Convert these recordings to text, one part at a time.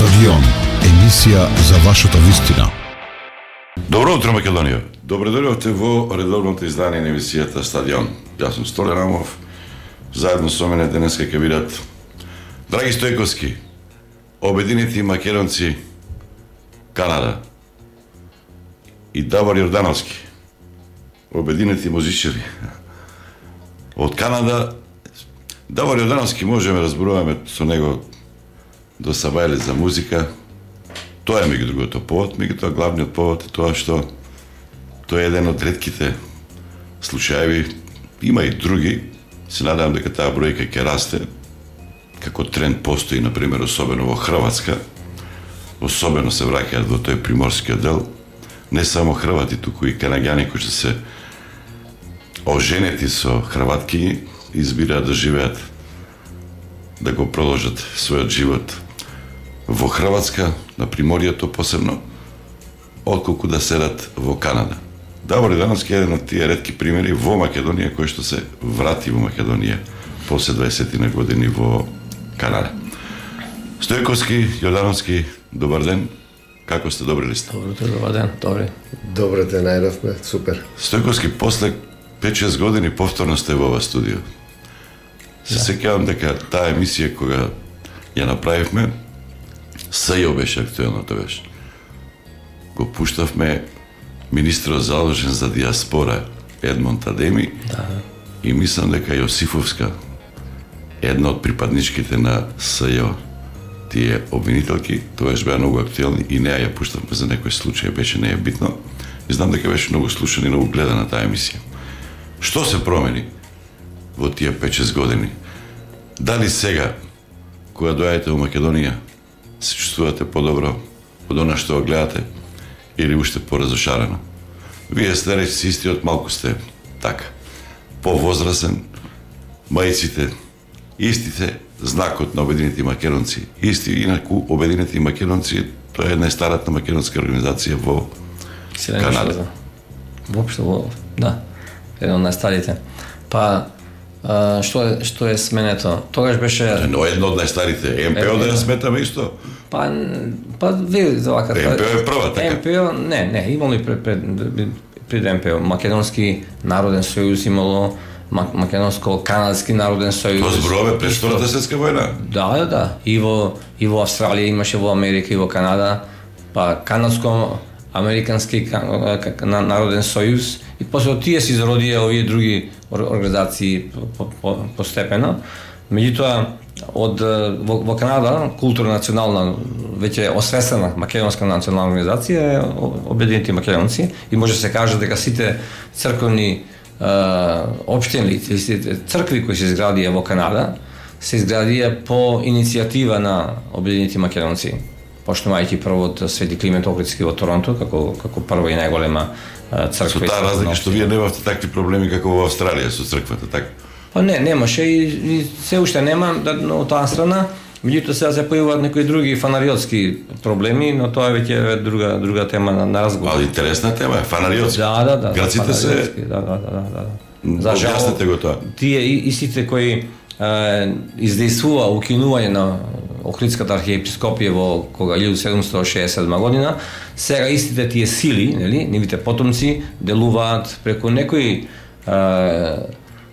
Стадион, емисија за вашата вистина. Добро утро, Македонија. Добре дојдовте во редовното издание на емисијата Стадион. Јас сум Столе Рамов, заедно со мене денеска ќе бидат Драги Стојковски, Обединети македонци, Канада, и Давор Јордановски, Обединети музичари. Од Канада, Давор Јордановски можеме разборуваме со него до Сабајле за музика. Тоа е меѓу другото повод, меѓутоа главниот повод е тоа што тој е еден од ретките случаеви, има и други, се надевам дека таа бројка ќе расте, како тренд постои, например, особено во Хрватска, особено се враќаат во тој приморскиот дел, не само хрвати, туку и канаѓани кои што се оженети со хрватки, избираат да живеат, да го продолжат својот живот во Хрватска, на приморието посебно, отколку да седат во Канада. Давор Јордановски е еден од тие ретки примери во Македонија кој што се врати во Македонија после 20 години во Канада. Стојковски, Јордановски, добар ден. Како сте, добри ли сте? Добар ден, добри. Добро те најдовме, супер. Стојковски, после 5-6 години повторно сте во ова студио. Се сеќавам дека таа емисија кога ја направивме, СЈО беше актуелно тогаш. Го пуштавме министрот задолжен за диаспора Едмонд Адеми, и мислам дека Јосифовска, една од припадничките на СЈО, тие обвинителки, тогаш беа многу актуелни и неа ја пуштавме за некој случај, беше не е битно. И знам дека беше многу слушана и многу гледана таа емисија. Што се промени во тие 5-6 години? Дали сега, кога доаѓате во Македонија, се чувствувате подобро од она што го гледате, или уште поразошарено? Вие сте речи истиот, малку сте така, повозрасен, мајците, истите, знакот на Обединети македонци, исти, инаку Обединети македонци, тоа е една старата македонска организација во Канада. Воопшто, да, еден од најстарите. Па, што е сменето? Тогаш беше... Но едно од најстарите, МПО да ја сметаме исто? Па ви за вака... МПО е прва, така? МПО, не, имало и пред МПО. Македонски народен сојуз имало, Македонско-канадски народен сојуз. Тоа зборуваме пред Втората светска војна? Да. И во Австралија имаше, во Америка и во Канада, па Канадско-американски народен сојуз, и после од тие се изродија овие други организации постепено. Меѓутоа, во Канада, културна национална, веќе освестена македонска национална организација е Обединети македонци, и може се каже дека сите црковни општини, сите цркви кои се изградија во Канада, се изградија по иницијатива на Обединети македонци, почнувајќи прво од Свети Климент Охридски во Торонто, како прва и најголема црква. Со таа разлика што вие немавте такви проблеми како во Австралија со црквата, така? Па не, немаше и се уште нема од таа страна, меѓутоа сега се појавуваат некои други фанариотски проблеми, но тоа е веќе друга тема на разговор. Ali интересна тема е, фанариотски. Да. Грците се... Да. Објасните го тоа. Тие истите кои издействува укинување на Охридската архиепископија во кога 1767 година, сега истите тие сили, нели, нивите потомци делуваат преку некои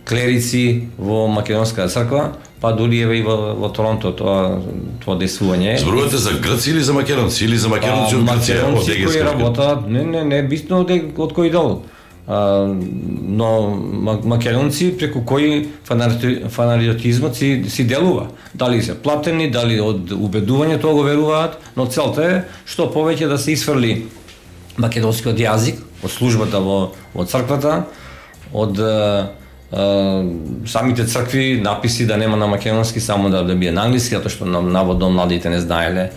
клерици во македонска црква, па дури еве и во Торонто тоа действување. Зборувате за грци или за македонци, или за македонци од Грција, од Македонци кои работат, не битно од кој дел. Но македонци преку кои фанариотизмот си делува. Дали се платени, дали од убедување тоа го веруваат, но целта е што повеќе да се исфрли македонскиот јазик од службата во црквата, од самите цркви написи да нема на македонски, само да биде на англиски, затоа што наводно младите не знаеле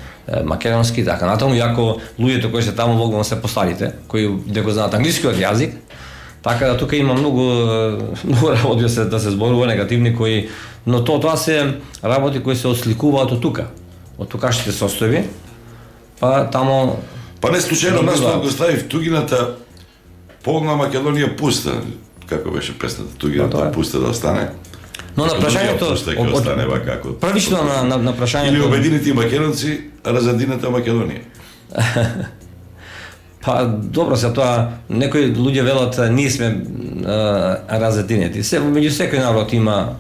македонски, така натаму, иако луѓето кои се таму могу се постарите, кои не го знаат англискиот јазик, така да тука има многу работи да се зборува негативни кои, но тоа се работи кои се осликуваат од тука, од тукашните состојби, па таму... Па не случајно нас го ставив тугината полна Македонија пуста, како беше песната, тугината пуста да остане. Но на прашањето ќе остане вакако. Првично на прашањето или обединети македонци, а разединета Македонија. Па добро се тоа, некои луѓе велат ние сме разединети. Меѓу секој народ има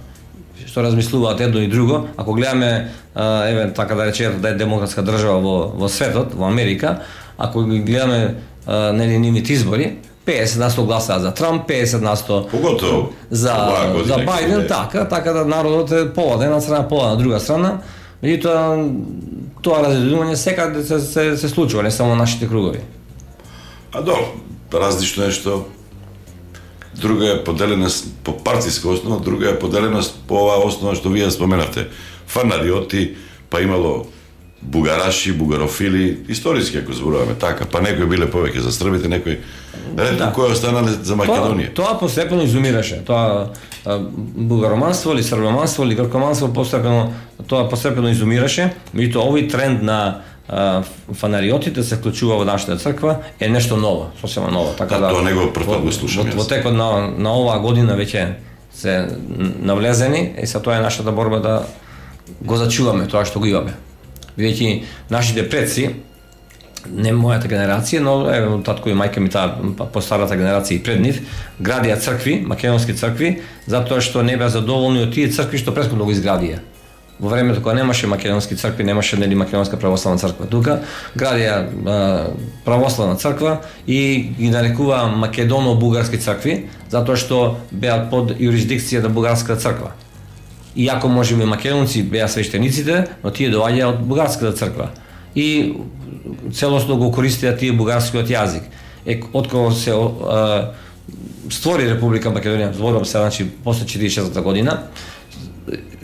што размислуваат едно и друго. Ако гледаме еве така да речеме да е демократска држава во светот, во Америка, ако ги гледаме нели нивните избори, 50% гласаа за Трамп, 50% поготово за Бајден, така да народот е пола на една страна, пола на друга страна. Меѓутоа тоа разединување секаде се случува, не само нашите кругови. А различно е што друга е поделеност по партиска основа, друга е поделеност по оваа основа што вие споменавте. Фанариоти, па имало бугараши, бугарофили, историски ако зборуваме така, па некои биле повеќе за србите, некои кои останале за Македонија. Тоа постепено изумираше. Тоа бугароманство или србоманство или гркоманство постепено изумираше, меѓутоа овој тренд на фанариотите се вклучува во нашата црква е нешто ново, сосема ново. Така тоа не го прв пат го слушам. Во текот на оваа година веќе се навлезени и са тоа е нашата борба да го зачуваме тоа што го имаме. Бидејќи нашите предци, не мојата генерација, но еве татко и мајка ми таа постарата генерација и пред нив, градија цркви, македонски цркви, затоа што не беа задоволни од тие цркви што претходно го изградија. Во времето кога немаше македонски цркви, немаше нели македонска православна црква тука, градија православна црква и ги нарекува македоно-бугарски цркви, затоа што беа под юрисдикција на бугарската црква. Иако можеби македонци беа свештениците, но тие доаѓаа од бугарската црква. И целосно го користеа тие бугарскиот јазик. Откако се створи Република Македонија, зборувам се, значи после 46-та година,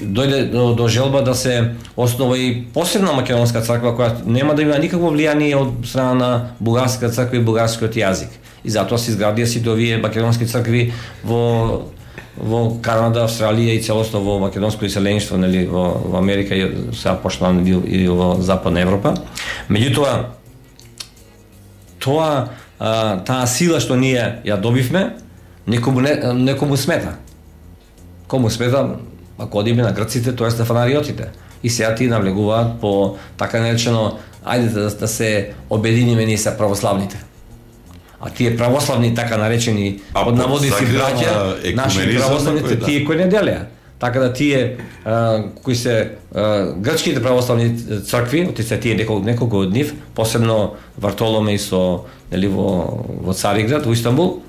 дојде до желба да се основа и посебна македонска црква која нема да има никакво влијание од страна на бугарската црква и бугарскиот јазик. И затоа се изградија сите овие македонски цркви во Канада, Австралија и целосно во македонско иселеништво, нели во Америка и сега почна и во Западна Европа. Меѓутоа таа сила што ние ја добивме, некому смета. Кому смета? Ако одиме на грците, тоест на фанариотите. И сега тие навлегуваат по така наречено, ајде да се обединиме ние се православните. А тие православни така наречени од наводници браќа, наши православните тие кои не делеа. Така да тие кои се грчките православни цркви, отице тие неколку од нив, посебно Вартоломеј со нели во Цариград, во Истанбул,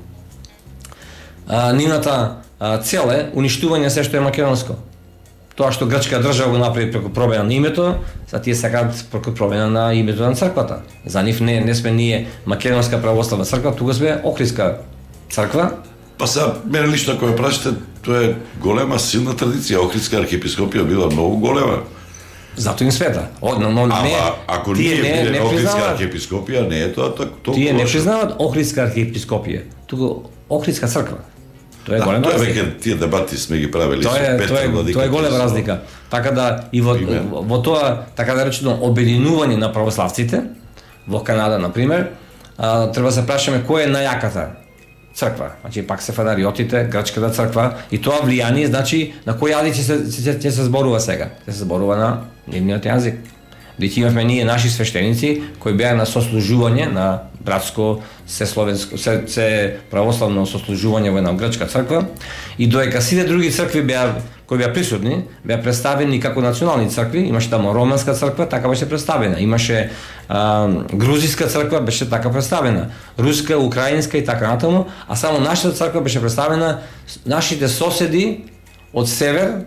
нивната цел е уништување се што е македонско. Тоа што грчка држава го направи преку промена на името, за тие сакаат преку промена на името на црквата. За нив не сме ние македонска православна црква, тука сме Охридска црква. Па сега, мене лично ако ме прашате, тоа е голема силна традиција. Охридска архиепископија била многу голема. Зато им смета. Ако не Охридска архиепископија, не е тоа толку. Тие не признаваат Охридска архиепископија, туку Охридска црква. Тоа е голема разлика. Тоа е тие дебати сме ги правили со Петар Владика. Тоа е голема разлика. Така да и во тоа така да речено обединување на православците во Канада на пример, треба да се прашаме која е најаката црква. Значи пак се фанариотите, грчката црква и тоа влијание значи на кој јазик ќе се зборува сега. Ќе се зборува на нивниот јазик. Бидејќи имавме ние наши свештеници кои беа на сослужување на братско се православно сослужување во една грчка црква и доека сите други цркви кои беа присутни, беа представени како национални цркви, имаше тамо романска црква, така беше представена, имаше грузиска црква, беше така представена, руска, украинска и така натаму, а само нашата црква беше представена нашите соседи од север,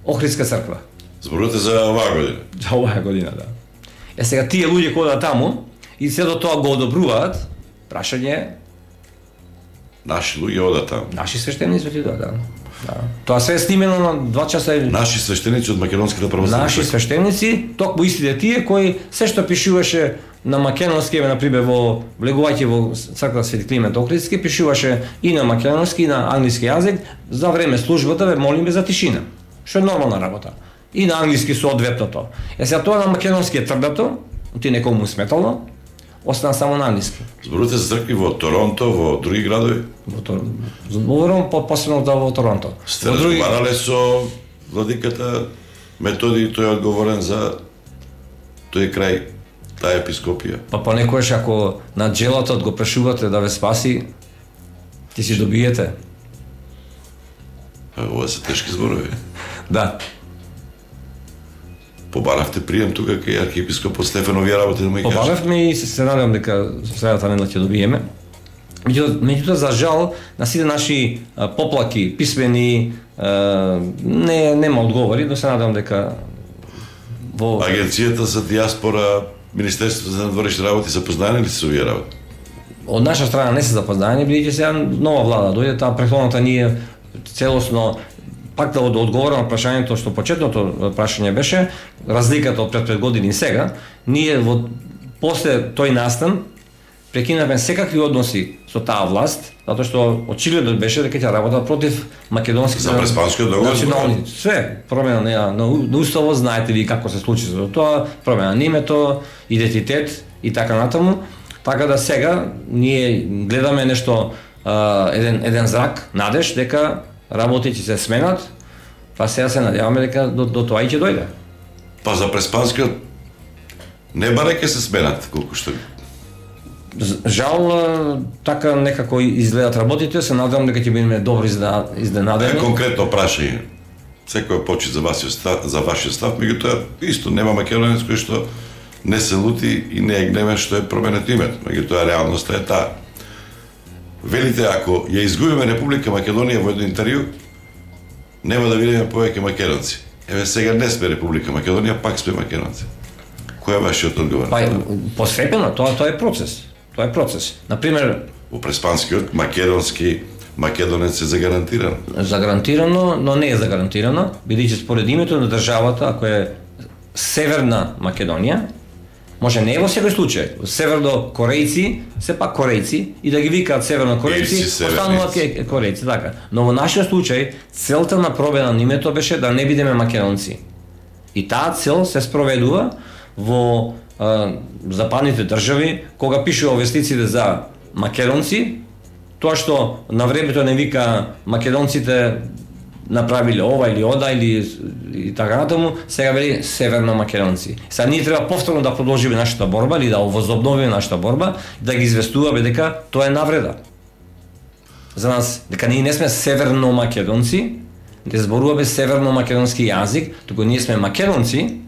Охридска црква. Зборувате за оваа година? За оваа година, да. Сега тие луѓе кои одат таму и се до тоа го одобруваат, прашање наши луѓе одат таму. Наши свештеници отидоа, да. Тоа се е снимено на 2 часа. Наши свештеници од македонската православна. Наши свештеници, токму истите тие кои се што пишуваше на македонски, на пример влегувајќи во црква Свети Климент Охридски, пишуваше и на македонски и на англиски јазик, за време службата ве молиме за тишина, што е нормална работа. И на англиски соодветното. Сега тоа на македонски е тврдато, ти некому сметало, остана само на англиски. Зборувате за цркви во Торонто, во други градови? Говорам посебно во Торонто. Сте разговарале со владиката Методи, тој е одговорен за тој крај, таа епископија. Па понекогаш ако на джелатот го прешувате да ве спаси, ти си добиете. Ова се тешки зборови. Да. Побаравте прием тука кај архиепископот Стефан, овие работи да му ги кажете? Побаравме и се надевам дека средата недела ќе добиеме. Меѓутоа, за жал, на сите наши поплаки, писмени, нема одговори, но се надевам дека во... Агенцијата за диаспора, Министерството за надворешни работи се познаени ли се со овие работи? Од наша страна не се запознаени, бидејќи сега нова влада дојде, таа претходната ние целосно пак да одговорам на прашањето што почетното прашање беше, разликата од пред 5 години и сега, ние после тој настан прекинавме секакви односи со таа власт, затоа што очигледно беше дека ќе работат против македонските за преспанскиот договор, национални, све промена на уставот, знаете ви како се случи за тоа, промена на името, идентитет и така натаму, така да сега ние гледаме нешто еден зрак, надеж дека работите се сменат, па сега се надеваме дека до тоа и ќе дојде. Па за преспанскиот не баре ќе се сменат колку што. Жал, така некако изгледат работите, се надевам дека ќе бидеме добро изненадени. Конкретно прашање. Секој почит за вашиот став, меѓутоа исто нема македонец кој што не се лути и не е гневен што е променето името, меѓутоа реалноста е таа. Велите, ако ја изгубиме Република Македонија во едно интервју, нема да видиме повеќе македонци. Еве сега не сме Република Македонија, пак сме македонци. Кој е вашиот одговор? Па, постепено, тоа е процес. Тоа е процес. Например, во преспанскиот македонски македонец е загарантиран. Загарантирано, но не е загарантирано, бидејќи според името на државата, ако е Северна Македонија, може не е во секој случај. Северно корејци, сепак корејци, и да ги викаат северно корејци, остануваат корејци, така. Но во нашиот случај, целта на промена на името беше да не бидеме македонци. И таа цел се спроведува во западните држави, кога пишува вестниците за македонци, тоа што на времето не вика македонците направиле ова или ода или и така натаму, сега вели северно македонци. Сега ние треба повторно да продолжиме нашата борба или да возобновиме нашата борба, да ги известуваме дека тоа е навреда. За нас, дека ние не сме северно македонци, не зборуваме северно македонски јазик, туку ние сме македонци,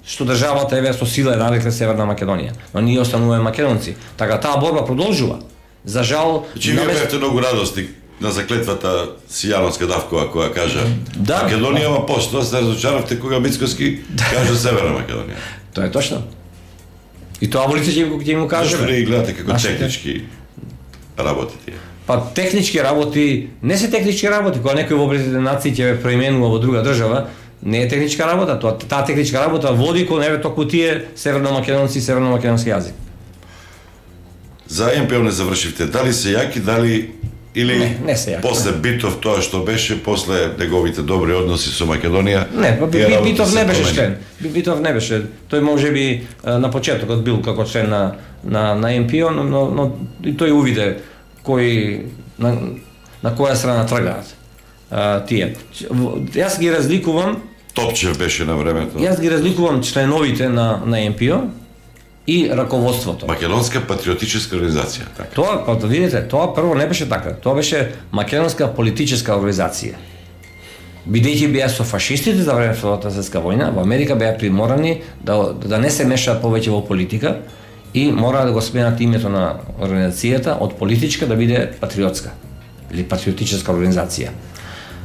што државата еве со сила е нарекле Северна Македонија, но ние остануваме македонци. Така таа борба продолжува. За жал, вие бевте многу радости на заклетвата Сијановска Давкова која кажа да, Македонија има пост, тоа се разочаравте кога Мицкоски кажа Северна Македонија. Тоа е точно. И тоа во лице ќе му кажеме. Зашто не гледате како технички работи тие? Па технички работи, не се технички работи, кога некој во Обединетите нации ќе ве преименува во друга држава, не е техничка работа, таа техничка работа води кон еве току тие северномакедонци и северномакедонски јазик. За МПО не завршивте, дали се јаки, дали или не се јаки. После Битов тоа што беше, после неговите добри односи со Македонија? Не, Битов не беше член. Битов не беше. Тој можеби на почетокот бил како член на МПО, но и тој увиде кој на која страна тргаат тие. Јас ги разликувам. Топчев беше на времето. Јас ги разликувам членовите на МПО и раководството. Македонска патриотичка организација, така. Тоа, па да видите, тоа прво не беше така. Тоа беше македонска политичка организација. Бидејќи беа со фашистите за време Втората светска војна, во Америка беа приморани да не се мешаат повеќе во политика и мора да го сменат името на организацијата од политичка да биде патриотска или патриотичка организација.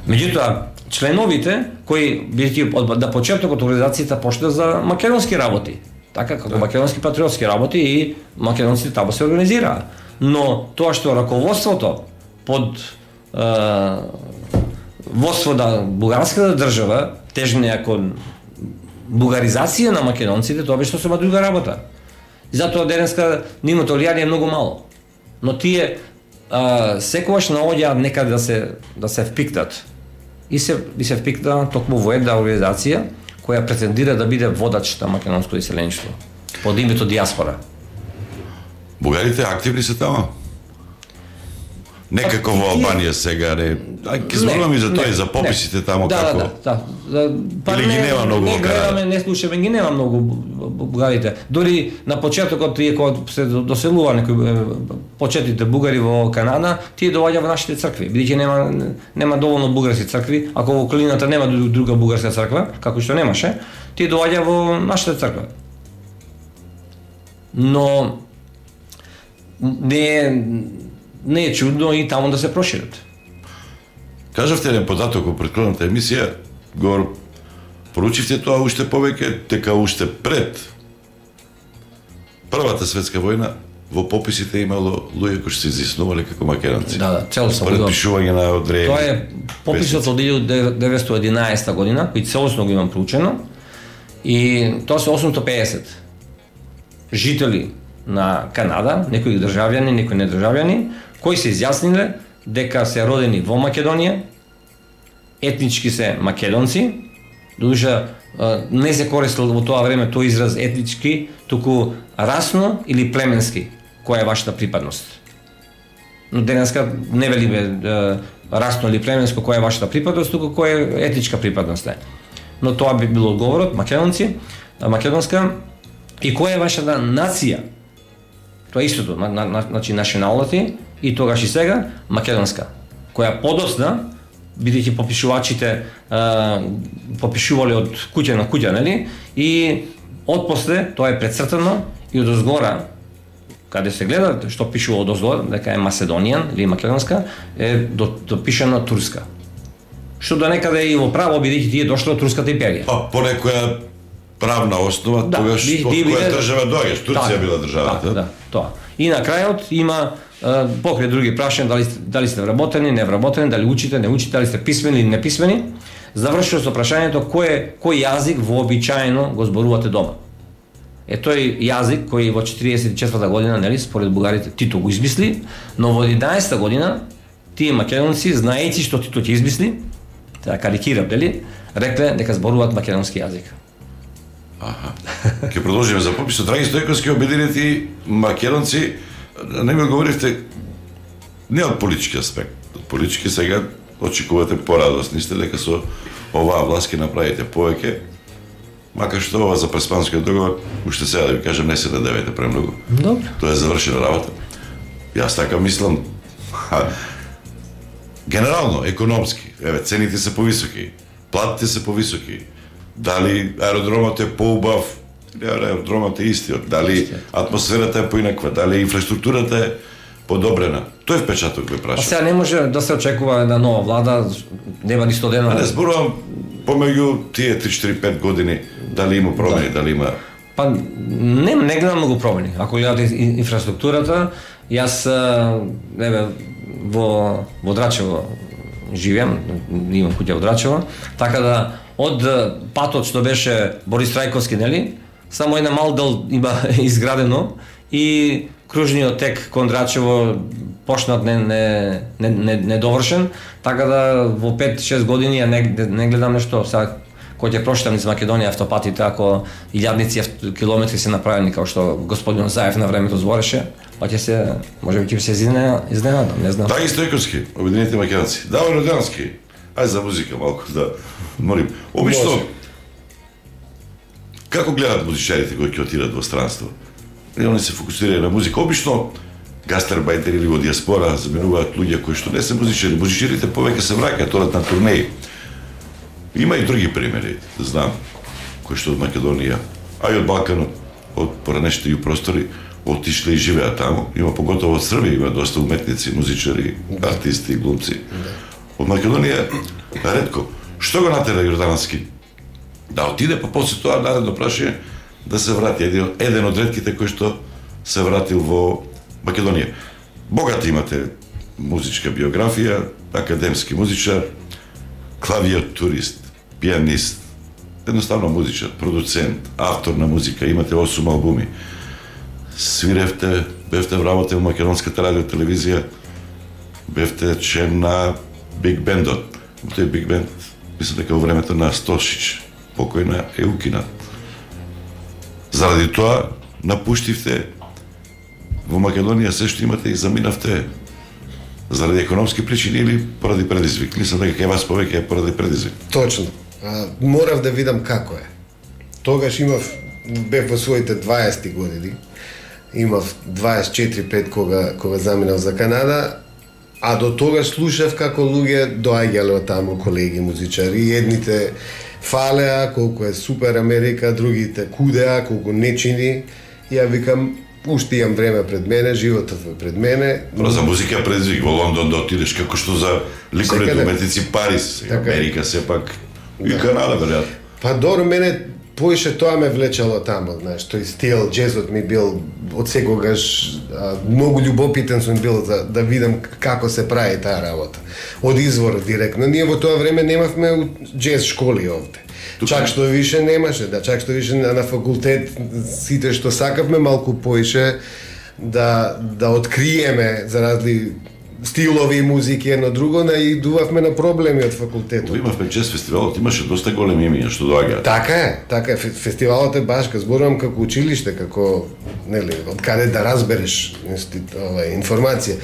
Меѓутоа, членовите кои бидејќи да почетокот организацијата почна за македонски работи, така како македонски патриотски работи и македонците таму се организираа. Но тоа што раководството под водство на бугарската држава тежнеа кон бугаризација на македонците, тоа беше сосема друга работа. И затоа денеска нивното влијание е многу мало. Но тие секогаш наоѓаат некаде да се впикнат. И се впикна токму во една организација која претендира да биде водач на македонско иселенство под името диаспора. Бугарите активни се тamo? Некако во Албанија сега, не. Ќе зборуваме и за тоа и за пописите тамо како. Или ги нема многу во Канада. Не слушаме, ги нема многу бугарите. Дори на почетокот тие кога се доселува некои почетните бугари во Канада, тие доаѓа во нашите цркви, бидејќи нема доволно бугарски цркви, ако во околината нема друга бугарска црква, како што немаше, тие доаѓа во нашата црква. Но не е чудно и таму да се прошират. Кажавте еден податок во претходната емисија, го поручивте тоа уште повеќе, дека уште пред Првата светска војна во пописите имало луѓе кои се изјаснувале како македонци. Да, целосно. Препишување на одредени. Тоа е пописот од 1911 година, кој целосно го имам проучено, и тоа се 850 жители на Канада, некои државјани, некои недржавјани, кои се изјасниле дека се родени во Македонија, етнички се македонци, додуша не се користел во тоа време тој израз етнички, туку расно или племенски, која е вашата припадност. Но денеска не велиме расно или племенско која е вашата припадност, туку која е етничка припадност е. Но тоа би било одговорот, македонци, македонска, и која е вашата нација. Тоа е истото, значи националити и тогаш и сега македонска, која подоцна, бидејќи попишувачите попишувале од куќа на куќа, нели? И отпосле тоа е прецртано и одозгора, каде се гледа што пишува одозгора, дека е Macedonian или македонска, е допишано турска. Што до некаде и во право, бидејќи тие дошло од турската империја. Па по некоја правна основа, тогаш од која држава доаѓаш? Турција била државата. Да, тоа. И на крајот има покрај други прашања, дали сте вработени, не вработени, дали учите, не учите, дали сте писмени или неписмени, завршува со прашањето кој јазик вообичаено го зборувате дома. Е тој јазик кој во 44-та година, нели, според бугарите Тито го измисли, но во 11-та година тие македонци, знаејќи што Тито ќе измисли, така карикирам, нели, рекле дека зборуваат македонски јазик. Аха. Ќе продолжиме за пописот. Драги Стојковски, обединети македонци, не ми одговоривте не од политички аспект. Од политички сега очекувате порадосни сте дека со оваа власт ќе направите повеќе, макар што ова за преспанскиот договор, уште сега да ви кажам, не се надевајте премногу. Добро. Тоа е завршена работа. Јас така мислам. Генерално, економски, еве, цените се повисоки, платите се повисоки, дали аеродромот е поубав, аеродромот е истиот, дали атмосферата е поинаква, дали инфраструктурата е подобрена. Тој впечаток ме праша. А сега не може да се очекува една нова влада, нема ни 100 дена. А не зборувам помеѓу тие 3-4-5 години, дали има промени, дали има... Па не гледам многу промени. Ако гледате инфраструктурата, јас еве во Драчево живеам, имам куќа во Драчево, така да од патот што беше Борис Трајковски, нели, само една мал дел има изградено и кружниот тек кон Драчево почнат недовршен, така да во 5-6 години ја не гледам нешто. Сега кој ќе прошетам низ Македонија автопатите, ако илјадници километри се направени, како што господин Заев на времето збореше, па ќе се, можеби ќе се изненадам, не знам. Драги Стојковски, обединети македонци. Давор Роденовски, ај за музика малку да молим. Обично, како гледат музичарите кои ќе отидат во странство? И они се фокусираат на музика. Обично, гастербајтери или во диаспора заменуваат луѓе кои што не се музичари. Музичарите повеќе се враќаат, одат на турнеи. Има и други примери, знам, кои што од Македонија, а и од Балканот, од поранешните ју простори, отишле и живеат таму. Има поготово од Србија, има доста уметници, музичари, артисти, глумци. Од Македонија ретко. Што го натера Јордановски? Да отиде, па после тоа наредно прашање да се врати. Еден од ретките кој што се вратил во Македонија. Богата имате музичка биографија, академски музичар, клавиатурист, пианист, едноставно музичар, продуцент, автор на музика, имате 8 албуми. Свиревте, бевте вработе во македонската радио телевизија, бевте член на Биг Бендот. Тој Биг Бенд, мислам дека во времето на Стошич, покојна е укинат. Заради тоа напуштивте во Македонија се што имате и заминавте заради економски причини или поради предизвик? Мислам дека кај вас повеќе е поради предизвик. Точно. Морав да видам како е. Тогаш бев во своите 20 години. Имав 24-5 кога заминав за Канада, а до тогаш слушав како луѓе доаѓале од таму, колеги музичари, едните фалеа колку е супер Америка, другите кудеа колку не чини. Ја викам, уште имам време пред мене, животот е пред мене. Но за музика предизвик во Лондон да отидеш како што за ликовите уметници Париз, Америка сепак и Канада веројатно. Па добро, мене поише тоа ме влечало тамо, знаеш, тој стил, джезот ми бил од секогаш многу љубопитен сум бил да видам како се прави таа работа. Од изворот директно. Ние во тоа време немавме джез школи овде. Чак што више немаше, чак што више на факултет сите што сакавме малку поише да откриеме за разли стилови и музики едно друго, наидувавме на проблеми од факултетот. Имавме джез фестивалот, имаше доста големи имиња што доаѓаат. Така е, фестивалот е башка, зборувам како училиште, како, нели, од каде да разбереш информација.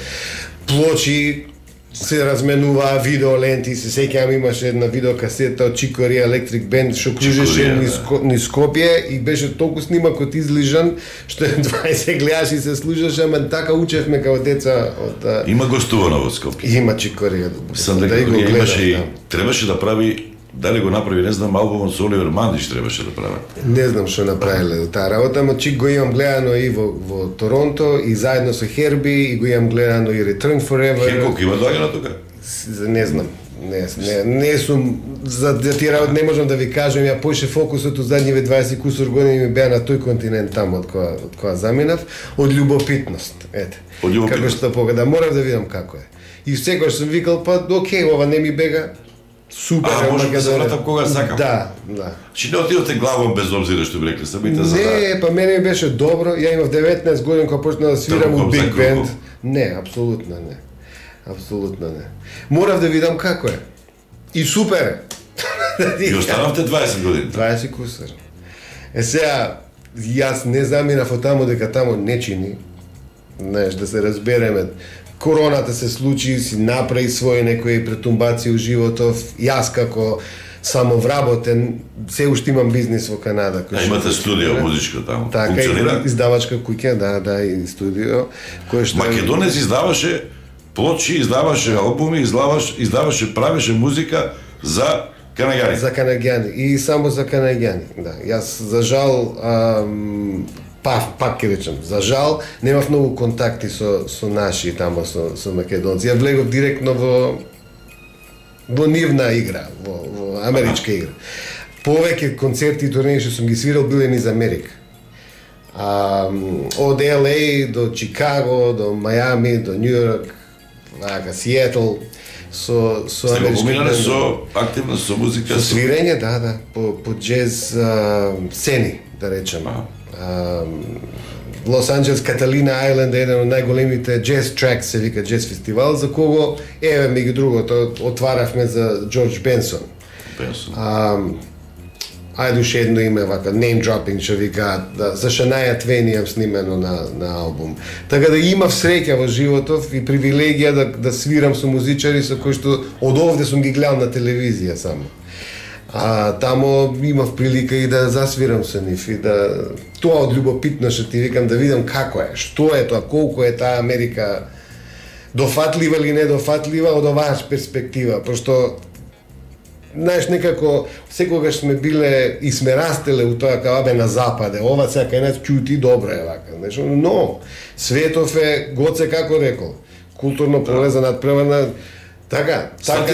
Плочи се разменуваа видеоленти, се сеќавам имаше една видеокасета од Чикорија Electric Band што кружеше низ Скопје и беше толку снимакот излижан што 20 гледаш и се слушаше, ама така учевме како деца од Има гостувано во Скопје. Има Чикорија. Да го имаше, требаше да прави. Дали го направи, не знам, албумот со Оливер Мандиш требаше да прави. Не знам што направиле таа работа, ама Чик го имам гледано и во Торонто и заедно со Херби и го имам гледано и Return Forever. Хенкок има доаѓано тука? Не знам. Не сум за тие работи не можам да ви кажам, ја поише фокусот од задниве 20 кусур години ми беа на тој континент таму од која заминав, од љубопитност, ете. Како што погода, морав да видам како е. И секогаш сум викал, па окей, ова не ми бега. Супер, може да се вратам кога сакам. Да. Чи не отидовте главом без обзира што би рекли самите за Не, па мене ми беше добро. Ја имав 19 години кога почнав да свирам у Big Band. Не, апсолутно не. Апсолутно не. Морав да видам како е. И супер е. И останавте 20 години. 20 кусар. Сега, јас не заминав од таму дека таму не чини. Знаеш, да се разбереме. Короната се случи, си направи своји некои претумбации у животов. Јас како самовработен, се уште имам бизнис во Канада. Имате студио музичко таму. Така, издавачка куќа, да, и студио. Македонец издаваше плочи, издаваше албуми, издаваше, правеше музика за канаѓани. За канаѓани и само за канаѓани, да. Јас за жал пак ќе речем, за жал немав многу контакти со наши тамо со македонци. Ја влегов директно во нивна игра, во америчка игра. Повеќе концерти и турнеи што сум ги свирал биле низ Америка. Од LA до Чикаго, до Мајами, до Њујорк, Сиетл, со амерички со активно со музика, со свирење, да, по джез сцени, да речеме. Лос Анџелес, Каталина Ајленд е еден од најголемите джез тракс, се вика джез фестивал, за кого, еве меѓу другото, отваравме за Джордж Бенсон. Ајде уште едно име, вака, name dropping, што викаат, за Шанаја Твен имам снимено на албум. Така да имав среќа во животов и привилегија да свирам со музичари со кои што од овде сум ги гледал на телевизија само. Тамо имав прилика и да засвирам со нив и да тоа од љубопитно што ти викам да видам како е, што е тоа, колку е таа Америка дофатлива или недофатлива од оваа перспектива, пошто знаеш, некако секогаш сме биле и сме растеле у тоа како на западе, ова сега кај нас чути добро е вака, знаеш, но светов е Гоце како рекол, културно поле за надпреварна. Така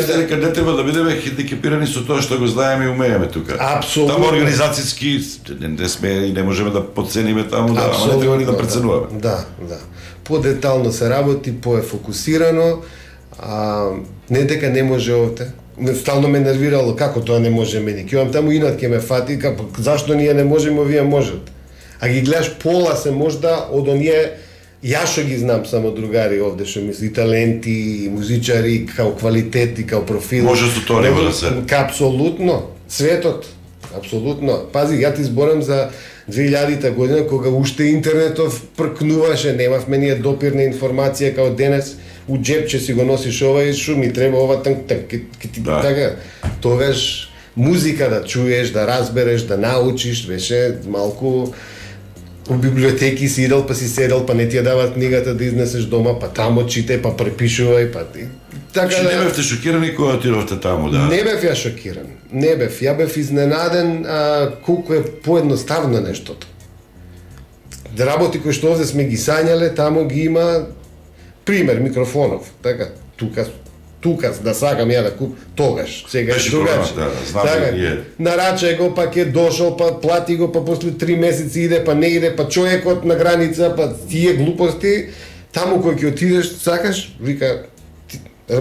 дека не треба да бидеме хендикепирани со тоа што го знаеме и умееме тука. Апсолутно. Таму организацијски не сме и не можеме да подцениме таму, ама не треба ни да преценуваме. Да. Подетално се работи, пое фокусирано, не дека не може овде. Стално ме нервирало како тоа не може мене. Ќе имам таму инат ќе ме фати, зашто ние не можеме, овие можат. А ги гледаш пола се можда од оние. Јас што ги знам само другари овде што мисли, и таленти, и музичари, као квалитет, и као профил. Може со тоа не да се. Апсолутно. Светот. апсолутно. Пази, ја ти зборам за 2000-та година, кога уште интернетов пркнуваше, немавме ние допирна информација као денес, у джепче си го носиш ова и шо ми треба ова така. Тогаш музика да чуеш, да разбереш, да научиш, беше малку. У библиотеки си идел, па си седел, па не ти ја дават книгата да изнесеш дома, па тамо читај, па препишувај, па ти. Така не бевте шокирани кога отидовте таму, да? Не бев ја шокиран. Не бев. Ја бев изненаден колку е поедноставно нештото. Да работи кои што овде сме ги сањале, тамо ги има пример микрофонов. Така, тука да сакам ја да куп, тогаш, сега е другаче. Така, нарачај го, па ке дошол, па плати го, па после 3 месеци иде, па не иде, па човекот на граница, па тие глупости, таму кој ќе отидеш, сакаш, вика,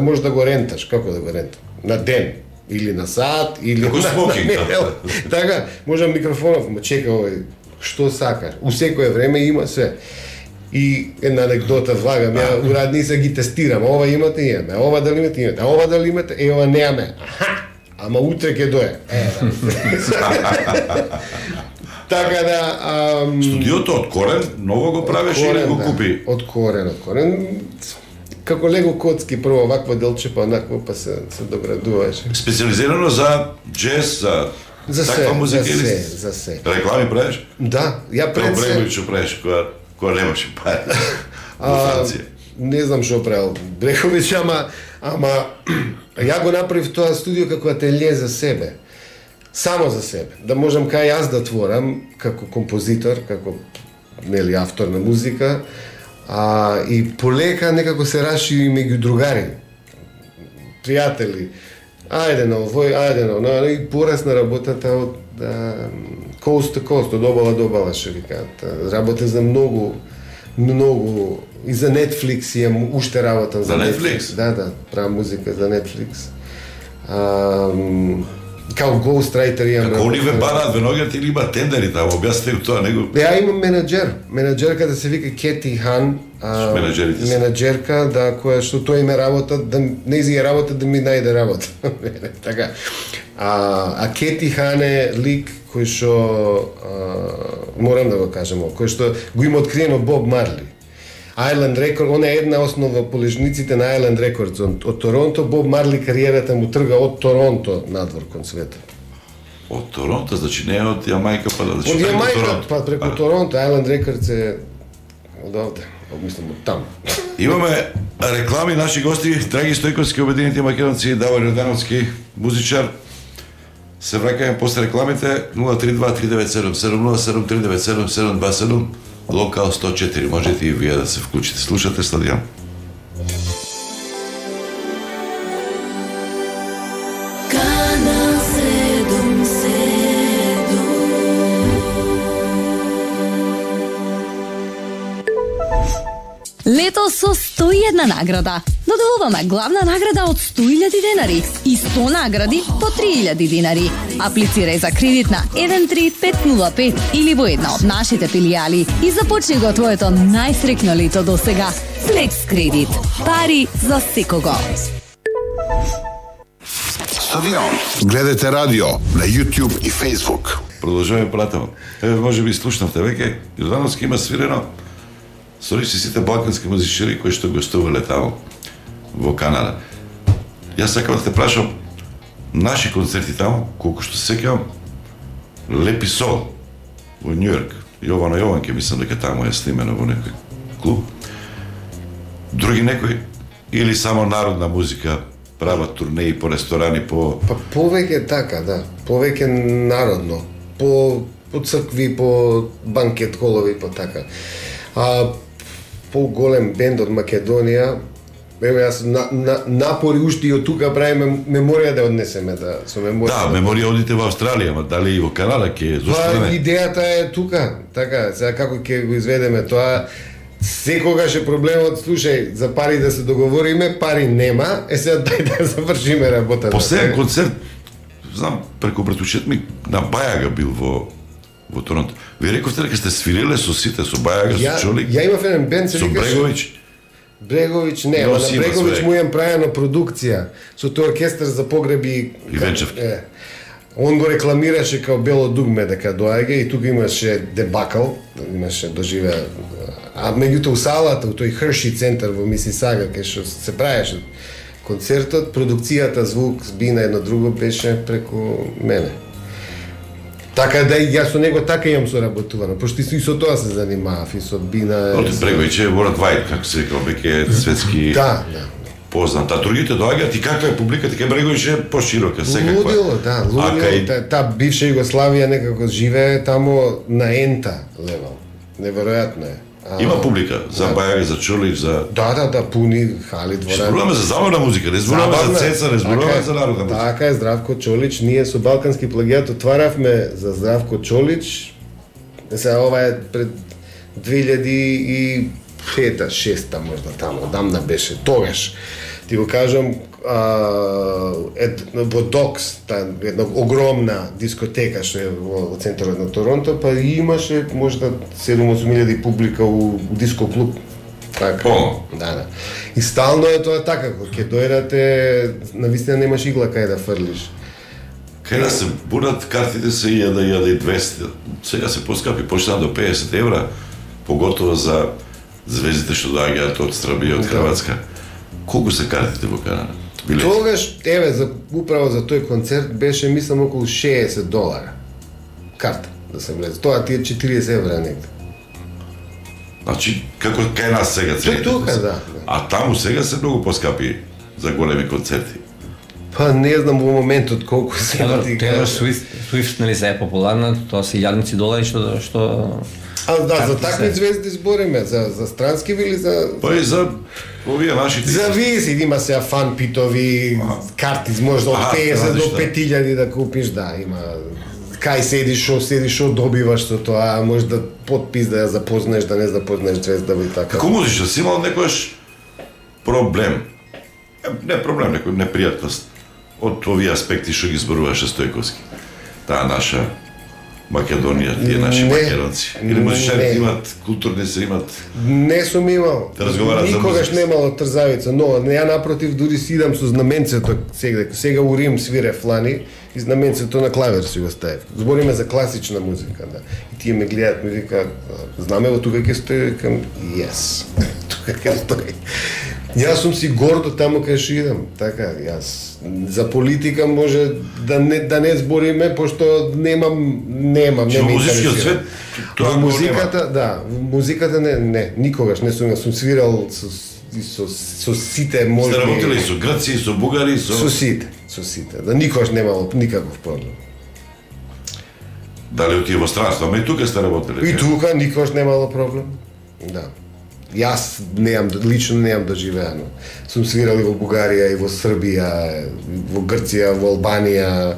може да го ренташ, како да го ренташ? На ден, или на сат, или како смокинг. Така, може микрофонов, ма чека овој, што сакаш? У секое време има се. И една анекдота влагам, ја урадница ги тестирам, ова имате, имаме, ова дали имате, а ова дали имате, ова неаме. Ама утре ќе дое. Така да... Студиото од корен, ново го правиш или го купи? Од корен. Како Лего коцки, прво вакво делче, па онакво, па се доградуваше. Специализирано за джез, за таква музика или? За се. Реклами правиш? Да, ја пред се... Брегович што правиш, кога немаше пари во Франција? Не знам што правил Брегович, ама ја го направив тоа студио како ателје за себе. Само за себе. Да можам кај јас да творам како композитор, како нели автор на музика, и полека некако се расшири меѓу другари, пријатели. Ајде на овој, ајде на оно, и порасна работата од coast to coast, од обала до обала, што викаат. Работа за многу и за Netflix имам уште работам за Netflix. Да, правам музика за Netflix. Као ghostwriter имам. Како они ве бараат веноѓа или има тендери таму, објасните тоа него. Ја имам менаџерка да се вика Кети Хан, менаџерка да која што тој име работа, да нејзи е работа да ми најде работа. Така. Кети Хан е лик кој што морам да го кажем, кој што го има откриено Боб Марли. Island Records, она е една основа полежниците на Island Records од Торонто. Боб Марли кариерата му трга од Торонто надвор кон светот. Од Торонто, значи не од Јамајка па да од Јамајка па преку Торонто. Island Records е од овде, мислам од таму. Имаме реклами, наши гости, Драги Стојковски, Обединети македонци, Давор Јордановски, музичар. Се враќаме после рекламите 032-397-707-397-727, Локал 104. Можете и вие да се вклучите. Слушате Стадион. Лето со 101 награда. Додолуваме главна награда од 100.000 денари и 100 награди по 3.000 денари. Аплицирај за кредит на 13505 или во една од нашите филијали и започни го твоето најсреќно лето до сега. Флекс кредит. Пари за секого. Стадион. Гледате радио на YouTube и Facebook. Продолжуваме пратено. Може би слушнавте веќе, Јордановски има свирено со сите балкански музичари кои што гостувале таму во Канада. Јас сакам да те прашам, наши концерти таму, колку што се сеќавам, Лепи Сол во Њујорк, Јовано Јованке, мислам дека таму е снимено во некој клуб. Други некои или само народна музика прават турнеи по ресторани, по... Па повеќе така, да. Повеќе народно. По цркви, по банкет холови, по така. По-голем бенд од Македонија, еве јас напори уште и од тука правиме меморија да однесеме со меморија. Да, меморија одите во Австралија, ма дали и во Канада ќе зошто не? Идејата е тука, така, сега како ќе го изведеме тоа. Секогаш е проблемот, слушај, за пари да се договориме, пари нема, сега дај да завршиме работата. Последен концерт, знам, преку братучет ми на Бајага бил во Торонто. Ви рековте дека сте свириле со сите, со Бајага, со Чолик? Ја имав еден бенд, се викаше... Со Брегович? Брегович не, ама на Брегович му имам правено продукција со тој оркестар за погреби и венчавки. Он го рекламираше као бело дугме дека доаѓа и тука имаше дебакал, имаше доживеа. А меѓутоа у салата, у тој Херши центар во Мисисага, кај што се правеше концертот, продукцијата, звук, бина, едно друго беше преку мене. Така да и јас со него така имам соработувано, пошто и со тоа се занимавав, и со бина... Оти Бреговиќ е World Wide, како се века, веќе светски... Да. Познат. А другите доаѓаат и каква е публиката, кај Бреговиќ е поширока, секаква. Лудило, таа бивша Југославија некако живее тамо на ента левел. Неверојатно е. Има публика за Бајаги, за Чолич, за... Да, пуни хали дворани. Зборуваме за забавна музика, не зборуваме за цеца, не зборуваме за народна музика. Така е, Здравко Чолич, ние со Балкански плагијат отваравме за Здравко Чолич. Сега ова е пред 2005-6 можда тамо, дамна беше, тогаш. Ти го кажам, во Докс, една огромна дискотека што е во центарот на Торонто, па имаше можда 7-8 публика у диско клуб. Така. Да. И стално е тоа така, кога ќе дојдете, навистина немаш игла кај да фрлиш. Кај да се бурат картите се 1.200, сега се поскапи, почна до 50 евра, поготово за звездите што доаѓаат од Србија, од Хрватска. Колку се картите во Канада? Тогаш, управо за тој концерт беше, мислам, околу $60 карта да се влезе. Тоа ти е 40 евра негде. Значи, како кај нас сега цените? Тука, да. А таму сега се многу поскапи за големи концерти. Па не знам во моментот колку се Taylor Swift нели се е популарна, тоа се илјадници долари што за такви звезди збориме, за странски или за... Па и за овие нашите... Зависи, има сега фан питови, карти, може од 50 до 5000 да купиш, да, има... Кај седиш, шо добиваш со тоа, може да подпис да ја запознаеш, да не запознаеш звезда и така. Како музичар си имал некојаш проблем? Не проблем, некој непријатност од овие аспекти што ги зборуваше Стојковски. Таа наша Македонија, тие наши македонци. Или музичарите имат, културни се имат... Не сум имал. Да разговарат за музика. Никогаш немало трзавица, но ја напротив дури сидам со знаменцето сега у Рим свире флани и знаменцето на клавир си го ставив. Збориме за класична музика, да. И тие ме гледаат, ми вика, знаме во тука ќе стои, викам, yes. Тука ќе стои. Јас сум си гордо таму кај што идам, така, јас за политика може да не збориме, пошто немам не ме интересира. Во музиката, да, музиката не, никогаш не сум свирал со сите можни. Сте работили со грци, со бугари, со сите. Да никогаш немало никаков проблем. Дали отие во странство, ама и тука сте работили? И тука никогаш немало проблем. Да. Јас лично немам доживеано. Сум свирали во Бугарија и во Србија, во Грција, во Албанија,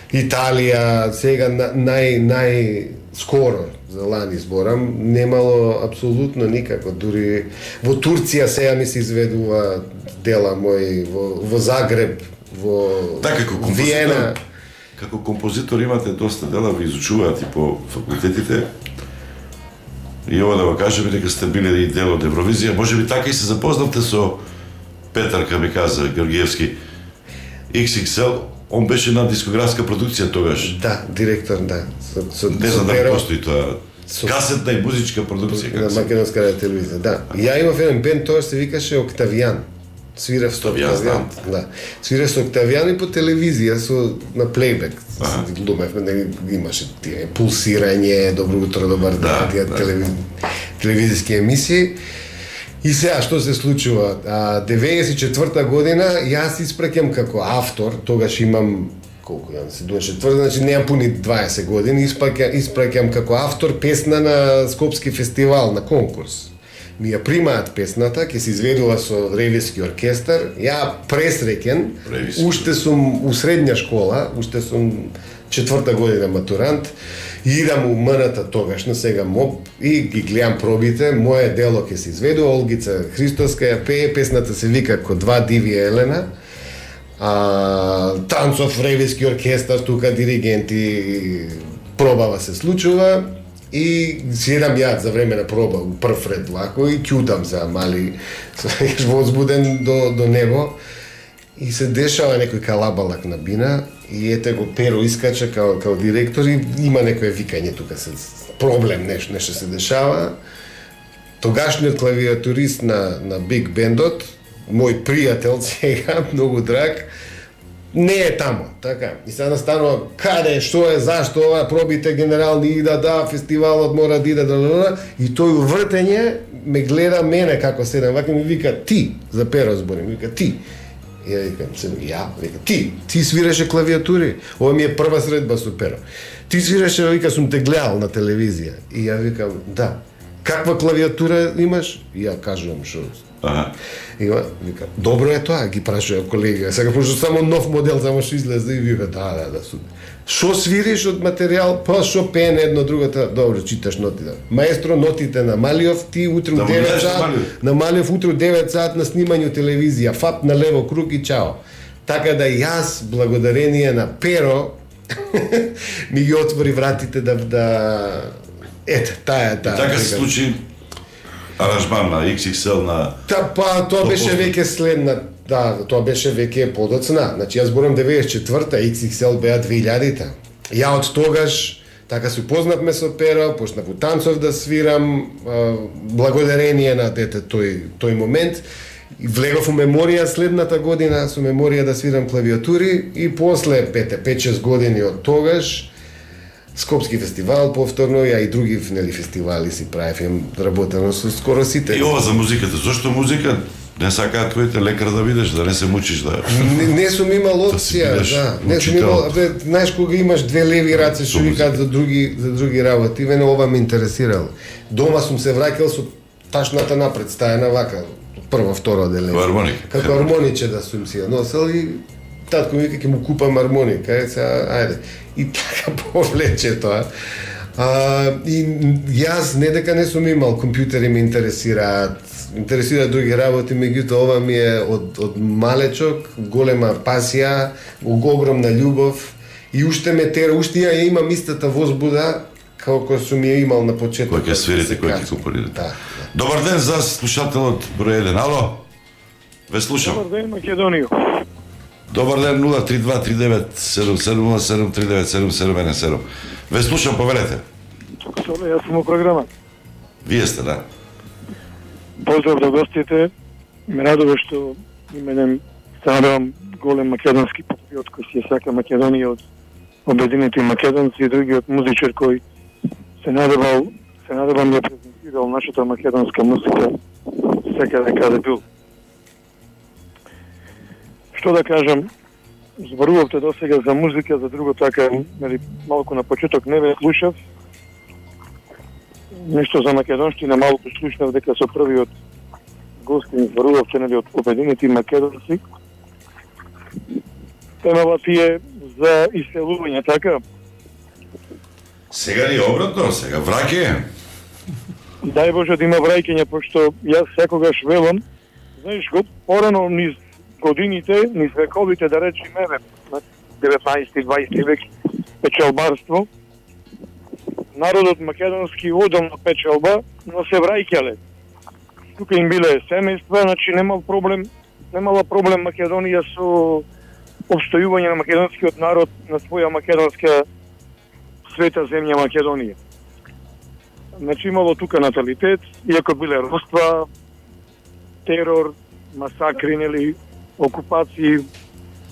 Италија, сега нај скоро за лани зборам, немало апсолутно никако, дури во Турција сега ми се изведува дела мои, во Загреб, во Виена. Како композитор имате доста дела, ви изучуваат и по факултетите. И ова да го кажеме дека сте били и дел од Евровизија, можеби така и се запознавте со Петар, ка ми каза, Георгиевски, XXL, он беше на дискографска продукција тогаш. Да, директор, да. Не знам дали постои тоа. Касетна и музичка продукција. На Македонска радио телевизија, да. Ја имав еден бенд, тоа се викаше Октавијан. Свирев со Октавијан. Да. Свирев со Октавијан и по телевизија, на плейбек. Глумевме, имаше тие пулсирање, добро утро, добар ден, телевизиски емисии. И сега, што се случува? 94-та година, јас испраќам како автор, тогаш имам, колку јам, 74-та, значи немам пуни 20 години, испраќам како автор песна на Скопски фестивал, на конкурс. Ми ја примаат песната, ќе се изведува со Ревиски оркестар, ја пресреќен, уште сум у средња школа, уште сум 4-та година матурант, и идам у МНТ тогашна, сега МОП, и ги гледам пробите, моје дело ќе се изведува, Олгица Христоска ја пее, песната се вика Ко два диви Елена, Танцов Ревиски оркестар, тука диригенти, пробава се случува, и седам ја за време на проба у прв ред лако и ќутам за мали возбуден до него и се дешава некој калабалак на бина И ете го Перо искача као директор и има некое викање тука се проблем, нешто се дешава. Тогашниот клавиатурист на Биг Бендот, мој пријател сега, многу драг, не е таму, така. И сега настанува каде, што е, зашто ова, пробите генерални ида, да, фестивалот мора да иде, и тој увртење ме гледа мене како седам, вака ми вика ти, за Перо зборим, вика ти. И ја викам, вика, ти свираше клавиатури, ова ми е прва средба со Перо. Ти свираше, вика, сум те гледал на телевизија. И ја викам, да. Каква клавиатура имаш? И ја кажувам што. Вика, добро е тоа, ги прашува колега. Сега пошто само нов модел само што излезе и вика, да, супер. Што свириш од материјал? Па што пене едно другото, добро, читаш нотите. Маестро, нотите на Малиов, ти утре у 9 сат, на Малиов утре у 9 сат на снимање телевизија, фап на лево круг и чао. Така да јас, благодарение на Перо, ми ги отвори вратите да ете, таа. И така се случи аранжман на XXL на... Тоа беше веќе следна, тоа беше веќе подоцна. Значи, јас зборам 94-та, XXL беа 2000-та. Ја од тогаш, така се упознавме со Перо, почнав у танцов да свирам, благодарение на тој момент. Влегов у Меморија следната година, со Меморија да свирам клавиатури и после 5-6 години од тогаш, Скопски фестивал повторно, ја и други фестивали си правев, работено со скоро сите. И ова за музиката, зошто музика не сакаат твоите лекар да видиш, да не се мучиш да... Не сум имал опција, не сум имал, знаеш кога имаш две леви раце што викаат за други работи, мене ова ме интересирало. Дома сум се враќал со ташната напред стајана вака, прво, второ деление. Како армоника. Како армониче да сум си ја носел и татко ми вика ќе му купам армоника, ајде. И така повлече тоа. И јас не дека не сум имал, компјутери ме интересираат други работи, меѓутоа ова ми е од малечок голема пасија, огромна љубов и уште ме тера, уште ја имам истата возбуда како сум ја имал на почетокот. Кој ќе свирите, кој ќе компонирате. Да. Добар ден за слушателот број 1. Ало? Ве слушам. Добар ден, Македонија. Добар ден, 032-3977-3977-77. Ве слушам, повелете. Соле, јас сум у програма. Вие сте, да. Поздрав до гостите. Ме радува што именем се надевам голем македонски патриот кој си ја сака Македонија од обединети македонци и другиот музичар кој се надевам ја презентирал нашата македонска музика секаде каде бил. Што да кажам, зборувавте досега за музика, за друго така, малку на почеток не ве слушав. Нешто за македонштина малку слушнав дека со првиот гостин зборувавте од обединети македонци. Темава ти е за иселување, така? Сега ли обратно, сега враќање? Дај Боже да има враќање, пошто јас секогаш велам, знаеш го, порано низ годините, низ вековите, да речеме, на 19-20 век печалбарство, народот македонски одел на печалба, но се враќале. Тука им биле семејства, значи немала проблем Македонија со обстојување на македонскиот народ на своја македонска света земја Македонија. Значи имало тука наталитет, иако биле роства, терор, масакри, нели, окупации,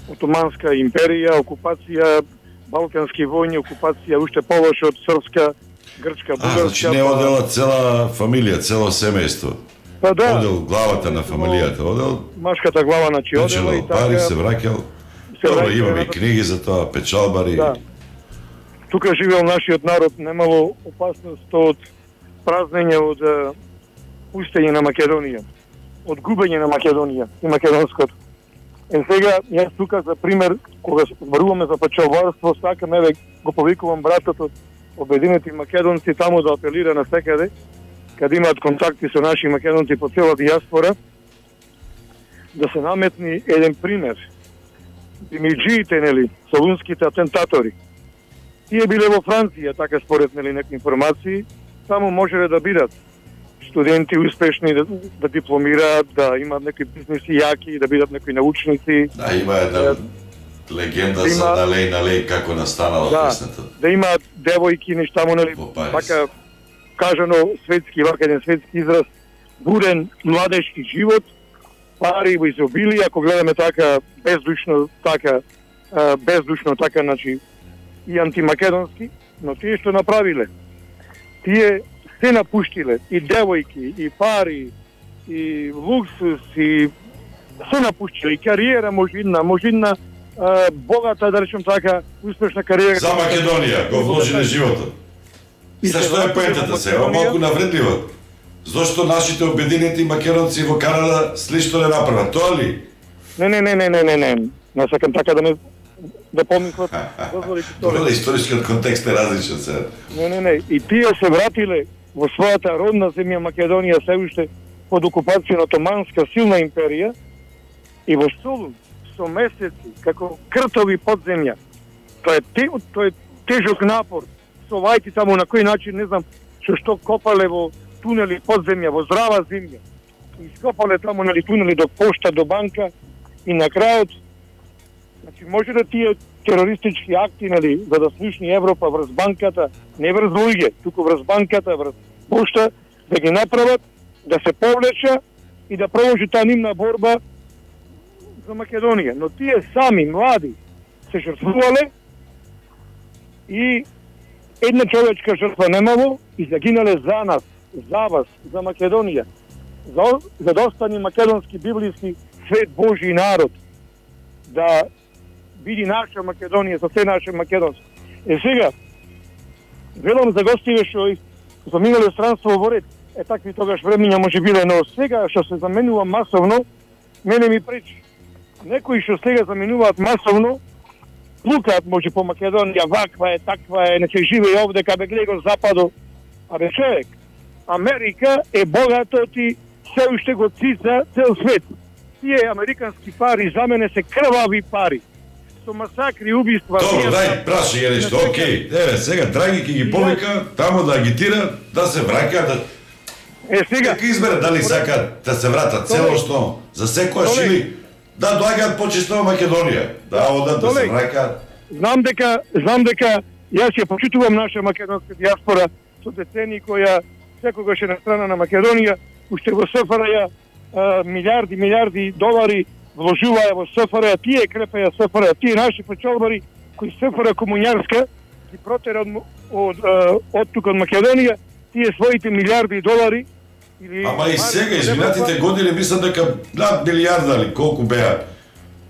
Отоманска империја, окупација, Балкански војни, окупација уште повеќе од српска, грчка, бугарска. Значи не одела цела фамилија, цело семејство. Па да. Одел главата на фамилијата, одел. Машката глава на одела и така. Пари се враќал. Добро, имаме и книги за тоа, печалбари. Да. Тука живеел нашиот народ, немало опасност од празнење, од пустење на Македонија, од губење на Македонија и македонското. Сега, јас тука за пример, кога зборуваме за печалбарство, сакам, еве, го повикувам братот од обединети македонци таму да апелира на секаде, каде имаат контакти со наши македонци по цела диаспора, да се наметни еден пример. Димиджиите, нели, солунските атентатори. Тие биле во Франција, така според, нели, некои информации, таму можеле да бидат студенти успешни да дипломираат, да имаат некои бизнеси јаки, да бидат некои научници. Да, има една Легенда за налеј како настанала песната. Да има девојки, нешта му, нели, така кажано светски, еден светски израз, бурен младежки живот, пари во изобилие, ако гледаме така бездушно, значи и антимакедонски, но тие што направиле, тие се напуштиле, и девојки, и пари, и луксус, и се напуштиле, и кариера можидна, богата, да речем така, успешна кариера. За Македонија го вложи на животот. И што е поентата сега, малку навредлива. Зошто нашите обединети македонци во Канада слично не направат, тоа ли? Не. Не сакам така да помислат. Добро, историскиот контекст е различен сега. Не. И тие се вратиле во својата родна земја Македонија се уште под окупација на Отоманска силна империја и во Солун со месеци како кртови подземја. Тоа е тежок напор. Совајки таму на кој начин, не знам, што копале во тунели подземја, во здрава земја. Ископале таму, нели, тунели до пошта, до банка и на крајот, значи, може да тие терористички акти, нели, за да слушни Европа врз банката, не врз луѓе, туку врз банката, врз пошта, да ги направат, да се повлеча и да продолжи таа нивна борба за Македонија. Но тие сами, млади, се жртвувале и една човечка жртва немало и загинале за нас, за вас, за Македонија, за да остане македонски библиски свет Божи народ, да биде наша Македонија, со се наше македонско. Сега, велам за гостиве што заминале странство во ред, такви тогаш времења може биле, но сега што се заменува масовно, мене ми пречи. Некои што сега заменуваат масовно, лукаат може по Македонија, ваква е, таква е, не се живее овде, кабе гледа го западо. Абе човек, Америка е богатот и се уште го цица цел свет. Тие американски пари за мене се крвави пари. Со масакри, убиства... Добро, дај, праши ја нешто, окей. Еве, сега Драги ќе ги повика, тамо да агитира, да се враќа, да... сега... Дека избере дали сакат да се вратат целосно, за секојаш или да доаѓаат почисно во Македонија, да одат, да се враќаат. Знам дека јас ја почитувам наша македонска диаспора со децени која секогаш е на страна на Македонија, уште во СФРЈ милиарди долари вложуваја во СФРЈ, тие крепеја СФРЈ, тие наши печалбари кои СФРЈ комуњарска ги протера од тука од Македонија, тие своите милиарди долари или... Ама и сега, изминатите години, мислам дека над милиарда ли, колку беа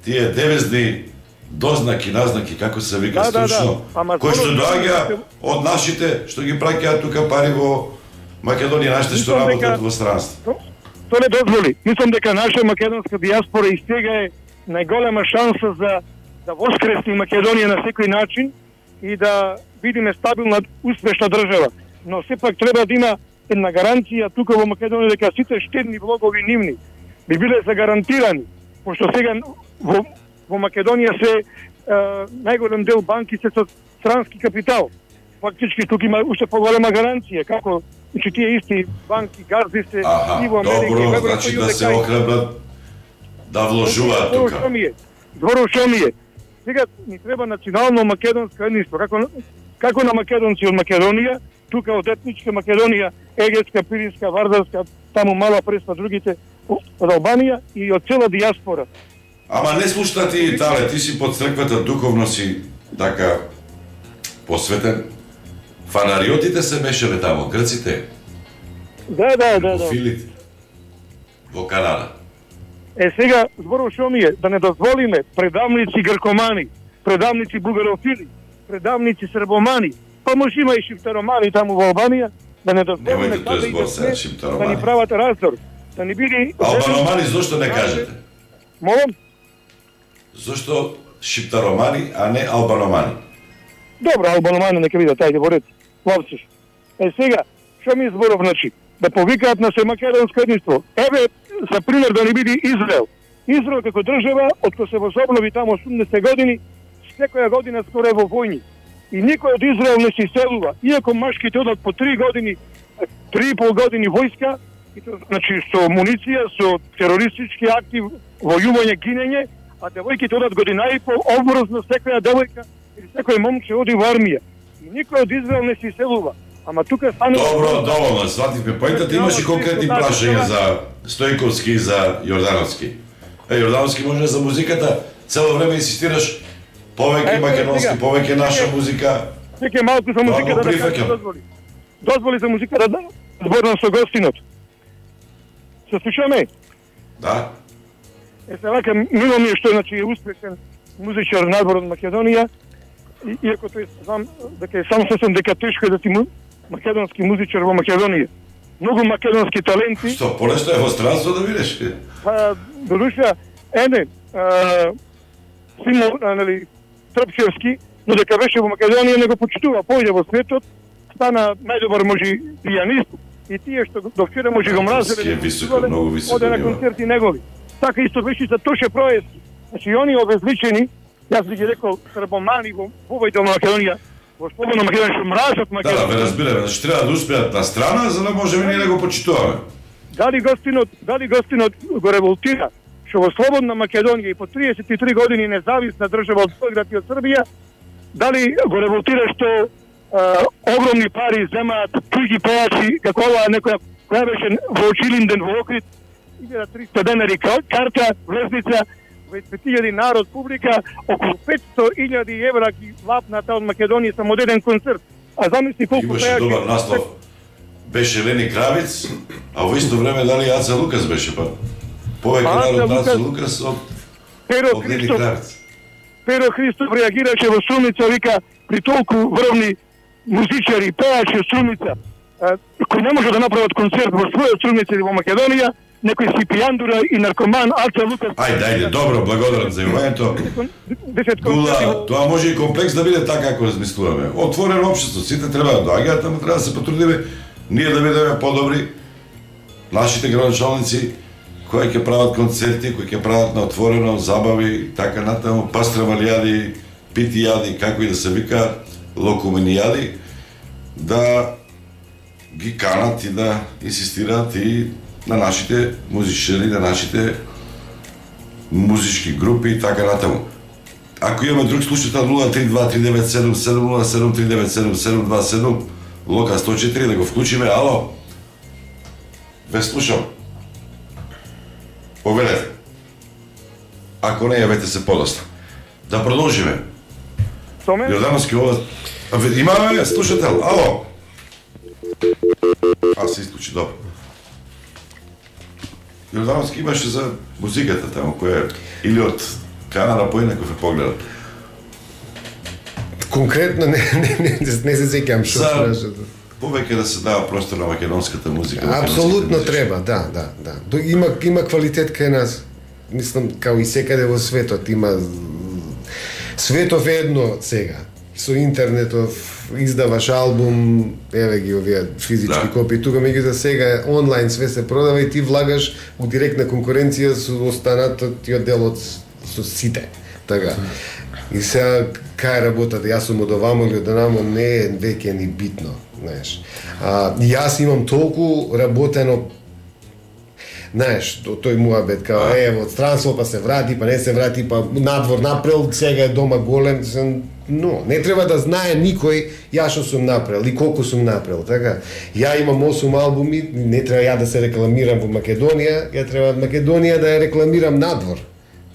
тие девизни дознаки, назнаки, како се вика стручно, кои што доаѓа од нашите, што ги праќаат тука пари во Македонија, нашите што работат во странство. Тоа не дозволи. Мислам дека наша македонска диаспора и сега е најголема шанса за да воскресни Македонија на секој начин и да бидеме стабилна, успешна држава. Но сепак треба да има една гаранција тука во Македонија дека сите штедни влогови нивни би биле загарантирани, пошто сега во Македонија се најголем дел банки се со странски капитал. Фактички тука има уште поголема гаранција, како значи тие исти банки, газди се и во Америка. Добро, значи да се охрабрат да вложуваат тука. Зборов што ми е. Сега ни треба национално македонско единство, како на македонци од Македонија, тука од етничка Македонија, Егетска, Пиринска, Вардарска, таму Мала Преспа, другите од Албанија и од цела диаспора. Ама не слушна ти, Итале, ти си под црквата, духовно си така посветен. Фанариотите се мешале тамо, грците. Да. Филите. Во Канада. Сега, зборов што ми е, да не дозволиме предавници гркомани, предавници бугарофили, предавници србомани, па може има и шиптаромани таму во Албанија, да не дозволиме да ни прават раздор, да ни биде... Албаномани, зошто не кажете? Молам? Зошто шиптаромани, а не албаномани? Добро, албаномани нека видат, ајде во ред. Лавциш. Сега, што ми зборов, значи, да повикаат на се македонско единство. Еве, за пример да ни биде Израел. Израел како држава, откако се возобнови таму 80 години, секоја година скоро е во војни. И никој од Израел не се иселува. Иако машките одат по 3 години, 3,5 години војска, значи со муниција, со терористички акти, војување, гинење, а девојките одат година и по обврзно секоја девојка или секој момче оди во армија. И никој од Израел не се иселува. Ама тука станува... Добро, доволно, свативме поентата. Имаш и конкретни прашања за Стојковски и за Јордановски. Јордановски може за музиката, цело време инсистираш повеќе македонски, повеќе наша музика. Веќе малку за музиката да кажам, дозволи. Дозволи за музиката да зборам со гостинот. Се слушаме? Да. Се вака, мило ми е што значи е успешен музичар надвор од Македонија, иако тој знам дека е само сосем дека тешко е да ти македонски музичар во Македонија. Многу македонски таленти. Што, понешто е во странство да видиш? Па, додуша, Симо, нели, Трпчевски, но дека беше во Македонија не го почитува, појде во светот, стана најдобар може пијанист и тие што до вчера може го мразеле, многу високо, оде на концерти негови. Така исто беше за Тоше Проески. Значи они обезличени, јас би ги рекол србомани во овој дел на Македонија, во слободна Македонија што мразат Македонија. Да, разбираме, значи треба да успеат на страна за да можеме ние да го почитуваме. Дали гостинот го револтира што во слободна Македонија и по 33 години независна држава од Белград и од Србија, дали го револтира што огромни пари земаат туѓи пејачи, како ова некоја која беше во Очилинден во Окрит, 1300 денари карта, влезница, 5000 народ, публика, околу 500.000 евра ги лапната од Македонија само еден концерт. А замисли колку имаше пејачи... добар наслов. Беше Лени Кравиц, а во исто време дали Аца Лукас беше, па повеќе народ Аца Лукас од Лени Кравиц. Перо Христов реагираше во Струмица, вика, при толку врвни музичари, пејачи од Струмица, кои не може да направат концерт во своја Струмица или во Македонија, некој си пијандура и наркоман, Аца Лукас... Ајде, добро, благодарам за јавањето. Гула, тоа може и комплекс да биде така како размислуваме. Отворено општество, сите треба да доаѓаат, ама треба да се потрудиме ние да бидеме подобри, нашите градоначалници кои ќе прават концерти, кои ќе прават на отворено, забави, така натаму, пастрамалијади, питијади, како и да се вика, локуменијади, да ги канат и да инсистираат и на нашите музичари, на нашите музички групи и така натаму. Ако имаме друг слушател 032-397-707-397-727 Лока 104 да го вклучиме. Ало? Ве слушам. Повелете. Ако не, јавете се подоста. Да продолжиме. Јордановски ова... Имаме слушател. Ало? Се исклучи, добро. Јордановски имаше за музиката таму, која или од Канада поинаков е погледат. Конкретно не се сеќавам што прашате. Повеќе да се дава простор на македонската музика. Апсолутно треба, да. Има квалитет кај нас. Мислам, као и секаде во светот има... Светов е едно сега. Со интернетов издаваш албум, еве ги овие физички копии, тука меѓутоа сега онлайн све се продава и ти влагаш у директна конкуренција со останатиот дел од со сите. Така. И сега кај работата, јас сум од овамо или од онамо, не е веќе ни битно, знаеш. Јас имам толку работено, знаеш, тој муабет, као од странство, па се врати, па не се врати, па надвор напрел, сега е дома голем, но не треба да знае никој ја што сум направил и колку сум направил, така. Ја имам 8 албуми, не треба ја да се рекламирам во Македонија, ја треба Македонија да ја рекламирам надвор.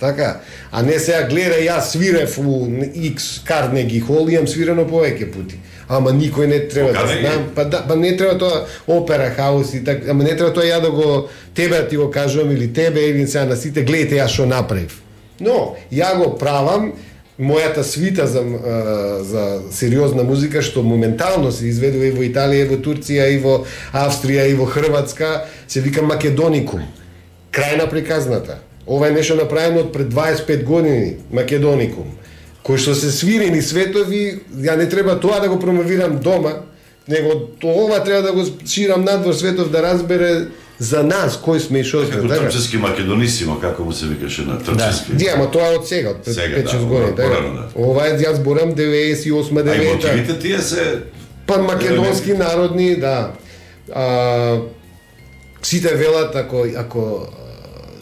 Така, а не сега гледа јас свирев у X Carnegie Hall, имам свирено повеќе пати. Ама никој не треба да знам, па не треба тоа опера хаус и така, ама не треба тоа ја да го тебе ти го кажувам или тебе или сега на сите гледате јас што направив. Но ја го правам мојата свита за сериозна музика што моментално се изведува и во Италија, и во Турција, и во Австрија, и во Хрватска, се вика Македоникум. Крај на приказната. Ова е нешто направено од пред 25 години, Македоникум, кој што се свири ни светови, ја не треба тоа да го промовирам дома, него ова треба да го ширам надвор светов да разбере за нас кој сме и што сме. Како Трпчевски Македонисимо, како му се викаше на Трпчевски. Да, ама тоа е од сега, од 5-6 години. Ова е, јас зборам 98-9. А и мотивите тие се... Па македонски народни, да. Сите велат, ако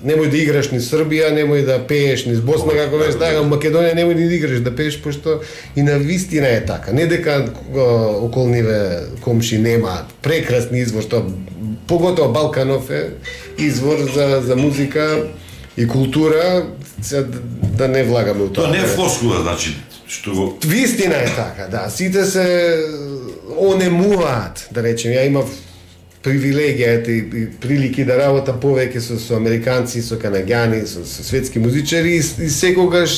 немој да играш ни Србија, немој да пееш ни Босна, како беше така, Македонија немој ни да играш да пееш, пошто и на вистина е така. Не дека околниве комши немаат прекрасни извор, што поготово Балканов е извор за музика и култура, да не влагаме у тоа. Тоа не е флоскула, значи, што го... Вистина е така, да. Сите се онемуваат, да речем. Ја имав привилегијата и прилики да работа повеќе со американци, со канаѓани, со светски музичари и секогаш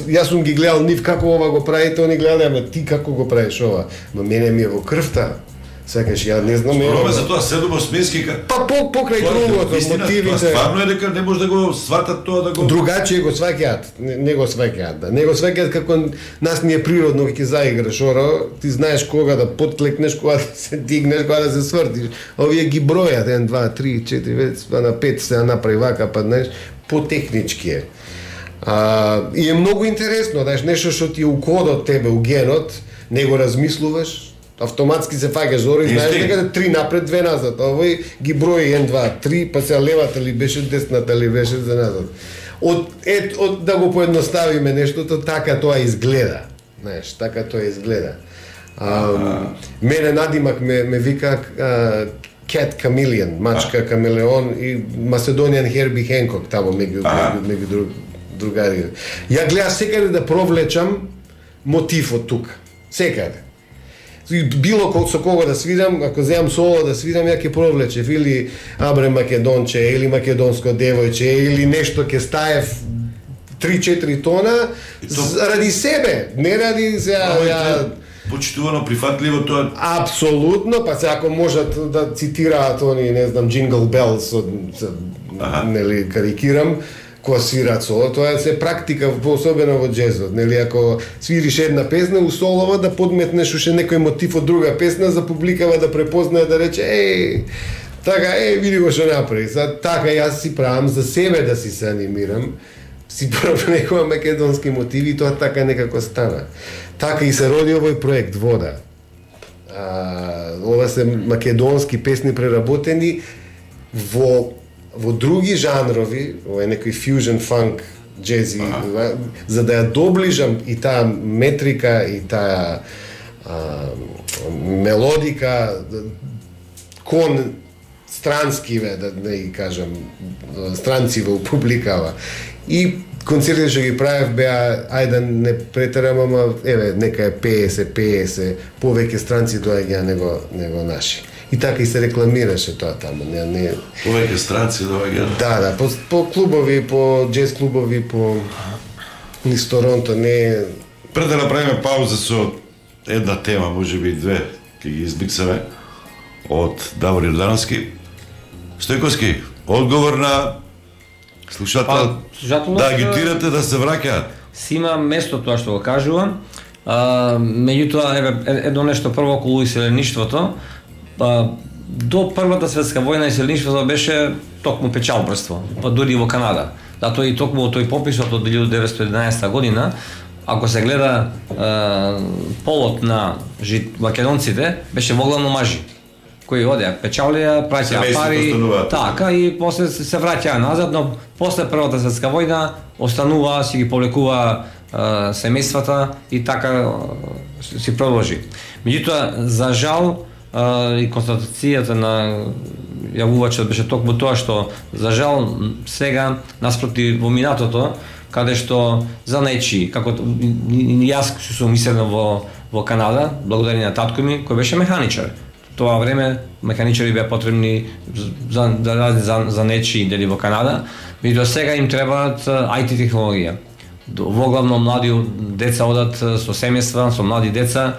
јас сум ги гледал нив како ова го правите, они гледале, ама ти како го правиш ова? Ма мене ми е во крвта. Сакаш, ја не знам Роме за тоа седомо смески Па покрај другото, мотивите. Тоа стварно е дека не може да го сватат тоа да го... Другачие го сваќаат, не го сваќаат, да. Не го сваќаат како нас ни е природно ќе заиграш оро, ти знаеш кога да подклекнеш, кога да се дигнеш, кога да се свртиш. Овие ги бројат 1 2 3 4 5 на 5 се направи вака, па знаеш, потехнички е. И е многу интересно, знаеш, нешто што ти е у кодот тебе, у генот, не го размислуваш, автоматски се фаќаш зора и знаеш дека 3 напред, 2 назад. Овој ги брои 1 2 3, па се левата ли беше, десната ли беше за назад. Од да го поедноставиме нештото, така тоа изгледа. Знаеш, така тоа изгледа. Мене надимак ме вика Cat Chameleon, мачка камелеон и Macedonian Herbie Hancock тамо меѓу другари. Ја гледав секаде да провлечам мотив од тука. Секаде. Било со кого да свирам, ако земам соло да свирам, ја ќе провлечев или Абре Македонче, или Македонско девојче, или нешто ќе стаев 3-4 тона ради себе, не ради сега почитувано, прифатливо тоа. Апсолутно, па се ако можат да цитираат они, не знам, Jingle Bells, нели карикирам, кога свираат соло, тоа се практика, особено во джезот, нели, ако свириш една песна, у солова да подметнеш уште некој мотив од друга песна, за публикава да препознае, да рече, така, види го што направи. Така јас си правам за себе да си се анимирам, си правам некоја македонски мотиви и тоа така некако стана. Така и се роди овој проект Вода. Ова се македонски песни преработени во други жанрови, ова е некој фьюжн фанк, джези, за да ја доближам и таа метрика и таа мелодика кон странскиве, да не ги кажам, странциве у публикава. И концертите што ги правев беа, ајде не претерам, ама нека е 50, повеќе странци доаѓа него наши. И така и се рекламираше тоа таму, не. Повеќе странци доаѓа. Да, по клубови, по джез клубови, по низ Торонто, не. Пред да направиме пауза со една тема, можеби две, ќе ги избиксаме од Давор Јордановски. Стојковски, одговор на слушател, да агитирате да се враќаат. Си има место тоа што го кажувам. Меѓутоа, едно нешто прво околу иселеништвото. До Првата светска војна иселеништвото беше токму печалбрство, дури во Канада. Затоа и токму тој пописот од 1911 година, ако се гледа полот на македонците, беше воглавно мажи, кои одеа, печалија, праќаа пари, така, и после се враќаа назад, но после Првата светска војна останува, си ги повлекува семејствата и така си продолжи. Меѓутоа, за жал, и констатацијата на јавувачот беше токму тоа што, за жал, сега, наспроти во минатото, каде што за нечи, како јас сум иселен во Канада, благодарение на татко ми, кој беше механичар. Тоа време механичари беа потребни да радат за нечи дели во Канада, меѓутоа сега им требаат IT технологија. Воглавно млади деца одат со семејства, со млади деца,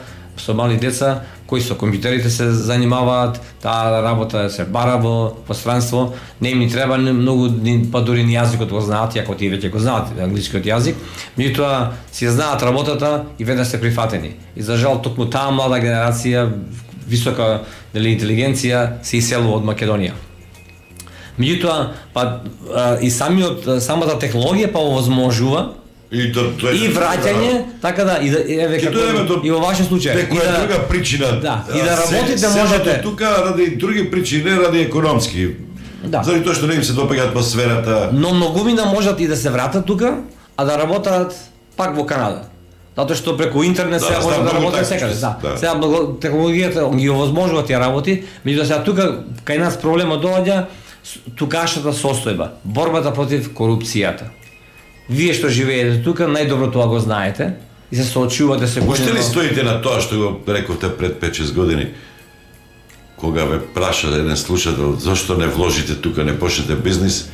кои со компјутерите се занимаваат, таа работа се бара во странство, не им ни треба многу, па дури ни јазикот го знаат, иако тие веќе го знаат англискиот јазик, меѓутоа си знаат работата и веднаш се прифатени. И за жал токму таа млада генерација, висока интелигенција, се иселува од Македонија. Меѓутоа, и самата технологија па овозможува и враќање, така да, и во вашиот случај. Некоја друга причина. Да, и да работите можете. Тука ради други причини, не ради економски. Да. Заради тоа што не им се допаѓа атмосферата. Но многумина можат и да се вратат тука, а да работат пак во Канада. Затоа што преку интернет сега може да работи секаде. Да. Сега технологијата ги овозможува тие работи, меѓутоа сега тука кај нас проблемот доаѓа тукашната состојба, борбата против корупцијата. Вие што живеете тука, најдобро тоа го знаете и се соочувате се. Можете ли стоите на тоа што го рековте пред 5-6 години, кога ве праша еден слушател зошто не вложите тука, не почнете бизнис,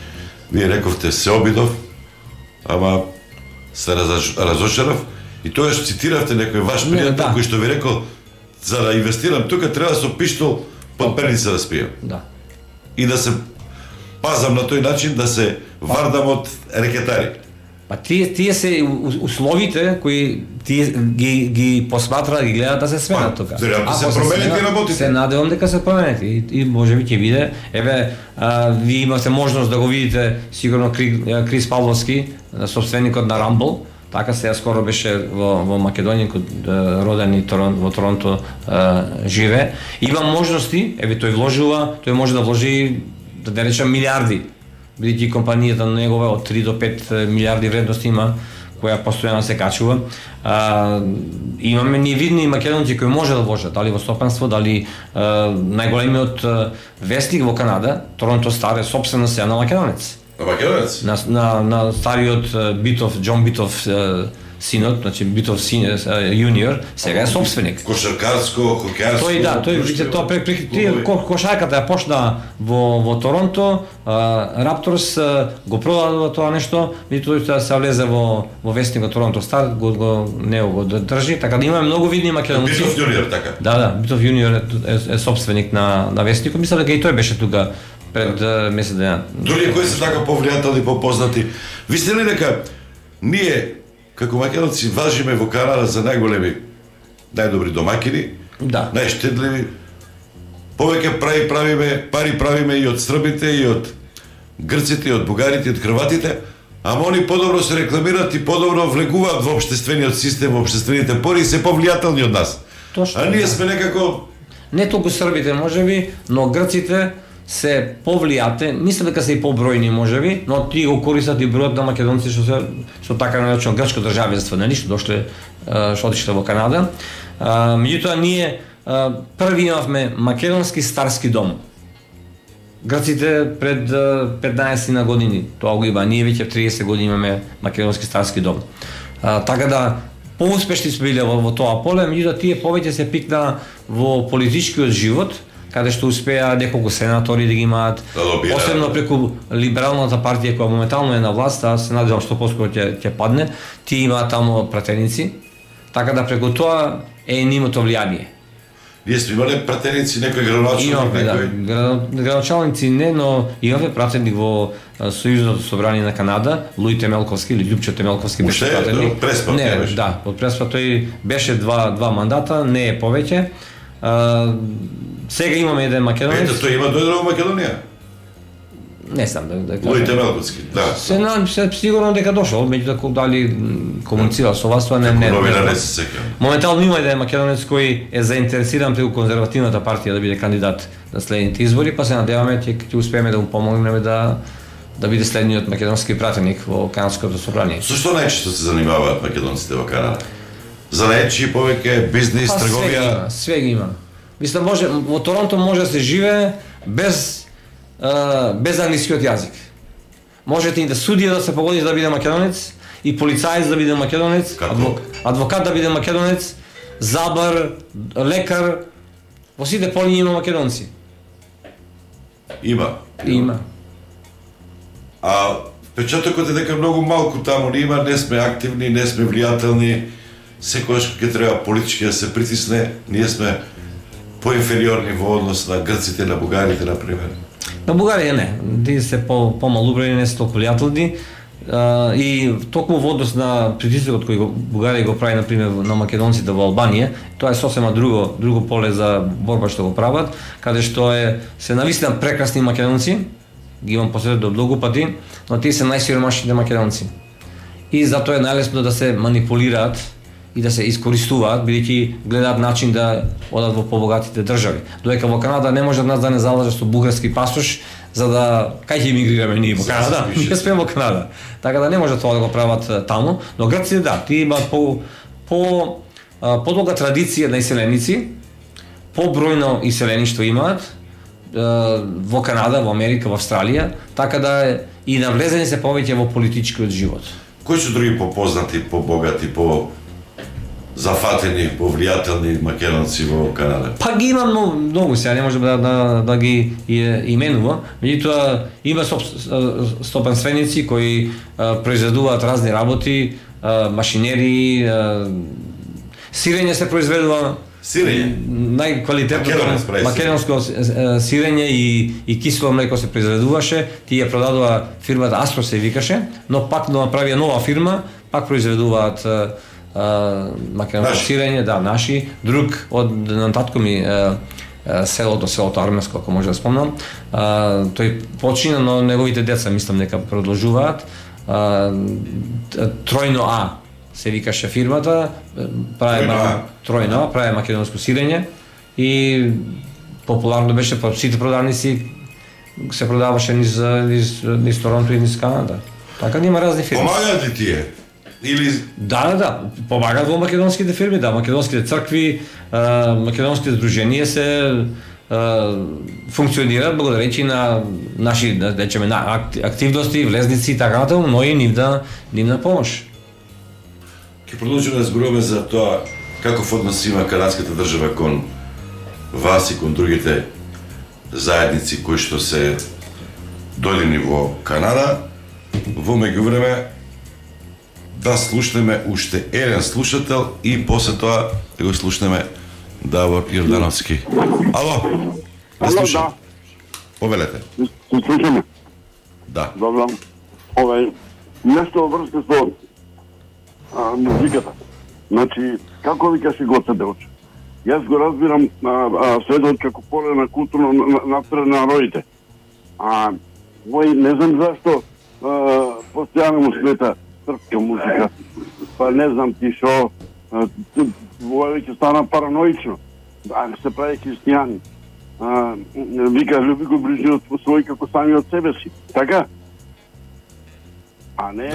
вие рековте се обидов, ама се разочарав и тогаш цитиравте некој ваш пријател кој што ви рекол за да инвестирам тука треба со пиштол под перница да спијам. Да. И да се пазам на тој начин да се вардам од рекетари. Па тие се условите кои тие ги посматраат, ги гледаат да се сменат тука. Ако се променет и работите. Се надевам дека се променет и можеби ќе биде. Еве, вие имате можност да го видите сигурно Крис Павловски, собственикот на Rumble. Така сега скоро беше во Македонија, роден и во Торонто живе. Има можности, еве тој вложува, тој може да вложи, да речем, милиарди. Бидејќи компанијата негова од 3 до 5 милиарди вредност има, која постојано се качува. Имаме ние видни македонци кои може да вложат, дали во стопанство, дали најголемиот вестник во Канада, Торонто Стар, е собствено сега на македонец. На македонец? На стариот Битов, Џон Битов синот, значи Битов јуниор, сега е собственик. Кошаркарско, хокејарско. Тој кошарката ја почна во Торонто, Рапторс го продава тоа нешто, и тој се влезе во вестникот Торонто Стар, го држи, така да имаме многу видни македонци. Битов јуниор, така. Да, Битов јуниор е собственик на вестникот. Мислам дека и тој беше тука пред месец дена. Дали кои се така повлијателни, попознати. Висте ли дека ние како македонци важиме во Канада за најголеми, најдобри домакини, да, најштедливи, повеќе пари правиме и од србите, и од грците, и од бугарите, и од хрватите, ама они подобро се рекламираат и подобро влегуваат во општествениот систем, во општествените пори и се повлијателни од нас. Точно. А ние сме некако... Не толку србите можеби, но грците се повлијате, мислам дека се и побројни можеби, но тие го користат и бројот на македонци што така наречено грчко државенство, нели, што дошле, што отишле во Канада. Меѓутоа ние први имавме македонски старски дом. Грците пред 15 години тоа го има, ние веќе 30 години имаме македонски старски дом. Така да поуспешни сме биле во тоа поле, меѓутоа тие повеќе се пикна во политичкиот живот, каде што успеа неколку сенатори да ги имаат, посебно преку либералната партија која моментално е на власт, а се надевам што поскоро ќе падне, тие имаат таму пратеници, така да преку тоа е нивното влијание. Ние сме имале пратеници, некој градоначалник, некој... Градоначалници не, но имаме пратеник во Сојузното собрание на Канада, Луј Темелковски или Љупчо Темелковски беше пратеник. Преспа, не, беше. Да, од Преспа тој беше два мандата, не е повеќе. Сега имаме еден македонец. Ето, тој има дојдено во Македонија? Не знам да кажам. Луј Темелковски, да. Се сигурно дека дошол, меѓутоа дали комуницира со вас, тоа не. Новина не се сеќавам. Моментално има еден македонец кој е заинтересиран преку конзервативната партија да биде кандидат на следните избори, па се надеваме ќе успееме да му помогнеме да биде следниот македонски пратеник во Канадското собрание. Со што најчесто се занимаваат македонците во Канада? Занаечи, повеќе бизнис, трговија? Све ги има. Мислам, во Торонто може да се живее без англискиот јазик. Можете и да судија да се погоди да биде македонец, и полицаец да биде македонец, адвокат да биде македонец, забар, лекар, во сите поли има македонци. Има. А впечатокот е дека многу малку таму не има, не сме активни, не сме влијателни, секогаш ќе треба политички да се притисне, ние сме поинфериорни во однос на грците, на бугарите, например. На Бугарија не, тие се помалубрени, не се толку влијателни, и токму во однос на притисокот кој Бугарија го прави, например, на македонците во Албанија, тоа е сосема друго поле за борба што го прават, каде што се навистина прекрасни македонци, ги имам посетил многу пати, но тие се најсиромашните македонци. И затоа е најлесно да се манипулираат и да се искористуваат, бидејќи гледаат начин да одат во побогатите држави. Додека во Канада не може од нас да не залаже со бугарски пасош, за да кај ќе емигрираме ние во Канада, ние сме во Канада. Така да не може тоа да го прават таму, но грците да, тие имаат подолга традиција на иселеници, побројно иселеништво имаат во Канада, во Америка, во Австралија, така да и навлезени се повеќе во политичкиот живот. Кои се други попознати, побогати, зафатени, повлијателни македонци во Канада? Па ги има многу, сега не можем да ги именувам, меѓутоа има стопанственици кои произведуваат разни работи, машинери, сирење се произведува. Сирење? Најквалитетното македонско сирење и кисело млеко се произведуваше, тие продадува фирмата Астро се викаше, но пак направија нова фирма, пак произведуваат македонско сирење, да, наши. Друг од нататко ми селото Арменско, ако може да спомнам, тој почина, но неговите деца мислам дека продолжуваат. Тројно А се викаше фирмата, прави македонско сирење и популарно беше по сите продавници, се продаваше низ Торонто и низ Канада. Така да има разни фирми. Помагаат ли тие? Или... Да, помагаат во македонските фирми, да, македонските цркви, македонските здруженија се функционираат благодарејќи на наши, да речеме, активности, влезници и така натаму, но и нивна помош. Ќе продолжиме да зборуваме за тоа каков однос има канадската држава кон вас и кон другите заедници кои што се дојдени во Канада. Во меѓувреме да слушнеме уште еден слушател и после тоа да го слушнеме Давор Јордановски. Ало? Да слушам. Да. Повелете. Се слушаме. Да. Добро. Нешто во врска со музиката. Значи, како викаше Гоце Делчев? Јас го разбирам светот како поле на културно напред на народите. Не знам зашто постојано му смета српска музика. Па не знам ти шо, веќе стана параноично. Се прави христијани. Вика, люби го ближниот свој како самиот себе си. Така? А не,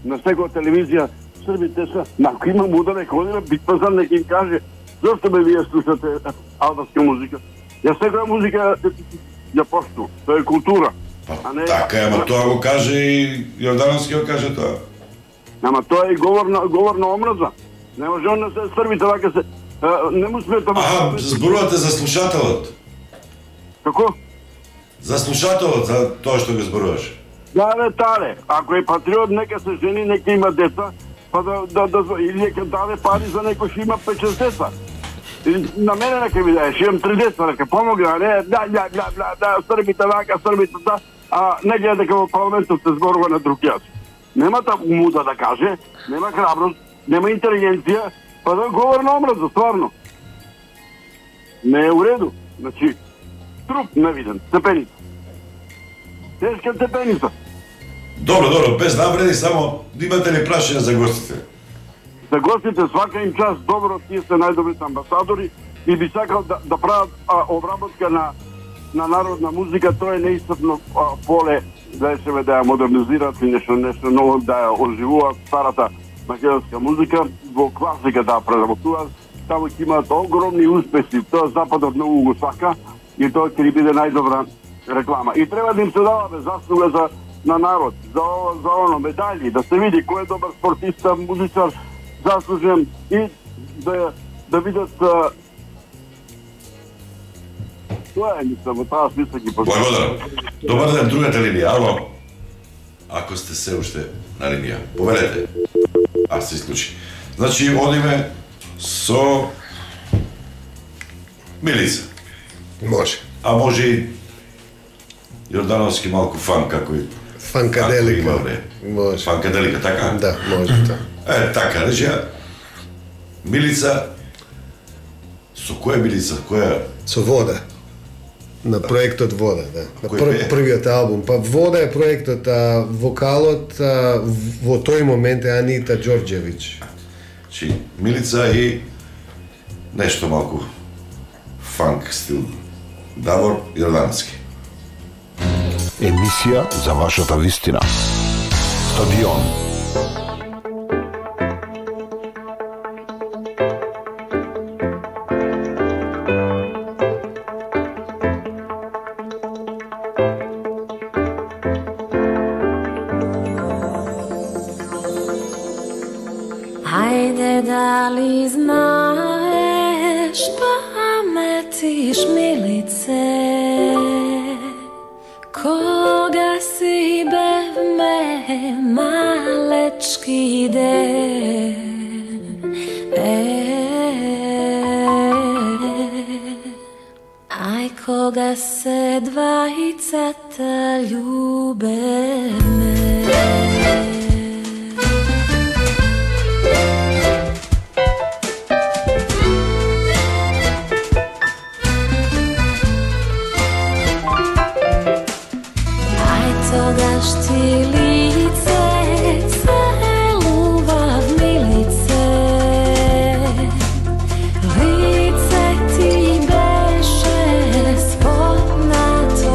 на секоја телевизија србите се, ако има муда нека оди на Битпазар, нека им каже зашто бе вие слушате албанска музика. Ја секоја музика ја пошту, тоа е култура. Така е, ама тоа го каже и Јордановски го каже тоа. Ама тоа е говор на омраза. Не може он да се србите вака се, не му смета... Зборувате за слушателот. Како? За слушателот, за тоа што го зборуваш. Тале. Ако е патриот, нека се жени, нека има деца, па или нека даде пари за некој што има 5-6 деца. На мене нека ми даеш, имам 3 деца, нека помогна, не, србите вака, србите да, не гледа дека во парламентот се зборува на друг јас. Нема таку муда да каже, нема храброст, нема интелигенција, па да говори на омраза, стварно. Не е у реду. Значи, труп невиден, степеница. Тешка степеница. Добро, без навреди, само имате ли прашање за гостите? За гостите свака им час добро, тие се најдобрите амбасадори и би сакал да прават обработка на народна музика, тоа е неисцрпно поле да се да ја модернизираат и нешто ново да ја оживуваат старата македонска музика, во класика да ја преработуваат. Таму ќе имаат огромни успеси, тоа Западот многу го сака и тоа ќе биде најдобра реклама. И треба да им се дава заслуга на народ, за оно, медали, да се види кој е добар спортиста, музичар, заслужен и да видат тоа е, мислам, во таа смисла ги позна. Благодарам. Добар ден, другата линија, ало? Ако сте се уште на линија, повелете. Се исклучи. Значи, одиме со Милица. Може. А може и Јордановски малку фан, како и... Фанкаделика. Може. Фанкаделика, така? Да, може тоа. Така, рече, Милица, со која Милица, која? Со Вода. На проектот Вода, да. На првиот албум. Па Вода е проектот, вокалот во тој момент е Анита Ѓорѓевиќ. Чи Милица и нешто малку фанк стил. Давор Јордановски. Емисија за вашата вистина. Стадион. Ајде, дали знаеш, паметиш милице, кога си бевме малечки ден. Ај, кога се двајцата љубевме. Тогаш ти лице целував милице, лице ти беше спомнато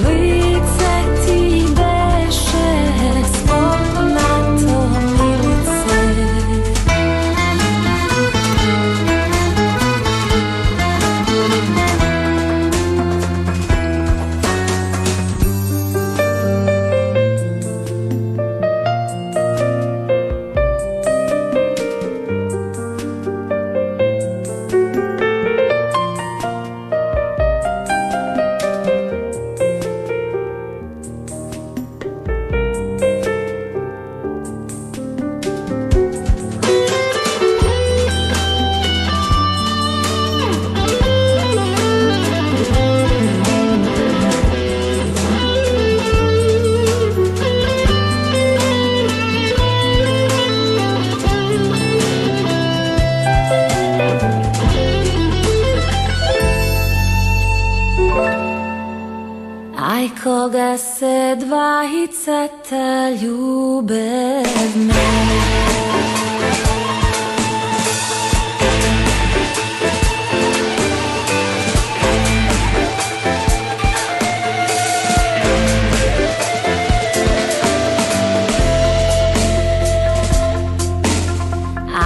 лице ти беше спомнато милице. Ај, кога се двајцата љубевме.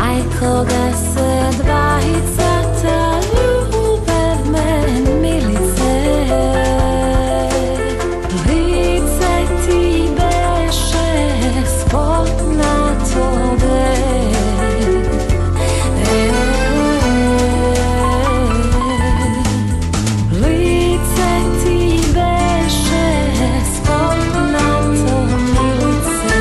Ај, кога се двајцата љубевме, милице, лице ти беше спомнато лице ти беше спомнато милице.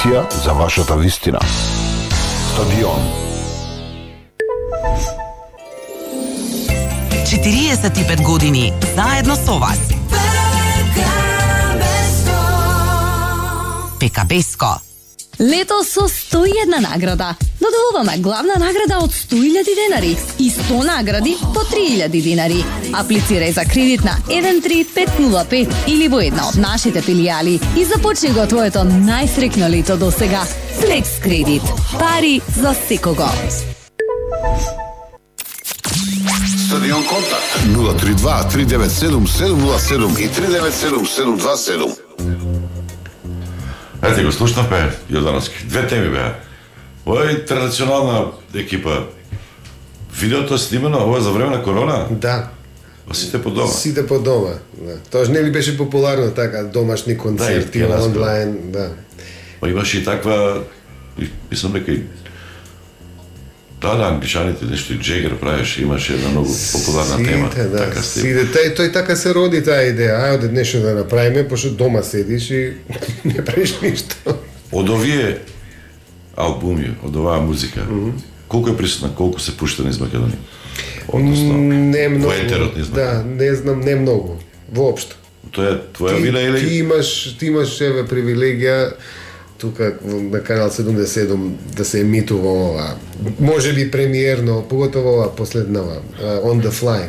емисија за вашата вистина. Стадион. 45 години заедно со вас. ПКБ-ско. Лето со 101 награда. Додолуваме главна награда од 100.000 денари и 100 награди по 3.000 денари. Аплицирај за кредит на 13505 или во една од нашите филијали и започни го твоето најсреќно лето до сега. Флекс кредит. Пари за секого. Стадион контакт 032 397 707 и 397 727. Ете го слушнавме, Јордановски. Две теми беа. Ова е интернационална екипа. Видеото е снимено, ова е за време на корона? Да. Сите по дома. Сите по дома. Да. Тоа не ли беше популарно така, домашни концерти, Да, онлайн, да. Па имаше и таква, мислам дека и англичаните нешто и Джегер правеше, имаше една многу популарна тема. Да, така сите, тој така се роди таа идеја. Ајде нешто да направиме, пошто дома седиш и не правиш ништо. Од овие албуми, од оваа музика, колку е присутна, колку се пушта низ Македонија? Односно, не многу. Во етерот низ Македонија? Да, не знам, не многу. Воопшто. Тоа е твоја вина или? Ти имаш еве привилегија тука на канал 77 да се емитува ова. Може би премиерно, поготово ова последнава, On the Fly.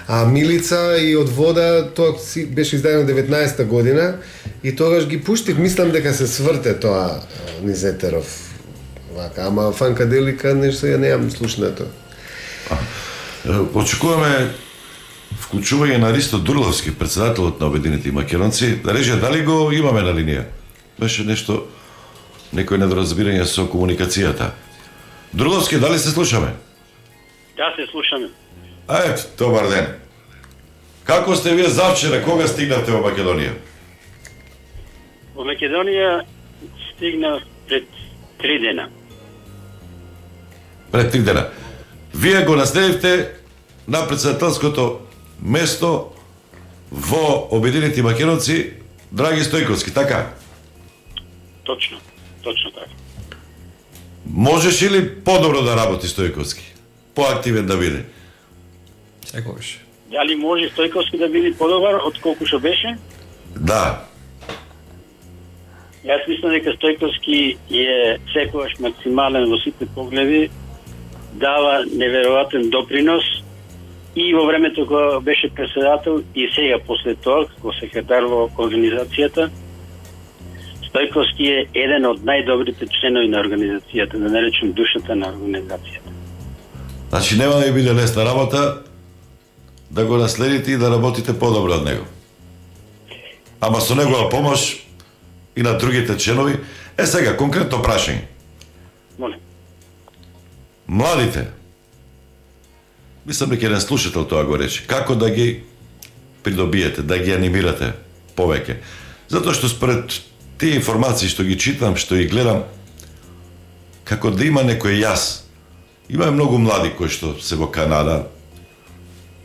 А Милица и Од вода, тоа беше издадено 19-та година и тогаш ги пуштив, мислам дека се сврте тоа низ етеров. Вака, ама фанкаделика нешто ја неам слушнато. Очекуваме вклучување на Ристо Дурловски, председателот на Обединети македонци, да рече дали го имаме на линија. Беше нешто, некој недоразбирање со комуникацијата. Дурловски, дали се слушаме? Да, се слушаме. Ето, добар ден. Како сте вие завчера, кога стигнавте во Македонија? Во Македонија стигна пред 3 дена. Пред 3 дена. Вие го наследивте на председателското место во Обединети македонци Драги Стојковски, така? Точно така. Можеше ли подобро да работи Стојковски? Поактивен да биде? Секогаш. Дали може Стојковски да биде подобар од колку што беше? Да. Јас мислам дека Стојковски е секогаш максимален во сите погледи, дава неверојатен допринос и во времето кога беше председател и сега после тоа како секретар во организацијата. Стојковски е еден од најдобрите членови на организацијата, да наречем душата на организацијата. Значи нема да ви биде лесна работа да го наследите и да работите подобро од него. Ама со негова помош и на другите членови. Сега, конкретно прашање. Молим. Младите, мислам дека еден слушател тоа го рече, како да ги придобиете, да ги анимирате повеќе. Затоа што според тие информации што ги читам, што ги гледам, како да има некој јас. Има многу млади кои што се во Канада,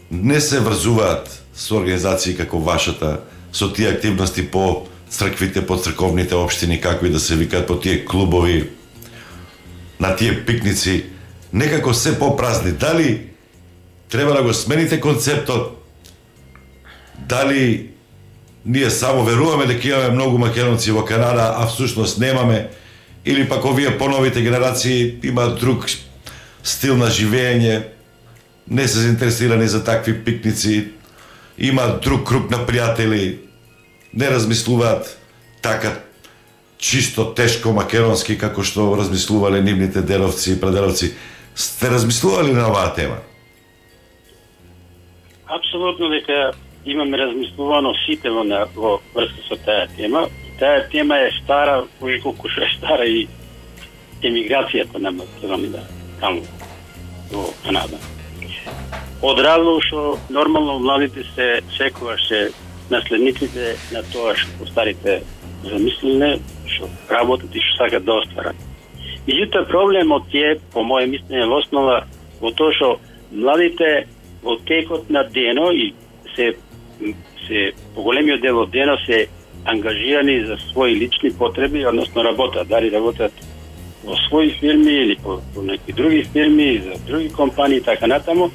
не се врзуваат со организации како вашата, со тие активности по црквите, по црковните општини, како и да се викаат, по тие клубови, на тие пикници, некако се попразни. Дали треба да го смените концептот? Дали ние само веруваме дека имаме многу македонци во Канада, а всушност немаме? Или пак овие поновите генерации имаат друг стил на живење, не се заинтересирани за такви пикници, имаат друг круг на пријатели, не размислуваат така чисто тешко македонски како што размислувале нивните деровци и прадедовци. Сте размислували на оваа тема? Апсолутно дека имаме размислувано сите во врска со таа тема. Таа тема е стара, колку што е стара и емиграцијата на Македонија таму во Канада. Од разлог што нормално младите се секогаш се наследниците на тоа што старите замислиле, што работат и што сакат да остварат. Меѓутоа проблемот е, по моје мислење, во основа во тоа што младите во текот на дено и се поголемиот дел од дено се ангажирани за своји лични потреби, односно работат, дали работат во своји фирми или по некои други фирми, за други компании и така натаму,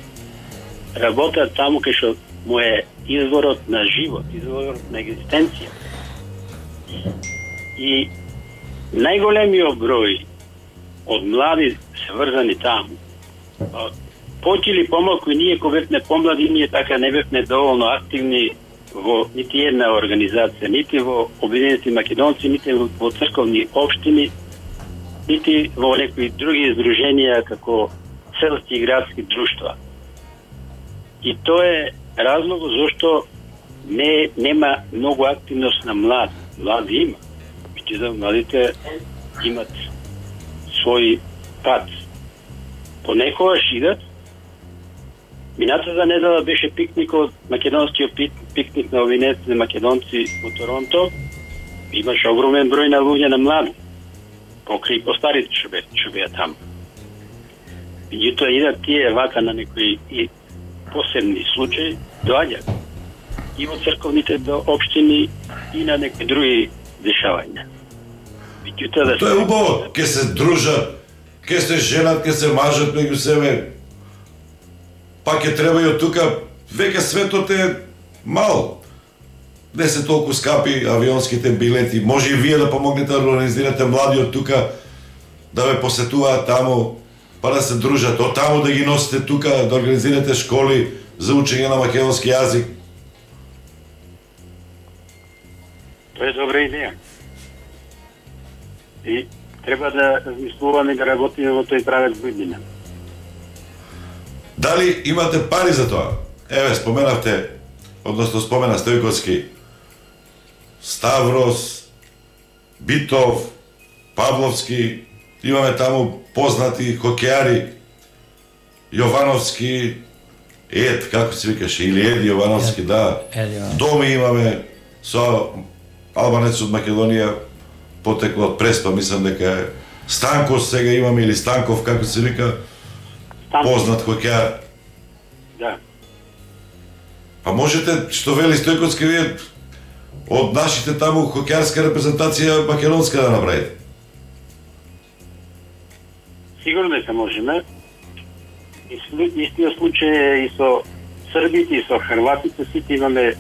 работат таму кај што му е изворот на живот, изворот на екзистенција. И најголемиот број од млади се врзани таму. Поќе или помалку ние кога бевме помлади, ние така не бевме доволно активни во нити една организација, нити во Обединети македонци, нити во црковни општини, нити во некои други издруженија како селски и градски друштва. И тоа е разлог зашто нема многу активност на млади. Млади има. Меѓутоа младите имат свој пат. Понекогаш идат. Минатата недела беше пикникот, македонскиот пикник на Обединетите македонци во Торонто. Имаше огромен број на луѓе на млади. Покрај постарите што беа таму. Меѓутоа идат тие вака на некои посебни случаи, доаѓаат и во црковните општини и на некои други дешавања. Тоа е убаво, ке се дружат, ке се женат, ке се мажат меѓу себе. Пак ќе треба и од тука, веќе светот е мал. Не се толку скапи авионските билети. Може и вие да помогнете да организирате млади од тука, да ве посетуваат таму, па да се дружат, од таму да ги носите тука, да организирате школи за учење на македонски јазик. Тоа е добра идеја. И треба да размислуваме да работиме во тој правец година. Дали имате пари за тоа? Еве, спомена Стојковски, Ставрос, Битов, Павловски, имаме таму познати хокејари, Јовановски, како се викаше, или Еди Јовановски, да. Доми имаме со албанец од Македонија, потекло од Преспа, мислам дека е Станков сега имаме, или Станков, како се вика, познат хокејар. Да. Па можете, што вели Стојковски, вие од нашите таму хокејарска репрезентација македонска да направите? Сигурно дека можеме. Истиот случај е и со србите и со хрватите, сите имаме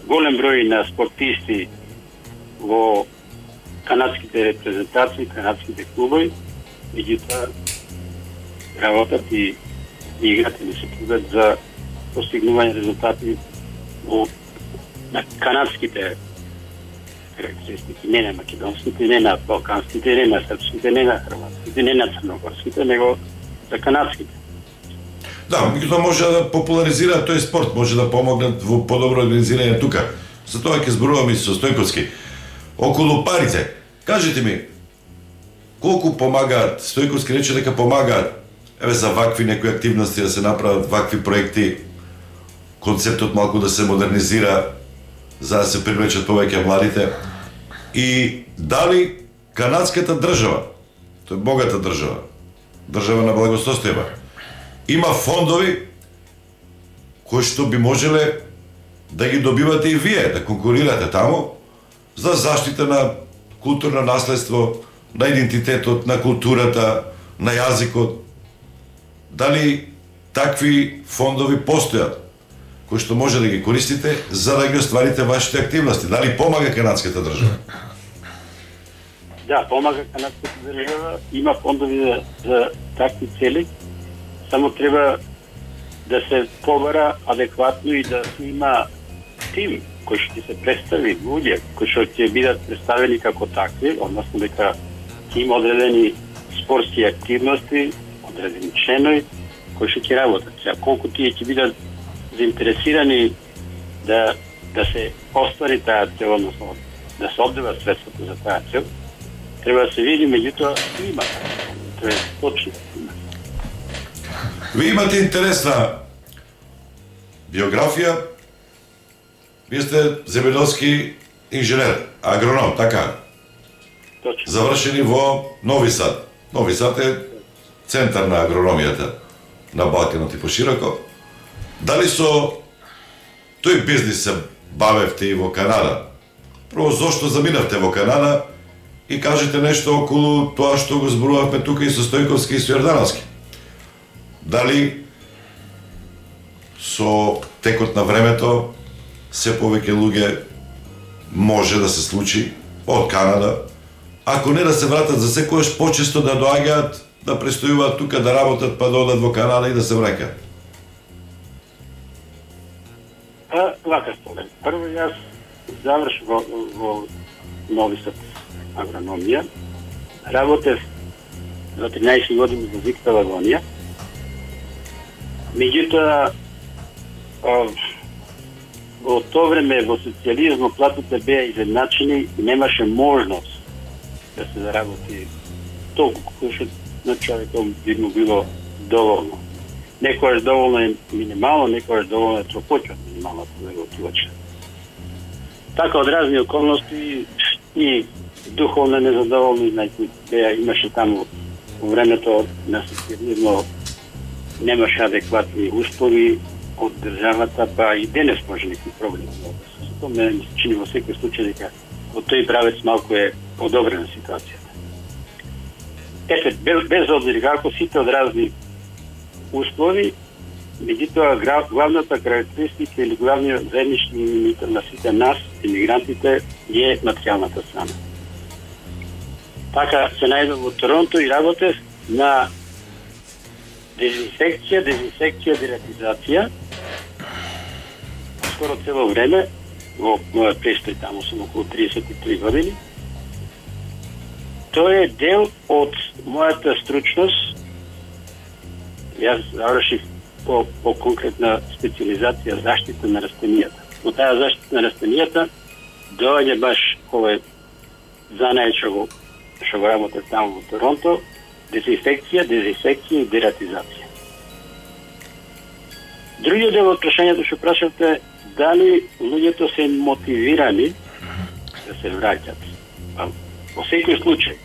голем број на спортисти во канадските репрезентации, канадските клубови, меѓутоа работат и играте не се трудат за постигнување резултати во на канадските характеристики, не на македонските, не на балканските, не на српските, не на хрватските, не на црногорските, него за канадските. Да, меѓутоа може да популаризира тој спорт, може да помогнат во подобро организирање тука. За тоа ќе зборуваме и со Стојковски. Околу парите, кажете ми, колку помагаат, Стојковски рече дека помагаат, еве за вакви некои активности да се направат, вакви проекти, концептот малку да се модернизира, за да се привлечат повеќе младите. И дали канадската држава, тоа е богата држава, држава на благосостојба, има фондови кои што би можеле да ги добивате и вие, да конкурирате таму за заштита на културно наследство, на идентитетот, на културата, на јазикот. Дали такви фондови постојат кои што може да ги користите за да ги остварите вашите активности? Дали помага канадската држава? Да, помага канадската држава, има фондови за такви цели, само треба да се побара адекватно и да се има тим кој што ќе се представи, луѓе кои што ќе бидат представени како такви, односно дека ќе има одредени спортски активности, одредени членови кои што ќе работат. Сега колку тие ќе бидат заинтересирани да се оствари таа цел, односно да се оддеват средствата за таа цел, треба да се види, меѓутоа има. Тоа е точно. Вие имате интересна биографија. Вие сте земјоделски инженер, агроном, така? Точно. Завршени во Нови Сад. Нови Сад е центар на агрономијата на Балканот и пошироко. Дали со тој бизнис се бавевте и во Канада? Прво, зошто заминавте во Канада и кажете нешто околу тоа што го зборувавме тука и со Стојковски и со Јордановски. Дали со текот на времето се повеќе луѓе може да се случи од Канада, ако не да се вратат за секојаш, почесто да доаѓаат, да престојуваат тука, да работат, па да одат во Канада и да се враќаат? Вака според. Прво јас завршив во Нови Сад агрономија. Работев за 13 години во Зиктова агонија. Меѓутоа, во тоа време во социјализмот платите беа изедначени и немаше можност да се заработи толку колку на човекот би му било доволно. Некојаш доволно е минимално, некојаш доволно е тропоќе од минималната неготивача. Така од разни околности и духовно незадоволни, знајте, имаше таму во времето на социјализмот немаше адекватни услови од државата, па и денес може некои проблеми. Тоа мене ми се чини во секој случај дека во тој правец малку е подобрена ситуацијата. Ете, без обзир како сите од разни услови, меѓутоа главната карактеристика или главниот заеднички именител на сите нас, имигрантите, е материјалната страна. Така се најдов во Торонто и работев на дезинфекција, дератизација. Скоро цело време, во мојот престој таму сум околу 33 години. Тоа е дел од мојата стручност. Јас завршив по конкретна специализација заштита на растенијата. Но таа заштита на растенијата доаѓа баш овој занаед што го работев таму во Торонто, дезинфекција и дератизација. Другиот дел од прашањето што прашавте, дали луѓето се мотивирани да се враќат. Во секој случај,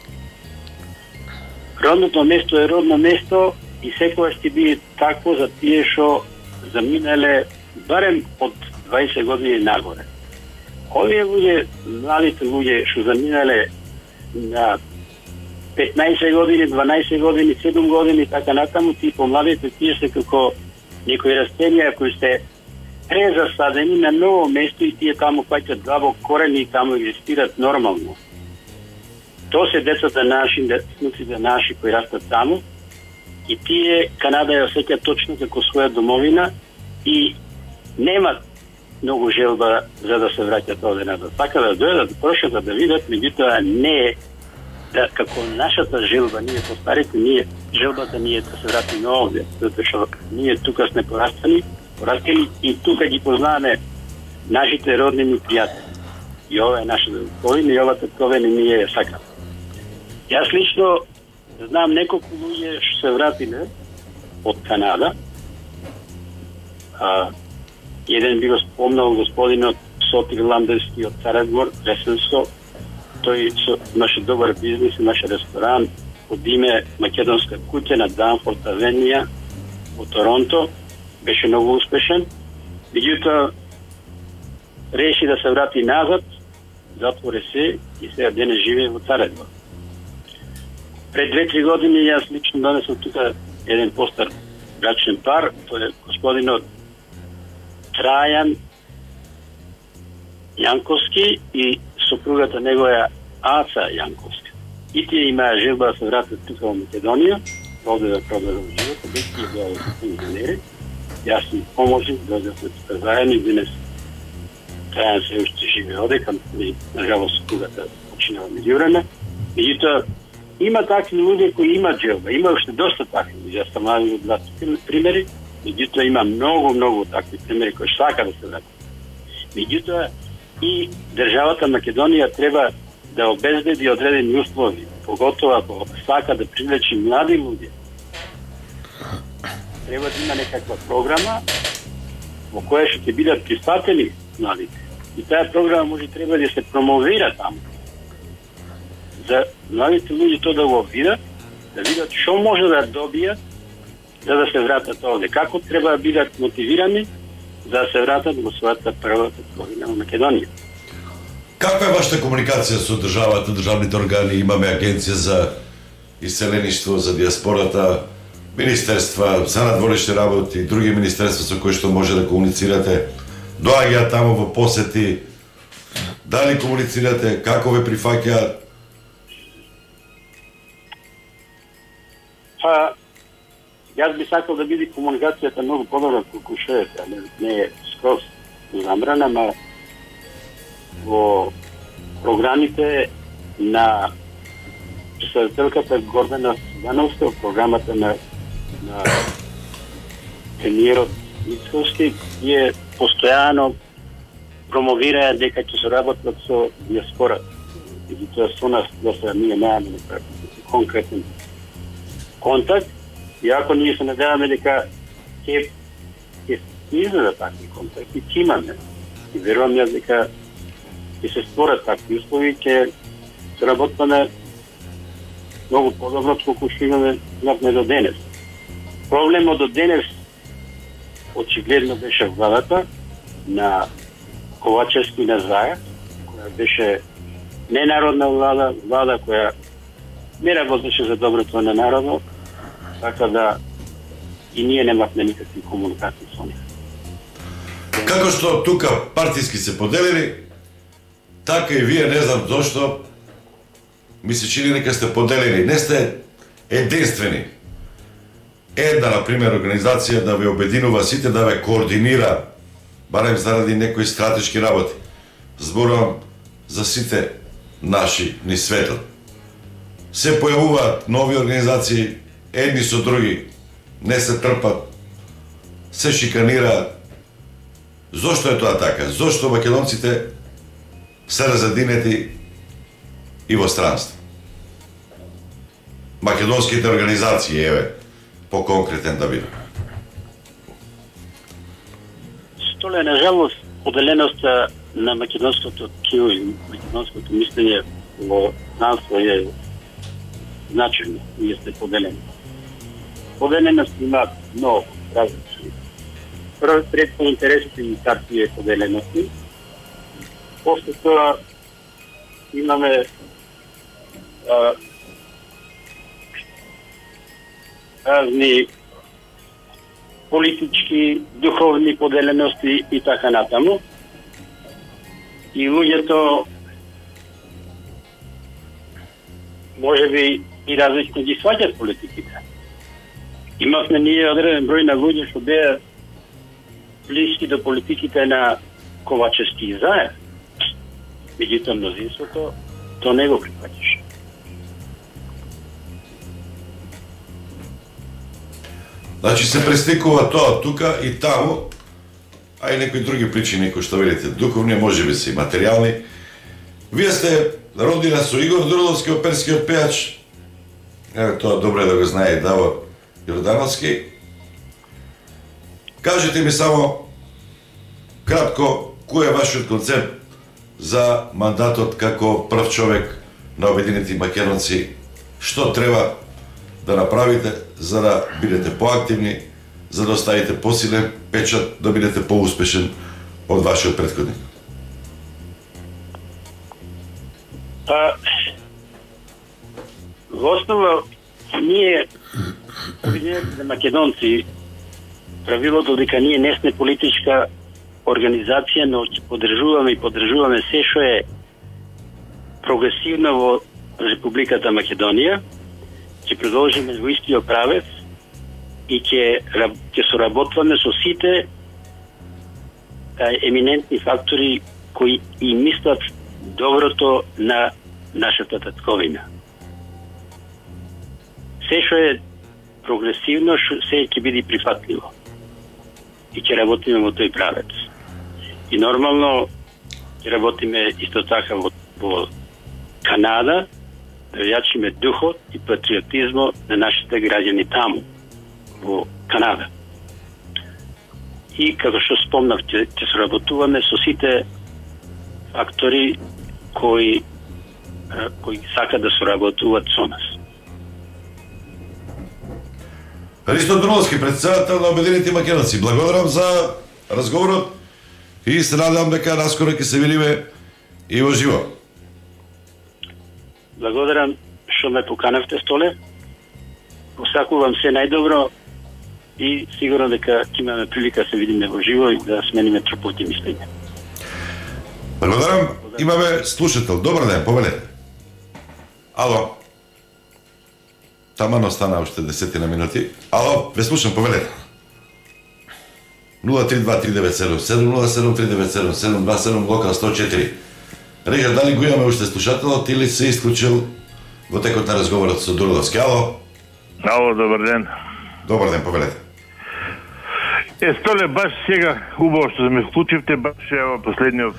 родното место е родно место и секогаш ќе биде такво за тие што заминале барем од 20 години нагоре. Овие луѓе, младите луѓе што заминале на 15 години, 12 години, 7 години, така натаму, тие помладите, тие се како некои растенија кои се презасадени на ново место и тие таму фаќат длабок корени и таму екзистират нормално. Тоа се децата наши, внуците наши кои растат таму и тие Канада ја осеќаат точно како своја домовина и немат многу желба за да се враќат овде назад. Така да дојдат, прошетат да видат, меѓутоа не е да како нашата желба, ние постарите, желбата ни е да се вратиме овде, затоа што ние тука сме порастани и тука ги познаваме нашите родни ми пријатели. И ова е нашата татковина и ова татковина ние ја сакаме. Јас лично знам неколку луѓе што се вратиле од Канада. Еден би го спомнал господинот Сотир Ламберски од Царедвор, Ресенско. Тој имаше добар бизнис, имаше ресторан од име Македонска куќа на Данфорд Авенија во Торонто. Беше многу успешен. Меѓутоа реши да се врати назад, затвори се и сега денес живее во Царедвор. Пред 2-3 години јас лично донесам тука еден постар брачен пар, тој е господинот Трајан Јанковски и сопругата негоја Аца Јанковска. И тие имаа желба да се вратат тука во Македонија, овде да продолжат животот, без тие беа инженери. Јас им поможив, дојдовме тука заедно и денес Трајан се уште живее одека, нажалост сопругата починала меѓу време. Меѓутоа, има такви луѓе кои имаат желба, има уште доста такви луѓе, јас сам навел два примери, меѓутоа има многу такви примери кои сака да се вратат. Меѓутоа и државата Македонија треба да обезбеди одредени услови, поготово ако сака да привлечи млади луѓе. Треба да има некаква програма во која што ќе бидат прифатени младите. И таа програма може треба да се промовира таму. За младите луѓе тоа да го видат, да видат што може да добијат за да се вратат овде. Како треба да бидат мотивирани за да се вратат во својата прва татковина во Македонија. Каква е вашата комуникација со државата, државните органи? Имаме агенција за иселеништво, за диаспората, министерства, за надворешни работи, други министерства со кои што може да комуницирате. Доаѓаат таму во посети. Дали комуницирате? Како ве прифаќаат? Јас би сакал да биде комуникацијата многу подобра колку што е, не е скроз забрана, ама во програмите на председателката Гордана Сидановска, програмата на премиерот Мицкоски, е постојано промовира дека ќе се работат со диаспора. И тоа со нас да се ние немаме конкретен контакт, иако ние се надеваме дека ќе изгледа такви контакти, ќе имаме. И верувам јас дека ќе се створат такви услови, ќе се работаме многу подобро колку што имаме до денес. Проблемот до денес очигледно беше владата на Ковачевски на Заев, која беше ненародна влада која не работеше за доброто на народот, така да и ние немавме никакви комуникации со нив. Како што тука партиски се поделени, така и вие не знам зошто ми се чини дека сте поделени. Не сте единствени. Една, например, организација да ве обединува сите, да ве координира, барем заради некои стратешки работи. Зборувам за сите наши ни светот. Се појавуваат нови организации, едни со други, не се трпат, се шиканираат. Зошто е тоа така? Зошто македонците се разединети и во странство? Македонските организации, еве, по-конкретен да биде. Столе, на жалост, поделеноста на македонското ткиво и македонското мислење во странство е значено. Ние сте поделени. Поделеност има много различни. Прво пред по интересите и партија поделености. После тоа имаме разни политички, духовни поделености и така натаму. И луѓето можеби и различно ги сваќат политиките. Имавме ние одреден број на луѓе што беа блиски до политиките на Ковачевски и Заев. Меѓутоа мнозинството то не го прифаќаше. Значи се престикува тоа тука и таму, а и некои други причини кои што велите, духовни, можеби се и материјални. Вие сте родина со Игор Дурдовски, оперскиот пејач. Еве тоа добро е да го знае и Давор Јордановски. Кажете ми само кратко кој е вашиот концепт за мандатот како прв човек на Обединети македонци, што треба да направите за да бидете поактивни, за да оставите посилен печат, да бидете поуспешен од вашиот претходник? Во основа, ние, Обединените македонци, правилото дека ние не сме политичка организација, но ќе поддржуваме се што е прогресивно во Републиката Македонија, ќе продолжиме во истиот правец и ќе соработваме со сите еминентни фактори кои и мислат доброто на нашата татковина. Се што е прогресивно, се ќе биде прифатливо. И ќе работиме во тој правец. И нормално ќе работиме исто така во Канада, да јачиме духот и патриотизмот на нашите граѓани таму, во Канада. И како што спомнав, ќе соработуваме со сите фактори кои сакаат да соработуваат со нас. Христо Дурдовски, председател на Обединети македонци, благодарам за разговорот и се надевам дека наскоро ќе се видиме Иво живо. Благодарам што ме поканавте, Столе. Посакувам се најдобро и сигурно дека ќе имаме прилика да се видиме во живо и да смениме тропоти мислење. Благодарам. Имаме слушател. Добар ден, повелете. Ало. Таман остана уште 10 минути. Ало, ве слушам, повелете. 032-397-707-397-727 локал 104. Режа, дали го имаме уште слушателот или се исклучил во текот на разговорот со Дурловски? Ало? Ало, добар ден. Добар ден, повелете. Столе, баш сега убаво што ме вклучивте, баш ево последниот.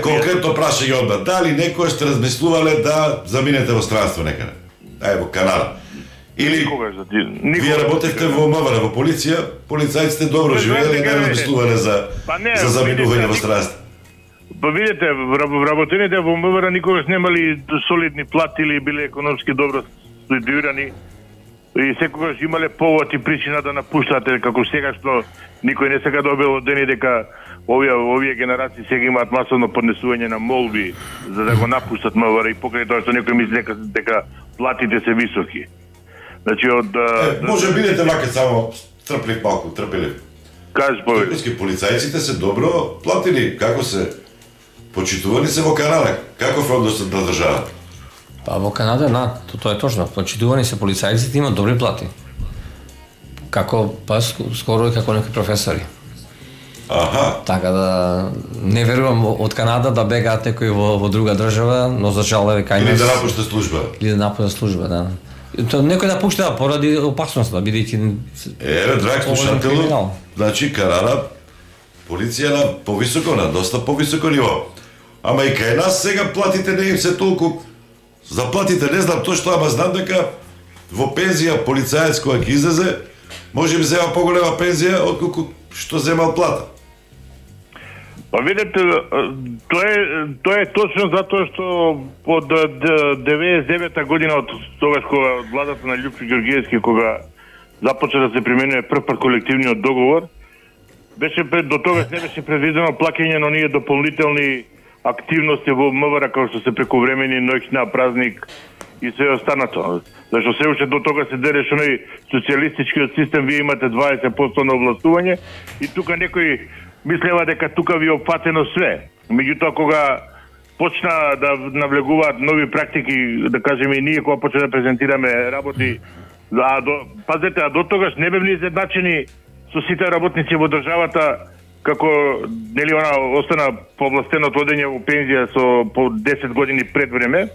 Конкретно прашање одма, дали некој сте размислувале да заминете во странство некаде? Во Канада. Или вие работевте во МВР, во полиција, полицајците добро живееле, не размислувале за заминување во странство. Па видите, вработените во МВР никогаш немали солидни плати или биле економски добро ситуирани и секогаш имале повод и причина да напуштате, како сега што никој не сега добил дени дека овие генерации сега имаат масовно поднесување на молби за да го напуштат МВР и покрај тоа што некој мисли дека платите се високи. Значи може бидете вака само трплив малку, трпелив. Кажи повеќе. Полицајците се добро платени, како се почитувани се во Канада? Каков односот на држава? Па во Канада, тоа е точно. Почитувани се полицајците, имаат добри плати. Како, па скоро и како некои професори. Аха. Така да не верувам од Канада да бегаат некои во друга држава, но за жал е кај нас. Или да напушта служба. Или да напушта служба, да. Тоа некој да пушта поради опасноста, бидејќи драг слушател, значи Канада полиција на повисоко, на доста повисоко ниво. Ама и кај нас сега платите не им се толку. Заплатите не знам точно, ама знам дека во пензија полицаец која ќе излезе, може би зема поголема пензија отколку што земал плата. Па видите, тоа е точно затоа што од 99-та година од тогаш кога владата на Љупчо Ѓорѓиевски кога започна да се применува прв пат колективниот договор, беше до тогаш не беше предвидено плаќање на оние дополнителни активности во МВР како што се прековремени, ноќна, празник и се останато. Зашто се уште до тога се дереше оној социјалистичкиот систем, вие имате 20% на овластување и тука некој мислева дека тука ви е опфатено све. Меѓутоа кога почна да навлегуваат нови практики, да кажеме и ние кога почна да презентираме работи, пазете, до тогаш не бевме изедначени со сите работници во државата, како нели она остана повластено одење во пензија со по 10 години пред време,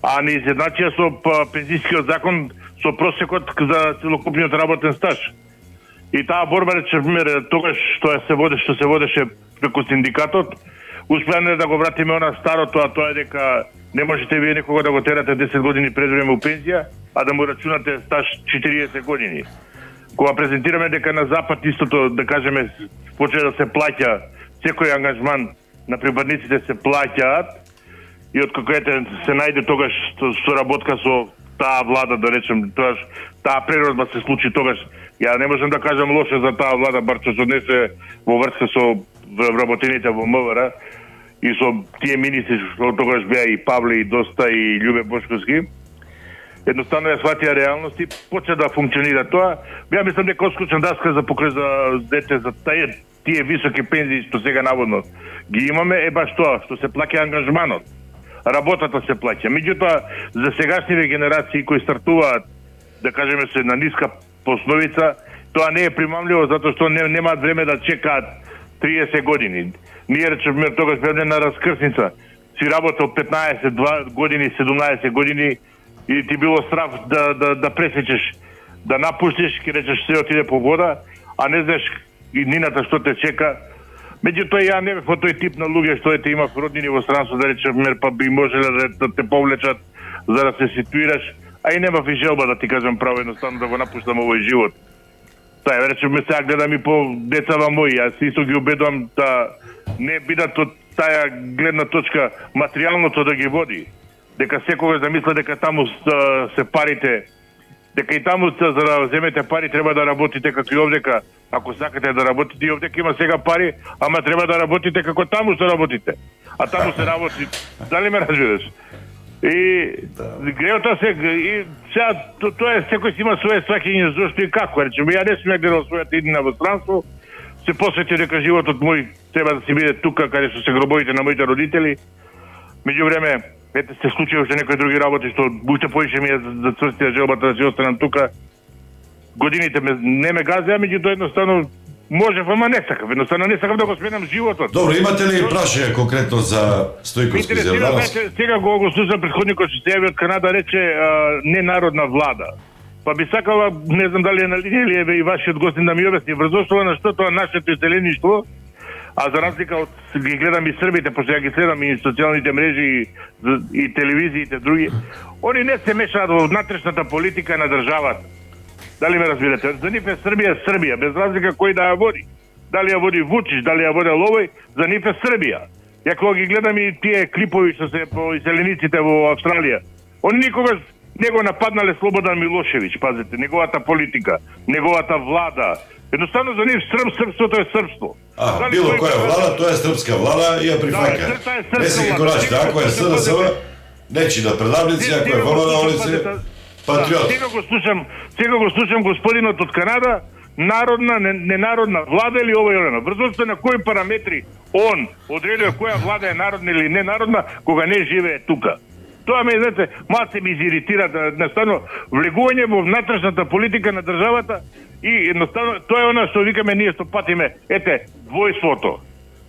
а не изедначија со пензискиот закон со просекот за целокупниот работен стаж. И таа борба, тогаш што се водеше преку синдикатот, успеаме да го вратиме она старото, а тоа е дека не можете вие некога да го терате 10 години пред време у пензија, а да му рачунате стаж 40 години. Кога презентираме дека на Запад истото, да кажеме, почне да се плаќа, секој ангажман на приборниците се плаќаат, и откако се најде тогаш соработка со таа влада, да речем, таа преродба се случи тогаш. Ја не можам да кажам лошо за таа влада, бар што се однесе во врска со вработените во МВР и со тие министри што тогаш беа и Павле и Доста и Љубе Бошковски. Едноставно ја сватија реалност и почна да функционира тоа. Ја мислам дека отскочна даска за покрај за дете за тие високи пензии што сега наводно ги имаме е баш тоа што се плаќа ангажманот. Работата се плаќа. Меѓутоа за сегашниве генерации кои стартуваат, да кажеме се на ниска основица, тоа не е примамливо затоа што немаат време да чекаат 30 години. Ние речеме тогаш бевме на раскрсница. Си работел 15 години, 17 години и ти било страв да пресечеш, да напуштиш, ке речеш се отиде по вода, а не знаеш иднината што те чека. Меѓутоа ја не бев во тој тип на луѓе што имав роднини во странство, да речеме, па би можеле да те повлечат за да се ситуираш, а и немав и желба да ти кажам право едноставно да го напуштам овој живот. Тај речеме сега гледам и по децава мои, јас исто ги убедувам да не бидат од таа гледна точка материјалното да ги води, дека секогаш да мисля дека таму се парите, дека и таму за да земете пари треба да работите како и овдека, Ако сакате да работите, и овде има сега пари, ама треба да работите како таму што работите. А таму се работи. Дали ме разбираш? И греото се и сега тоа е секој си има свое сваќање зошто и како. Речеме, ја не сум ја гледал својата иднина во странство, се посвети дека животот мој треба да се биде тука каде што се гробовите на моите родители. Меѓувреме, ете се случило уште некои други работи што уште поише ми е за цврстија желбата да си останам тука. Годините не ме газеа, меѓутоа едноставно можев, ама не сакав. Едноставно не сакав да го сменам животот. Добро, имате ли прашање конкретно за Стојковски Зелдановски? Сега го слушам предходникот што се јави од Канада, рече ненародна влада. Па би сакала, не знам дали е на линија или е и вашиот гостин да ми објасни врз оштова на што тоа нашето иселеништво, а за разлика од ги гледам и србите, пошто ја ги следам и социјалните мрежи и телевизиите други, они не се мешаат во внатрешната политика на државата. Дали ме разбирате? За нив е Србија, без разлика кој да ја води. Дали ја води Вучич, дали ја води Ловој, за нив е Србија. Ја кога ги гледам и тие клипови што се по иселениците во Австралија, они никогаш не го нападнале Слободан Милошевиќ, пазите, неговата политика, неговата влада. Едноставно за нив српството е српство. Било која влада, тоа е српска влада и ја прифаќа. Не се како рачите, ако е СДСМ, нечи на предавници, ако е ВМН, они се патриот. Сега го слушам господинот од Канада, народна, ненародна влада или ова и она. Врз на кои параметри он одредува која влада е народна или ненародна, кога не живее тука. Тоа ме, знаете, малце ми изиритира, едноставно влегување во внатрешната политика на државата и едноставно тоа е она што викаме ние што патиме, ете, двојството.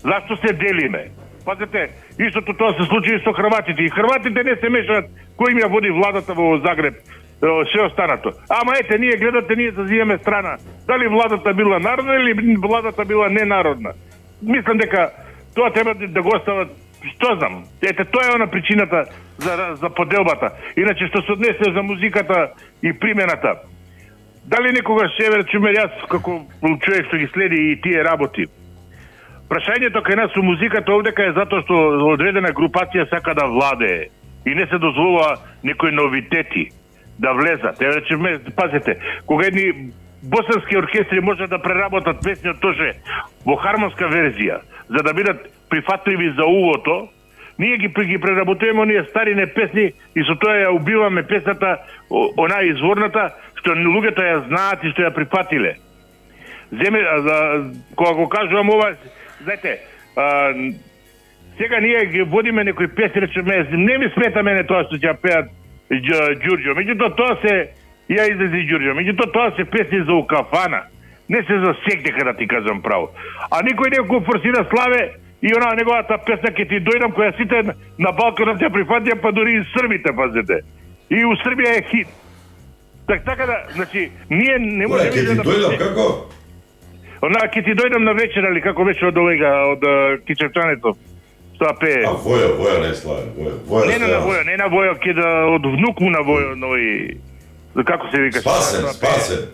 Зашто се делиме? Пазете, истото тоа се случи и со хрватите. И хрватите не се мешаат кој им ја води владата во Загреб, се останато. Ама ете, ние гледате, ние зазиваме страна. Дали владата била народна или владата била ненародна? Мислам дека тоа треба да го остават, што знам. Ете, тоа е она причината за поделбата. Иначе што се однесе за музиката и примената. Дали некогаш еве чуме јас како човек што ги следи и тие работи? Прашањето кај нас со музиката овдека е затоа што одредена групација сака да владее и не се дозволува некои новитети да влезат. Еве речеме, пазете, кога едни босански оркестри можат да преработат песни од Тоше во хармонска верзија, за да бидат прифатливи за ухото, ние ги преработуваме оние старине песни и со тоа ја убиваме песната, онаа изворната, што луѓето ја знаат и што ја прифатиле. Кога го кажувам ова, знаете, сега ние ги водиме некои песни, речеме, не ми смета мене тоа што ќе пеат Ѓурѓо, меѓутоа тоа се ја излези Ѓурѓо, меѓутоа тоа се песни за укафана, не се за сек, дека да ти кажам право. А никој не го форсира Славе и она неговата песна ке ти дојдам, која сите на балконот ја прифатија, па дури и србите, пазете. И у Србија е хит. Така да, значи, ние не можеме да... Ке ти дојдам, како? Она ке ти дојдам на вечер, али како беше од овега, од Кичевчането. Тоа пее. А Војо не Славе, Војо. Не на Војо, ке да од внук му на Војо, нови... Како се вика? Спасен.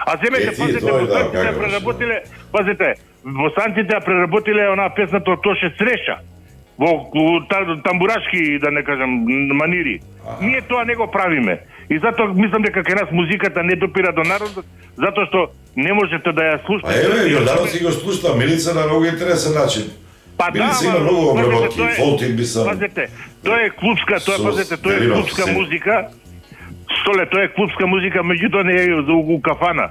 А земете, пазете, босанците ја преработиле, пазете, босанците ја преработиле онаа песната од Тоше Среша, во тамбурашки, да не кажам, манири. Ние тоа не го правиме. И затоа мислам дека кај нас музиката не допира до народот, затоа што не можете да ја слушате. Еве, Јорданов си го слушна, Милица на многу интересен начин. Милица има многу обработки, фолтин би сам. Пазете, тоа е клубска, тоа е клубска музика. Столе, тоа е клубска музика, меѓутоа не е за у кафана.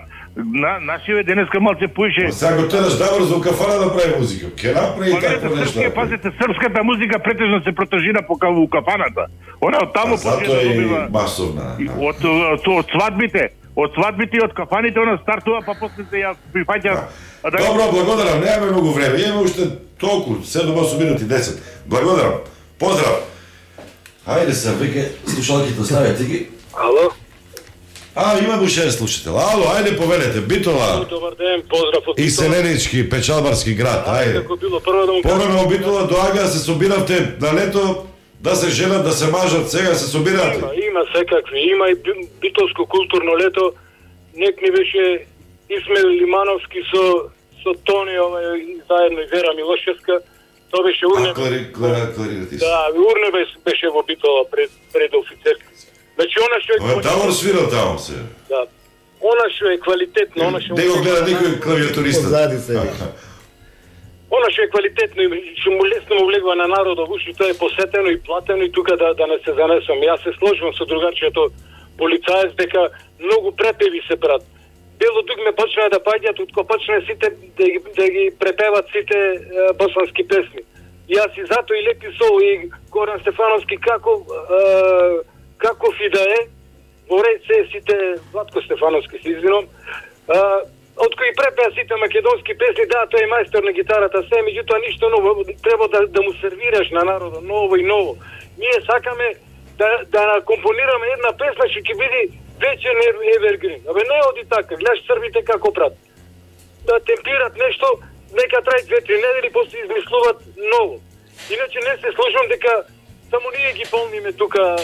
Нашиве денеска малце поише... Сега го тераш да за у кафана да прави музика. Ке направи тако нешто. Пазете, српската музика претежно се протежира по у кафаната. Она од таму почне да добива... масовна. Од свадбите и од кафаните она стартува, па после се ја прифаќа... Добро, благодарам, немаме многу време. Имаме уште толку, 7-8 минути, 10. Благодарам. Поздрав. Хајде се, веќе слушалките оставете ги. Ало? Имам уште еден слушател. Ало, ајде повелете, Битола. Добар ден, поздрав од Битола. Иселенички, печалбарски град, ајде. Како било прво да му кажам. Порано Битола доаѓа, се собиравте на лето, да се женат, да се мажат, сега се собиравте. Има секакви, има и битолско културно лето. Нек ми беше Исмел Лимановски со Тони, заедно и Вера Милошевска. Тоа беше Урне. Кларирати се. Да, Урне беше во Битола пред офицерски. Значи она што Тавор свирал таму се. Да. она што е квалитетно, она што Не го гледа никој клавиатуриста. Позади се. Она што е квалитетно и што му лесно му влегува на народот, уште тоа е посетено и платено и тука да не се занесам. Јас се сложувам со другарчето полицаец дека многу препеви се брат. Бело дугме почнаа да паѓаат, утко почнаа сите да ги препеват сите босански песни. Јас и зато и Лепи Сол и Горан Стефановски каков и да е, во ред се сите Владко Стефановски се извинам, од кои препеа сите македонски песни, да, тој е мајстор на гитарата, се, меѓутоа ништо ново, треба да му сервираш на народот ново и ново. Ние сакаме да компонираме една песна што ќе биде вечен evergreen. Абе не оди така, гледаш србите како прат. Да темпират нешто, нека трај 2-3 недели, после измислуват ново. Иначе не се сложувам дека само ние ги полниме тука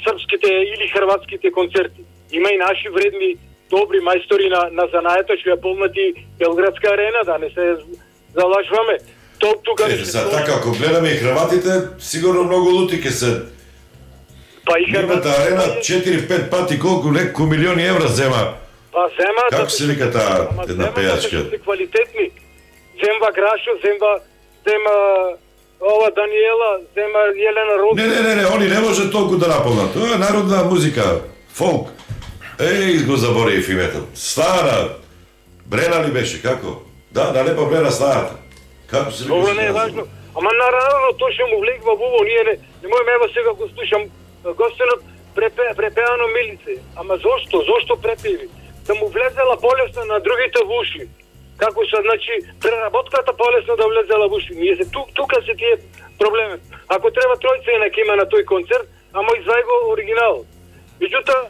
српските или хрватските концерти. Има и наши вредни добри мајстори на занаето што ја полнати Белградска арена, да не се залажваме. Тука Така, ако гледаме и хрватите, сигурно многу лути ќе се. Па и хрватите арена 4-5 пати колку неколку милиони евра зема. Па зема. Како се вика таа една пејачка? Се квалитетни. Земва Грашо, зема ова Даниела, зема Јелена Роза. Не, они не може толку да наполнат. Тоа е народна музика, фолк. Еј, го заборив името. Стара. Брена ли беше, како? Да, на Лепа Брена старата. Како се Добро, не е важно. Ама наравно тоа што му влегва во ово, ние не можеме ево сега го слушам гостенот препеано Милице. Ама зошто? Зошто препеви? Да му влезела полесно на другите в уши. Како се, значи, преработката полесно да влезела в уши. Ние се тука се тие проблеми. Ако треба тројца и има на тој концерт, ама извај го оригинал. Меѓутоа,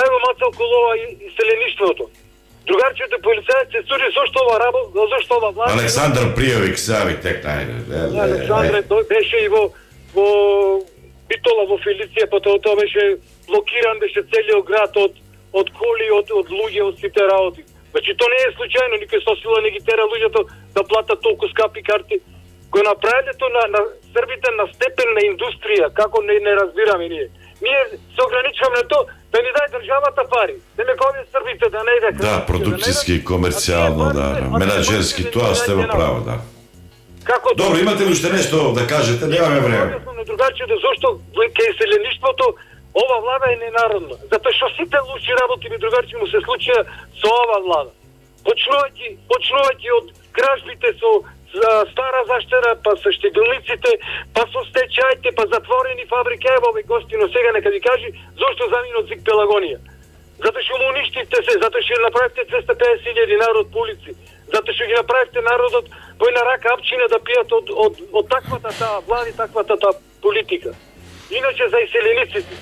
ево мацал колова и селеништвото. Другарчето полицајец се суди зошто ова работа, зошто ова власт. Александар Пријовик, сави тек Александре беше и во Битола во Фелиција, потоа тоа беше блокиран, беше целиот град од коли, од луѓе, од сите работи. Значи тоа не е случајно, никој со сила не ги тера луѓето да платат толку скапи карти. Го направиле тоа на србите на степен на индустрија, како не разбираме ние. Ние се ограничуваме на тоа да ни даде државата пари. Да не кови србите да не иде. Да, продуктиски, комерцијално, да, менаџерски, тоа сте во право, да. Добро, имате ли уште нешто да кажете? Немаме време. Другачите, зошто кај селеништвото ова влада е ненародна. Затоа што сите лоши работи ми другарчи му се случија со ова влада. Почнувајќи од кражбите со стара заштера, па со штегилниците, па со стечајите, па затворени фабрики, ево овој гостино сега нека ви кажи зошто заминот Зик Пелагонија. Затоа што му уништивте се, затоа што направивте 250.000 народ по улици, затоа што ги направивте народот по една рака апчина да пијат од таквата таа влади, таквата таа политика. Иначе за иселениците,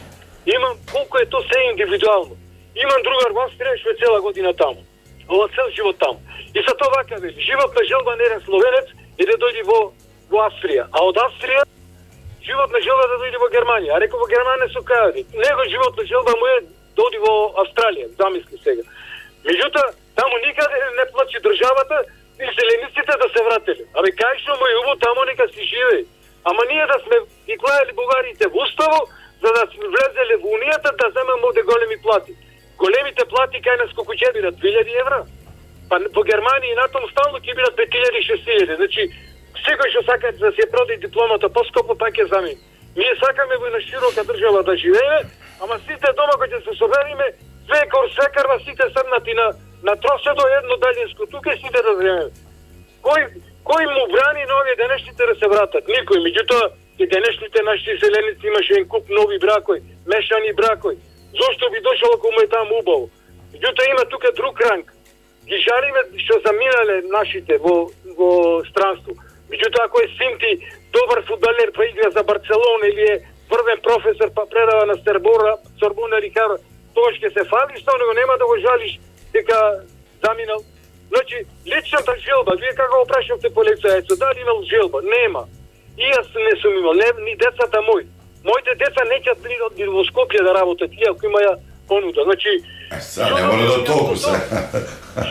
имам колку е тоа се индивидуално. Имам другар во Австрија што е цела година таму. Ова цел живот таму. И са тоа вака вели, животна желба не е словенец и да дојде во Австрија. А од Австрија животна желба да дојде во Германија. А реко во Германија се кајади. Него животна желба му е да оди во Австралија, замисли сега. Меѓутоа, таму никаде не плачи државата и селениците да се врателе. Абе кај што му е убаво, таму нека си живее. Ама ние да сме ги клајали бугарите во уставо, за да сме влезеле во унијата да земеме овде големи плати. Големите плати кај нас колку ќе бидат 2000 евра. Па во Германија и натаму стално ќе бидат 5000-6000. Значи секој што сака да се продаде дипломата поскопо пак ќе замени. Ние сакаме во една широка држава да живееме, ама сите дома кои ќе се собериме, свекарва сите седнати на троседо едно далинско, тука сите да земеме. Кој му брани на овие денешните да се вратат? Никој. Меѓутоа и денешните наши селеници имаше един куп нови бракои, мешани бракои. Зошто би дошол ако му е таму убаво? Меѓутоа има тука друг ранг. Ги жалиме што заминале нашите во странство. Меѓутоа ако е син ти добар фудбалер па игра за Барселона или е врвен професор па предава на Сорбона Рикар, тоа ќе се фали, што него нема да го жалиш дека заминал. Значи, личната желба, вие како го прашавте полицајецот, дали имал желба? Нема. И јас не сум имал, ни децата мои. Моите деца неќат ни во Скопје да работат, иако имаја понуда. Значи, не мора да толку се.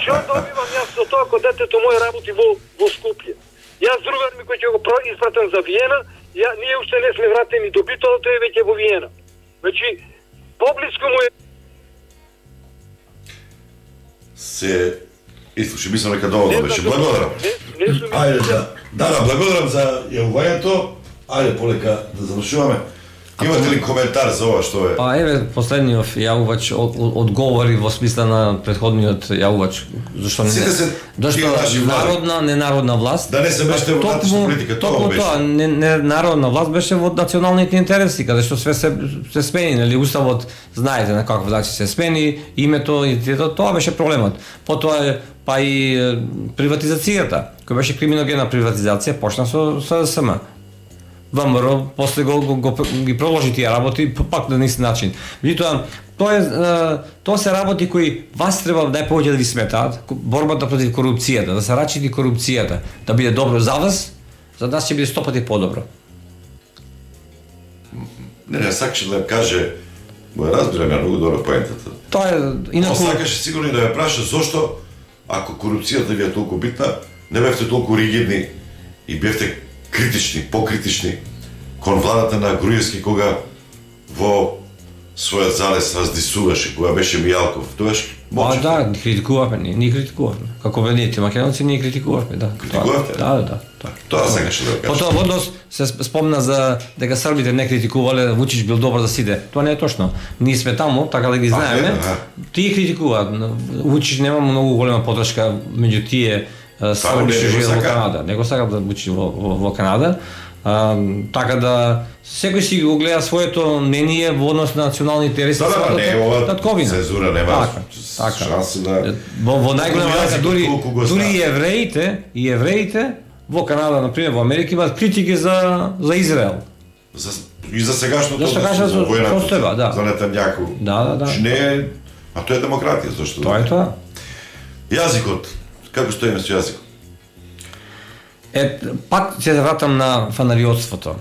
Што добивам јас со тоа ако детето моје работи во Скопје? Јас другар ми кој ќе го испратам за Виена, ние уште не сме вратени до Битола, тој е веќе во Виена. Значи, поблиску му е се ислуши, мислам дека доволно беше. знам, Благодарам. не сум Ајде да, благодарам за јавувањето. Ајде полека да завршуваме. Имате ли коментар за ова што е? Па еве последниот јавувач одговори во смисла на претходниот јавувач, зашто не Сите се зашто народна, ненародна власт. Да не се меште во внатрешна политика, тоа беше. Тоа, ненародна власт беше во националните интереси, каде што све се смени, нели уставот знаете на каков начин се смени, името и тоа беше проблемот. Потоа па и приватизацијата, која беше криминогена приватизација, почна со СДСМ. ВМРО после ги продолжи тие работи пак на ист начин. Меѓутоа тоа се работи кои вас треба најповеќе да ви сметаат, борбата против корупцијата, да се рачити корупцијата, да биде добро за вас, за нас ќе биде 100 пати подобро. Не, сакаше да каже, разбирам ја многу добро поентата. Тоа е инаку сакаше сигурно да ја праша зошто ако корупцијата ви е толку битна, не бевте толку ригидни и бевте критични, покритични кон владата на Груевски кога во својот залез раздисуваше, кога беше Мијалков. Тоаш можеше. Да, критикувавме, ние критикувавме. Како вените македонци ние критикувавме, да. Критикувавте? Да. Тоа сакаше да кажа. Потоа во однос се спомна за дека србите не критикувале, Вучич бил добар да сиде. Тоа не е точно. Ние сме таму, така да ги знаеме. Тие критикуваат. Вучич нема многу голема поддршка меѓу тие срби што живеат во Канада. Не го сакат да Вучич во Канада. Така да секој си го гледа своето мнение во однос на национални интереси. Да, не е ова цензура, нема шанси да... Во најголема рака дури и евреите во Канада, например, во Америка имаат критики за Израел. И за сегашното војната, за Нетањаку. Да. Не, а тоа е демократија, зашто? Тоа е тоа. Јазикот, како стоиме со јазикот? Пак се вратам на фанариотството.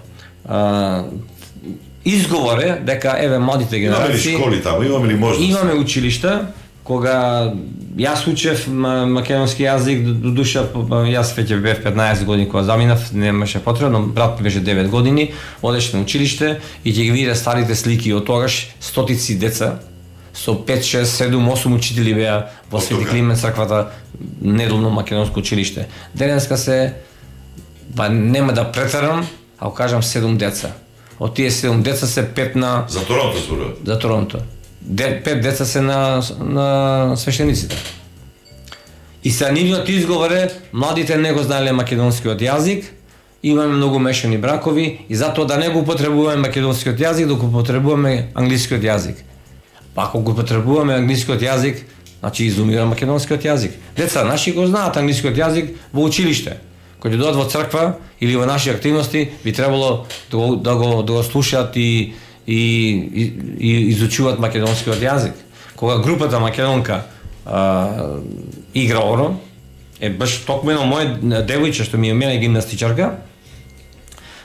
Изговор е дека еве младите генерации имаме ли школи таму, имаме ли можност? Имаме училишта кога јас учев македонски јазик, до душа јас веќе бев 15 години кога заминав, немаше потребно, брат ми беше 9 години, одеше на училиште и ќе ги виде старите слики од тогаш, стотици деца со 5, 6, 7, 8 учители беа во Свети Климент црквата, недолно македонско училиште. Денеска се нема да претерам, ако кажам 7 деца. Од тие 7 деца се 5 на... За Торонто зборува? За Торонто. 5 деца се на свештениците. И се нивниот изговор е, младите не го знаеле македонскиот јазик, имаме многу мешани бракови и затоа да не го употребуваме македонскиот јазик, да го употребуваме англискиот јазик. Па ако го употребуваме англискиот јазик, значи изумира македонскиот јазик. Деца наши го знаат англискиот јазик во училиште. Кога ќе дојдат во црква или во наши активности, би требало да го слушаат и изучуваат македонскиот јазик. Кога групата македонка игра оро, баш токму едно моје девојче што ми е мене гимнастичарка,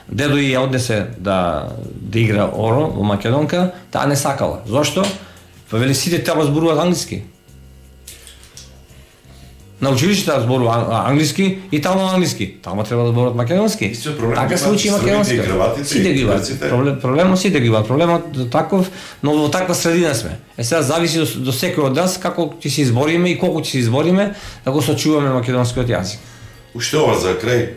дедо ја однесе да игра оро во македонка, таа не сакала. Зошто? Па вели сите треба зборуваат англиски. На училиштето зборува англиски и таму англиски. Таму треба да зборуваат македонски. Така се учи македонски. Сите ги имаат. Проблемот сите ги имаат. Проблемот таков, но во таква средина сме. Сега зависи до секој од нас како ќе се избориме и колку ќе се избориме да го сочуваме македонскиот јазик. Уште ова за крај.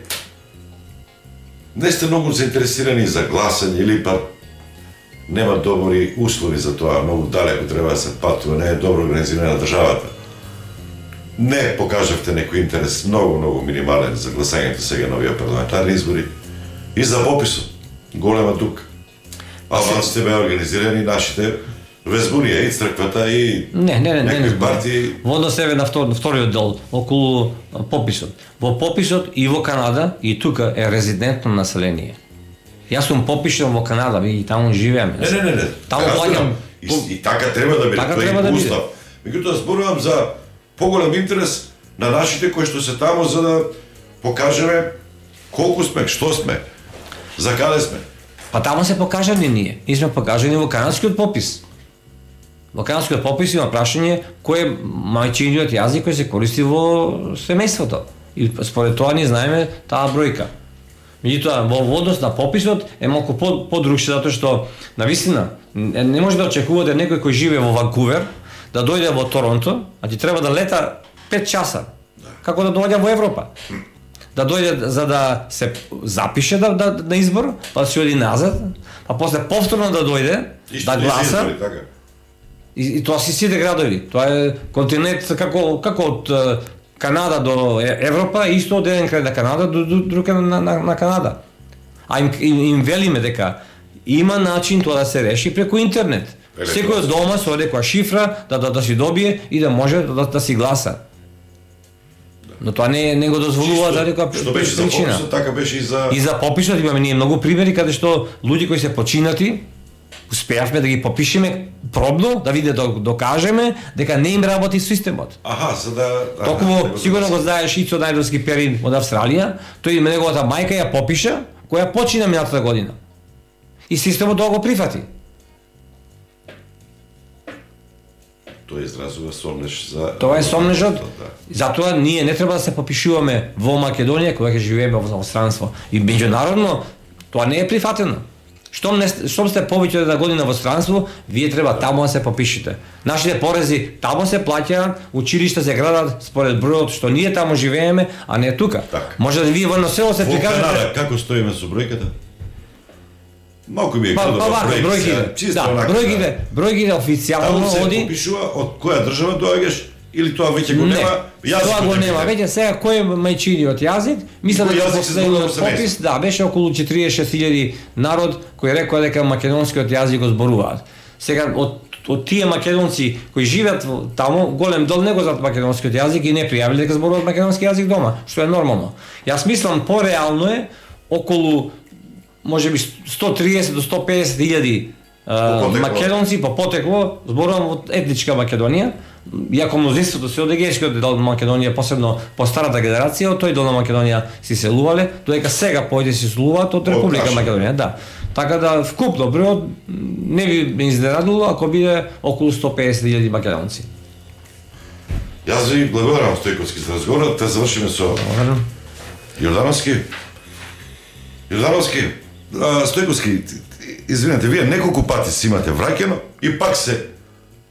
Не сте многу заинтересирани за гласање или па нема добри услови за тоа, многу далеко треба да се патува, не е добро организирана државата. Не покажавте некој интерес многу минимален за гласањето сега на овие парламентарни избори и за пописот. Голема дука. Албанците беа организирани, нашите везбунија и црквата и некои партии. Во однос еве на вториот дел околу пописот. Во пописот и во Канада и тука е резидентно население. Јас сум попишан во Канада и таму живеам. Не. Таму плаќам. И така треба да биде, тоа е устав. Меѓутоа зборувам за поголем интерес на нашите кои што се таму за да покажеме колку сме, што сме, за каде сме. Па таму се покажани ние. Ние сме покажани во канадскиот попис. Во канадскиот попис има прашање кој е мајчиниот јазик кој се користи во семејството. И според тоа ние знаеме таа бројка. Меѓутоа, во однос на пописот е малку подрукче, затоа што, навистина, не може да очекувате некој кој живее во Ванкувер, да дојде во Торонто, а ти треба да лета 5 часа. Како да доаѓа во Европа? Да дојде за да се запише на избор, па да се оди назад, па после повторно да дојде, да гласа. И тоа си сите градови. Тоа е континент како од Канада до Европа, исто од еден крај на Канада до друг на Канада. А им велиме дека има начин тоа да се реши преку интернет. Секој од дома со некоја шифра да си добие и да може да си гласа. Но тоа не го дозволува за некоја причина. Што беше за пописот, така беше и за пописот. Имаме ние многу примери каде што луѓе кои се починати успеавме да ги попишеме пробно, да докажеме дека не им работи системот. За да Токму сигурно го знаеш Ицо Најдовски Перин од Австралија, тој неговата мајка ја попиша, која почина минатата година. И системот тоа го прифати. Тоа изразува сомнеж за... Тоа е сомнежот. Затоа ние не треба да се попишуваме во Македонија кога ќе живееме во странство. И меѓународно тоа не е прифатено. Штом сте повеќе од година во странство, вие треба таму да се попишете. Нашите порези таму се плаќаат, училишта се градат според бројот што ние таму живееме, а не тука. Може да вие во едно село се прикажете... Во Канада, како стоиме со бројката? Малку ми е крадова бројките. Бројките официјално таму се оди... попишува од која држава доаѓаш или тоа веќе го нема? Тоа го нема. Веќе сега кој е мајчиниот јазик? Мислам дека последниот попис, беше околу 46.000 народ кој рекоа дека македонскиот јазик го зборуваат. Сега од тие македонци кои живеат таму, голем дел не го знаат македонскиот јазик и не пријавиле дека зборуваат македонски јазик дома, што е нормално. Јас мислам пореално е околу можеби 130 до 150.000 македонци по потекло зборувам од етничка Македонија, иако мнозинството се од егејскиот дел на Македонија, посебно по старата генерација, од тој дел на Македонија си селувале, додека сега појде си селуваат од Република Македонија, да. Така да вкупно бројот не би ме изненадило ако биде околу 150.000 македонци. Јас ви благодарам, Стојковски, за разговорот. Те завршиме со Јордановски. Стојковски, извинете, вие неколку пати си имате враќено и пак се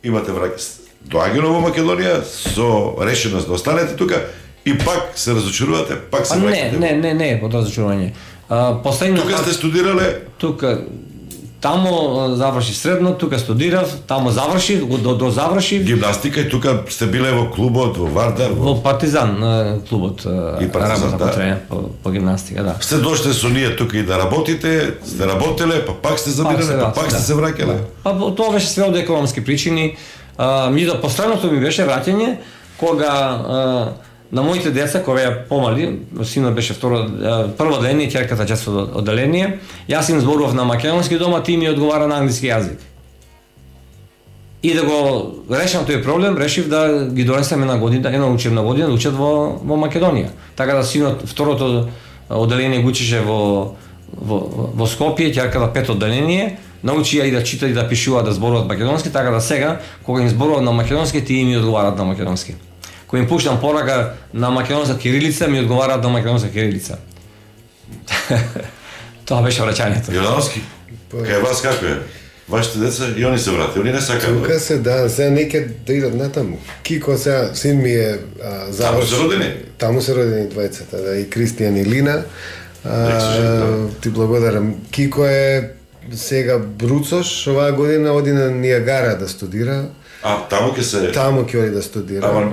имате враќено. Доаѓано во Македонија со решеност да останете тука и пак се разочарувате, пак се враќате. Не, под разочарување. Тука сте студирале? Тука, таму заврши средно, тука студирав, таму заврши, до заврши. Гимнастика и тука сте биле во клубот, во Вардар? Во Партизан клубот, и Партизан, да. По гимнастика, да. Сте дошле со ние тука и да работите, сте работеле, па пак сте забирале, па пак сте се враќале? Па тоа беше све од економски причини. Меѓутоа последното ми беше враќање кога на моите деца кои беа помали, синот беше прво одделение, ќерката четврто одделение, јас им зборував на македонски дома, ти ми одговара на англиски јазик. И да го решам тој проблем, решив да ги донесем една учебна година да учат во Македонија. Така да синот второто одделение го учеше во Скопје, ќерката пето одделение, научија и да читат и да пишуваат да зборуваат македонски, така да сега кога им зборуваат на македонски, тие ми одговараат на македонски. Кога им пуштам порака на македонска кирилица, ми одговараат на македонска кирилица. Тоа беше враќањето. Јордановски, кај вас како е? Вашите деца и они се врати, они не сакаат. Тука се, да, сега неќе да идат натаму. Кико сега, син ми е завршил. Таму се родени? Таму се родени двајцата, да, и Кристијан и Лина. Ти благодарам. Кико е сега бруцош, оваа година оди на Ниагара да студира. Таму ќе оди да студира.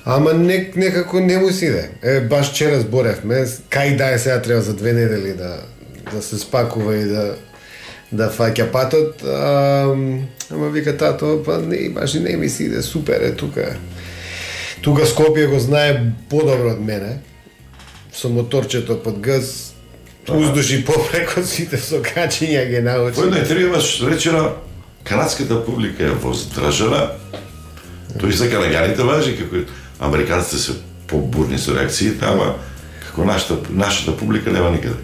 Ама некако не му си иде. Баш вчера зборевме, кај да е сега треба за 2 недели да се спакува и да фаќа патот. Ама вика тато, па не, баш и не ми си иде, супер е тука. Тука Скопје го знае подобро од мене. Со моторчето под газ, уздуши попреко сите со качиња ги научи. Во една интервју имаш речена, канадската публика е воздржана, тој за канаѓаните важи, како американците се побурни со реакциите, ама како нашата публика нема никаде.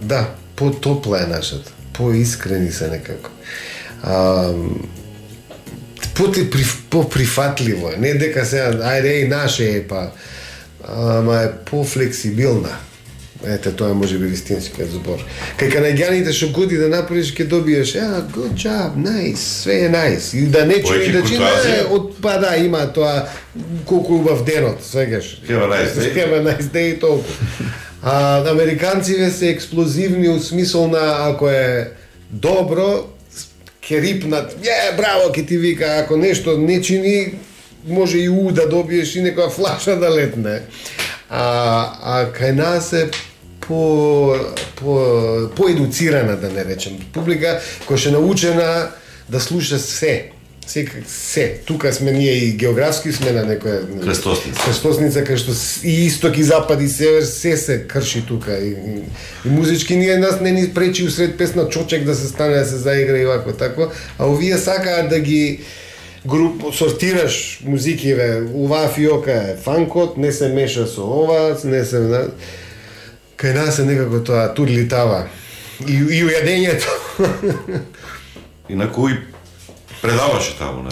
Да, по-топла е нашата, по-искрени се некако. По-прифатливо е, не дека сега, ајде и наше е, па, ама е по-флексибилна. Ете, тоа може би вистинскиот збор. Кај канаѓаните што годи да направиш, ќе добиеш, good job, nice, све е nice. И да не чуи да чи па да, има тоа колку убав денот, свегаш. Have a nice day и толку. А американците се експлозивни у смисол на ако е добро, ќе рипнат, браво, ќе ти вика, ако нешто не чини, може и да добиеш и некоја флаша да летне. А кај нас е по-едуцирана, да не речем. Публика која ше научена да слуша се. Се. Тука сме ние и географски сме на некоја крстосница, кај што и исток и запад и север се крши тука. И музички ние нас не ни пречи усред песна чочек да се стане да се заигра и вако тако, а овие сакаат да ги сортираш музикиве, оваа фиока е фанкот, не се меша со ова, не се... Кај нас е некако тоа турлитава. И ујадењето. Инаку и предаваше таму на...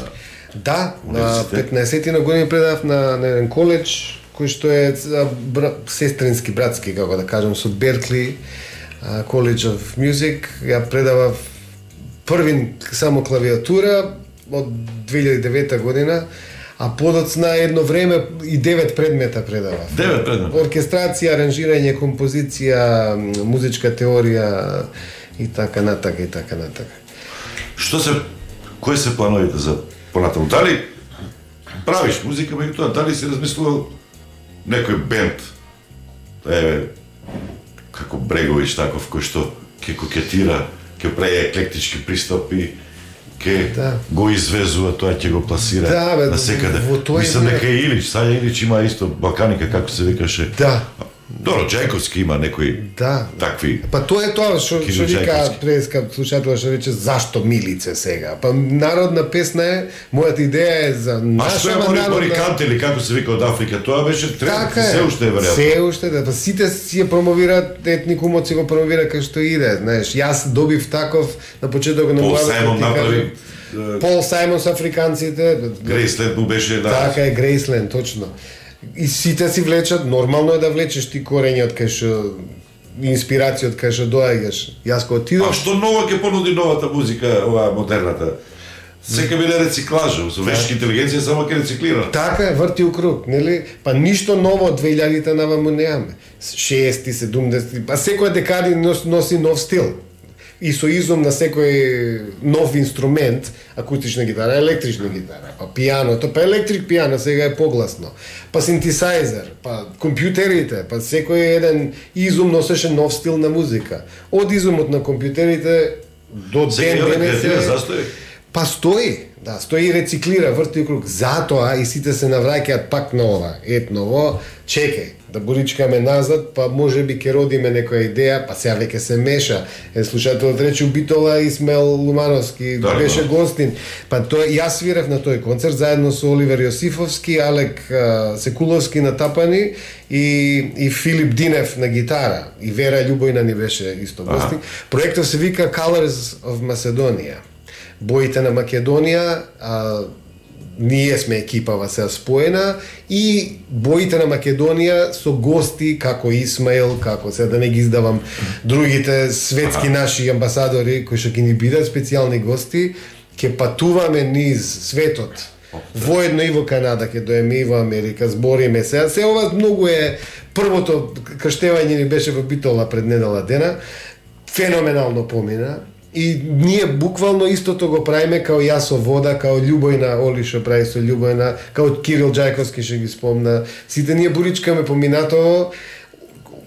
Да, на 15 на години предав на еден коледж, кој што е сестрински, братски, како да кажем, со Беркли, College of Music. Ја предавав првин само клавиатура од 2009 година, а подоцна едно време и 9 предмета предавав. 9 предмета? Оркестрација, аранжирање, композиција, музичка теорија и така натака и така натака. Кои се плановите за понатаму? Дали правиш музика, меѓутоа, дали си размислувал некој бенд, како Брегович таков, кој што ќе кокетира, ќе прави еклектички пристапи, ќе го извезува, тоа ќе го пласира на секаде. Мислам дека и Илич, Сања Илич има исто Балканика, како се викаше. Да. Добро, Джајковски има некои такви. Па тоа е тоа што вика преска слушател што рече зашто Милице сега. Па народна песна е, мојата идеја е за наша народна. Морикант или како се вика од Африка, тоа беше тренд, се уште е веројатно. Се уште, да, па сите си ја промовираат, етникумот си го промовира кај што иде, знаеш. Јас добив таков на почетокот на мојата Пол Сајмон со африканците. Грейсленд му беше, да. Така е, Грейсленд, точно. И сите си влечат, нормално е да влечеш ти корења од кај што инспирација од кај што доаѓаш. Јас кога отидов... А што ново ќе понуди новата музика, оваа модерната? Сека биде рециклажа, со вештка интелигенција само ќе рециклира. Така е, врти у круг, нели? Па ништо ново од 2000-та наваму немаме. 60-ти, 70-ти, па секоја декади носи нов стил. И со изум на секој нов инструмент, акустична гитара, електрична гитара, па пијаното, па електрик пијано сега е погласно, па синтесајзер, па компјутерите, па секој еден изум носеше нов стил на музика. Од изумот на компјутерите до ден денес па стои, да, стои и рециклира, врти круг. Затоа и сите се навраќаат пак на ова, етново, чекај, да буричкаме назад, па може би ќе родиме некоја идеја, па сега веќе се меша. Слушателот рече Битола Исмел Лумановски, беше гостин. Па тоа јас свирев на тој концерт заедно со Оливер Јосифовски, Алек Секуловски на тапани и Филип Динев на гитара. И Вера Љубојна ни беше исто гостин. Проектот се вика Colors of Macedonia. Боите на Македонија, ние сме екипава се споена и боите на Македонија со гости како Исмаил, како се да не ги издавам другите светски наши амбасадори кои што ќе ни бидат специјални гости, ќе патуваме низ светот. Воедно и во Канада ќе доеме и во Америка, збориме се. Се ова многу е првото крштевање ни беше во Битола пред недела дена. Феноменално помина. И ние буквално истото го правиме као јас со вода, као Љубојна Оли што прави со Љубојна, као Кирил Џајковски што ги спомна. Сите ние буричкаме поминатово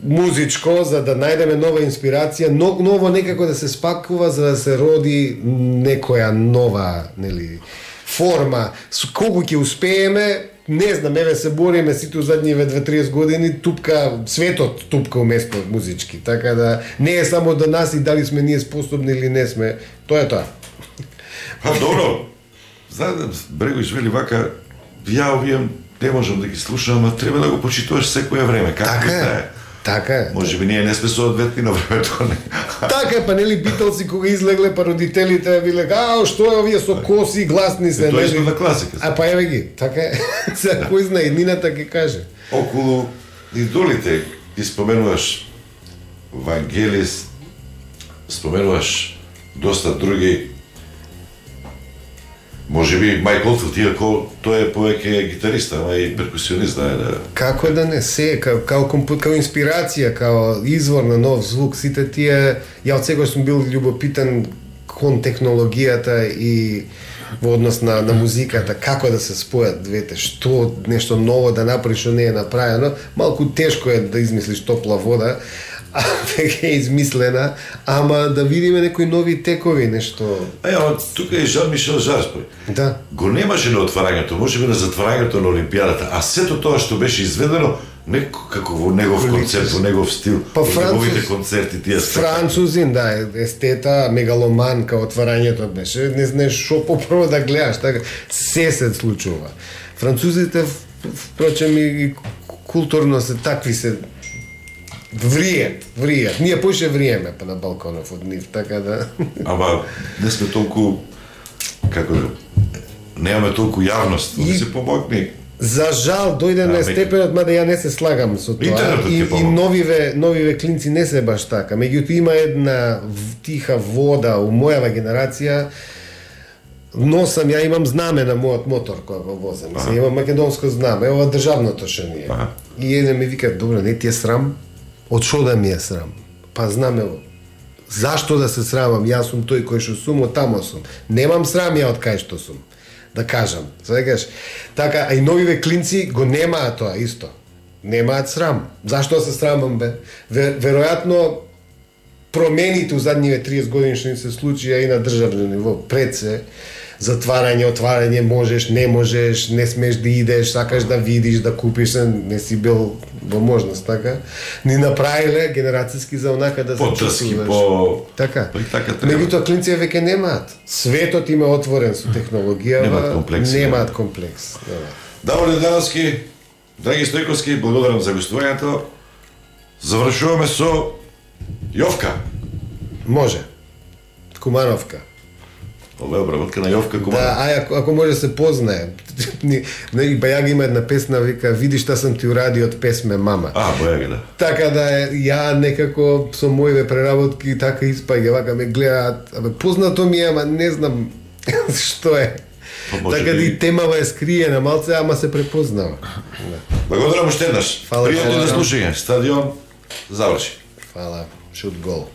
музичко за да најдеме нова инспирација, ново некако да се спакува за да се роди некоја нова, нели, форма. Колку ќе успееме, не знам, еве се бориме сите задниве 2-30 години, тупка, светот тупка уместо музички, така да не е само до нас и дали сме ние способни или не сме, тоа е тоа. Па добро, знаете, Брегович вели вака, ја овие не можам да ги слушам, а треба да го почитуваш секоја време, како е. Така е. Може би ние не сме соодветни на времето, не. Така е, па нели Битълси кога излегле, па родителите биле, што е овие со коси, гласни се, тоа е на класика. А па еве ги, така е. Сега кој знае, еднината ќе каже. Околу идолите, ти споменуваш Вангелис, споменуваш доста други. Може би Майк Олдфилд, иако тој е повеќе гитарист, ама и перкусионист, да. Како да не се, као инспирација, као извор на нов звук, сите тие, ја од секој сум бил љубопитен кон технологијата и во однос на музиката, како да се спојат двете, што нешто ново да направиш, што не е направено. Малку тешко е да измислиш топла вода, а веќе е измислена, ама да видиме некои нови текови, нешто. Ама тука е Жан-Мишел Жарс, Да. Го немаше на отварањето, може би на затварањето на Олимпијадата, а сето тоа што беше изведено, како во негов концепт, во негов стил, во неговите концерти, тие Французин, да, естета, мегаломан, као отварањето беше, не знаеш шо попрво да гледаш, така, се случува. Французите, впрочем, и културно се такви се вријат. Ние поише вриеме па на балконов од нив, така да. Ама не сме толку, како да, немаме толку јавност, да се помогне. За жал дојде на степенот, мада ја не се слагам со тоа, и новиве клинци не се баш така. Меѓутоа има една тиха вода у мојава генерација. Носам, ја имам знаме на мојот мотор кога го возам. Имам македонско знаме, ова државното што ни е. И еден ми вика, добро, не ти е срам? Од шо да ми е срам? Па знаме, зашто да се срамам? Јас сум тој кој што сум, од тамо сум. Немам срам ја од кај што сум. Да кажам, свегаш. Така, а и новиве клинци го немаат тоа исто. Немаат срам. Зашто се срамам, бе? Веројатно промените у задниве 30 години што ни се случија и на државно ниво, пред се, затварање, отварање, можеш, не смеш да идеш, сакаш да видиш, да купиш, не си бил во можност, така. Ни направиле генерацијски за онака да се чувствуваш. Така. Меѓутоа клинци веќе немаат. Светот им е отворен со технологија, немаат комплекс. Даволе Дановски, драги Стојковски, благодарам за гостувањето. Завршуваме со Јовка. Може. Кумановка. Ова е обработка на Јовка Куманов. Да, ако може да се познае. Бајага има една песна, вика, види шта сам ти урадио од песме Мама. Бајага, да. Така да ја некако со моите преработки така испаѓа, вака ме гледаат, познато ми е, ама не знам што е. Така да и темава е скриена малце, ама се препознава. Благодарам уште еднаш. Пријатно да слушање. Стадион заврши. Фала. Шут гол.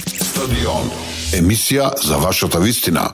Стадион. Емисија за вашата вистина.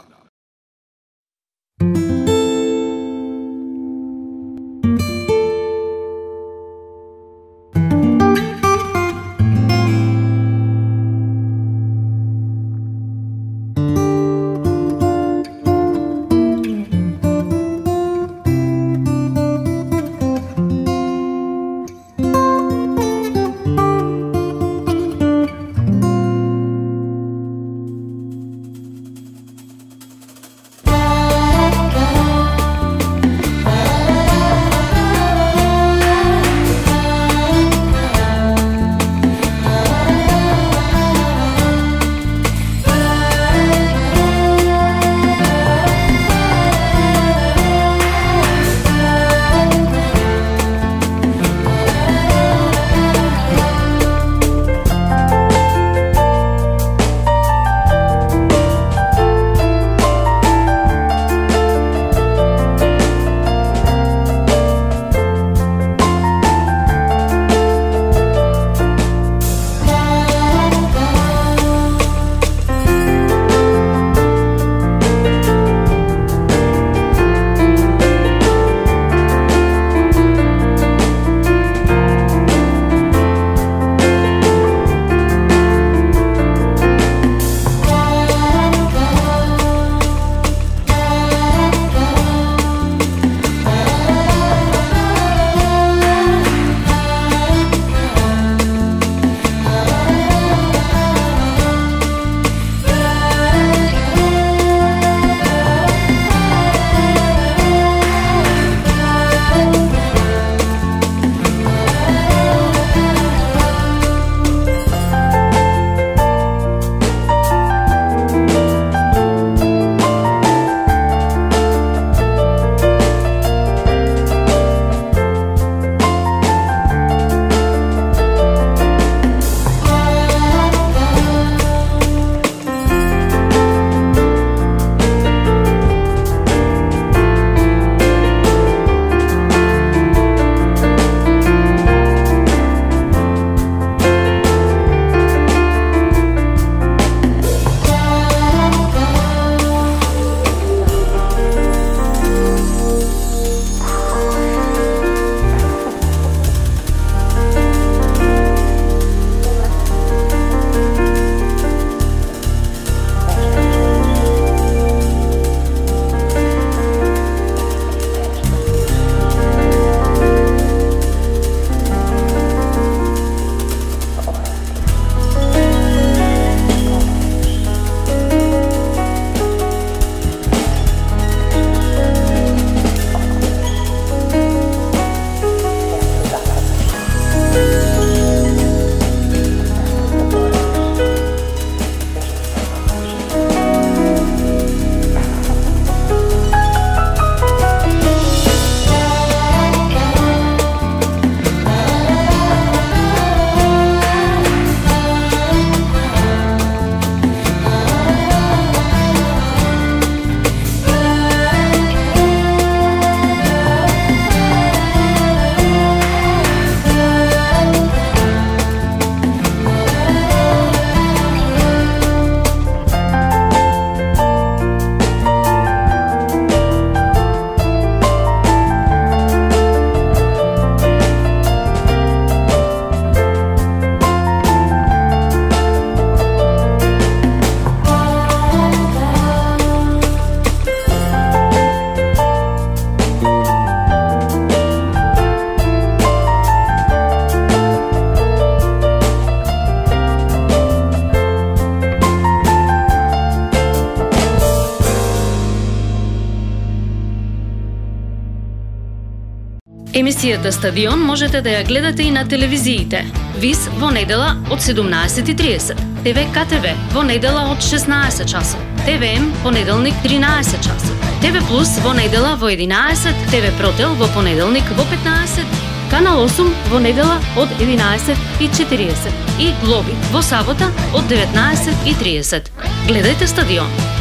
Емисијата Стадион можете да ја гледате и на телевизиите. ВИС во недела од 17:30, ТВ КТВ во недела од 16 часот, ТВМ понеделник 13 часот, ТВ Плюс во недела во 11, ТВ Протел во понеделник во 15, Канал 8 во недела од 11:40 и Глоби во сабота од 19:30. Гледајте Стадион.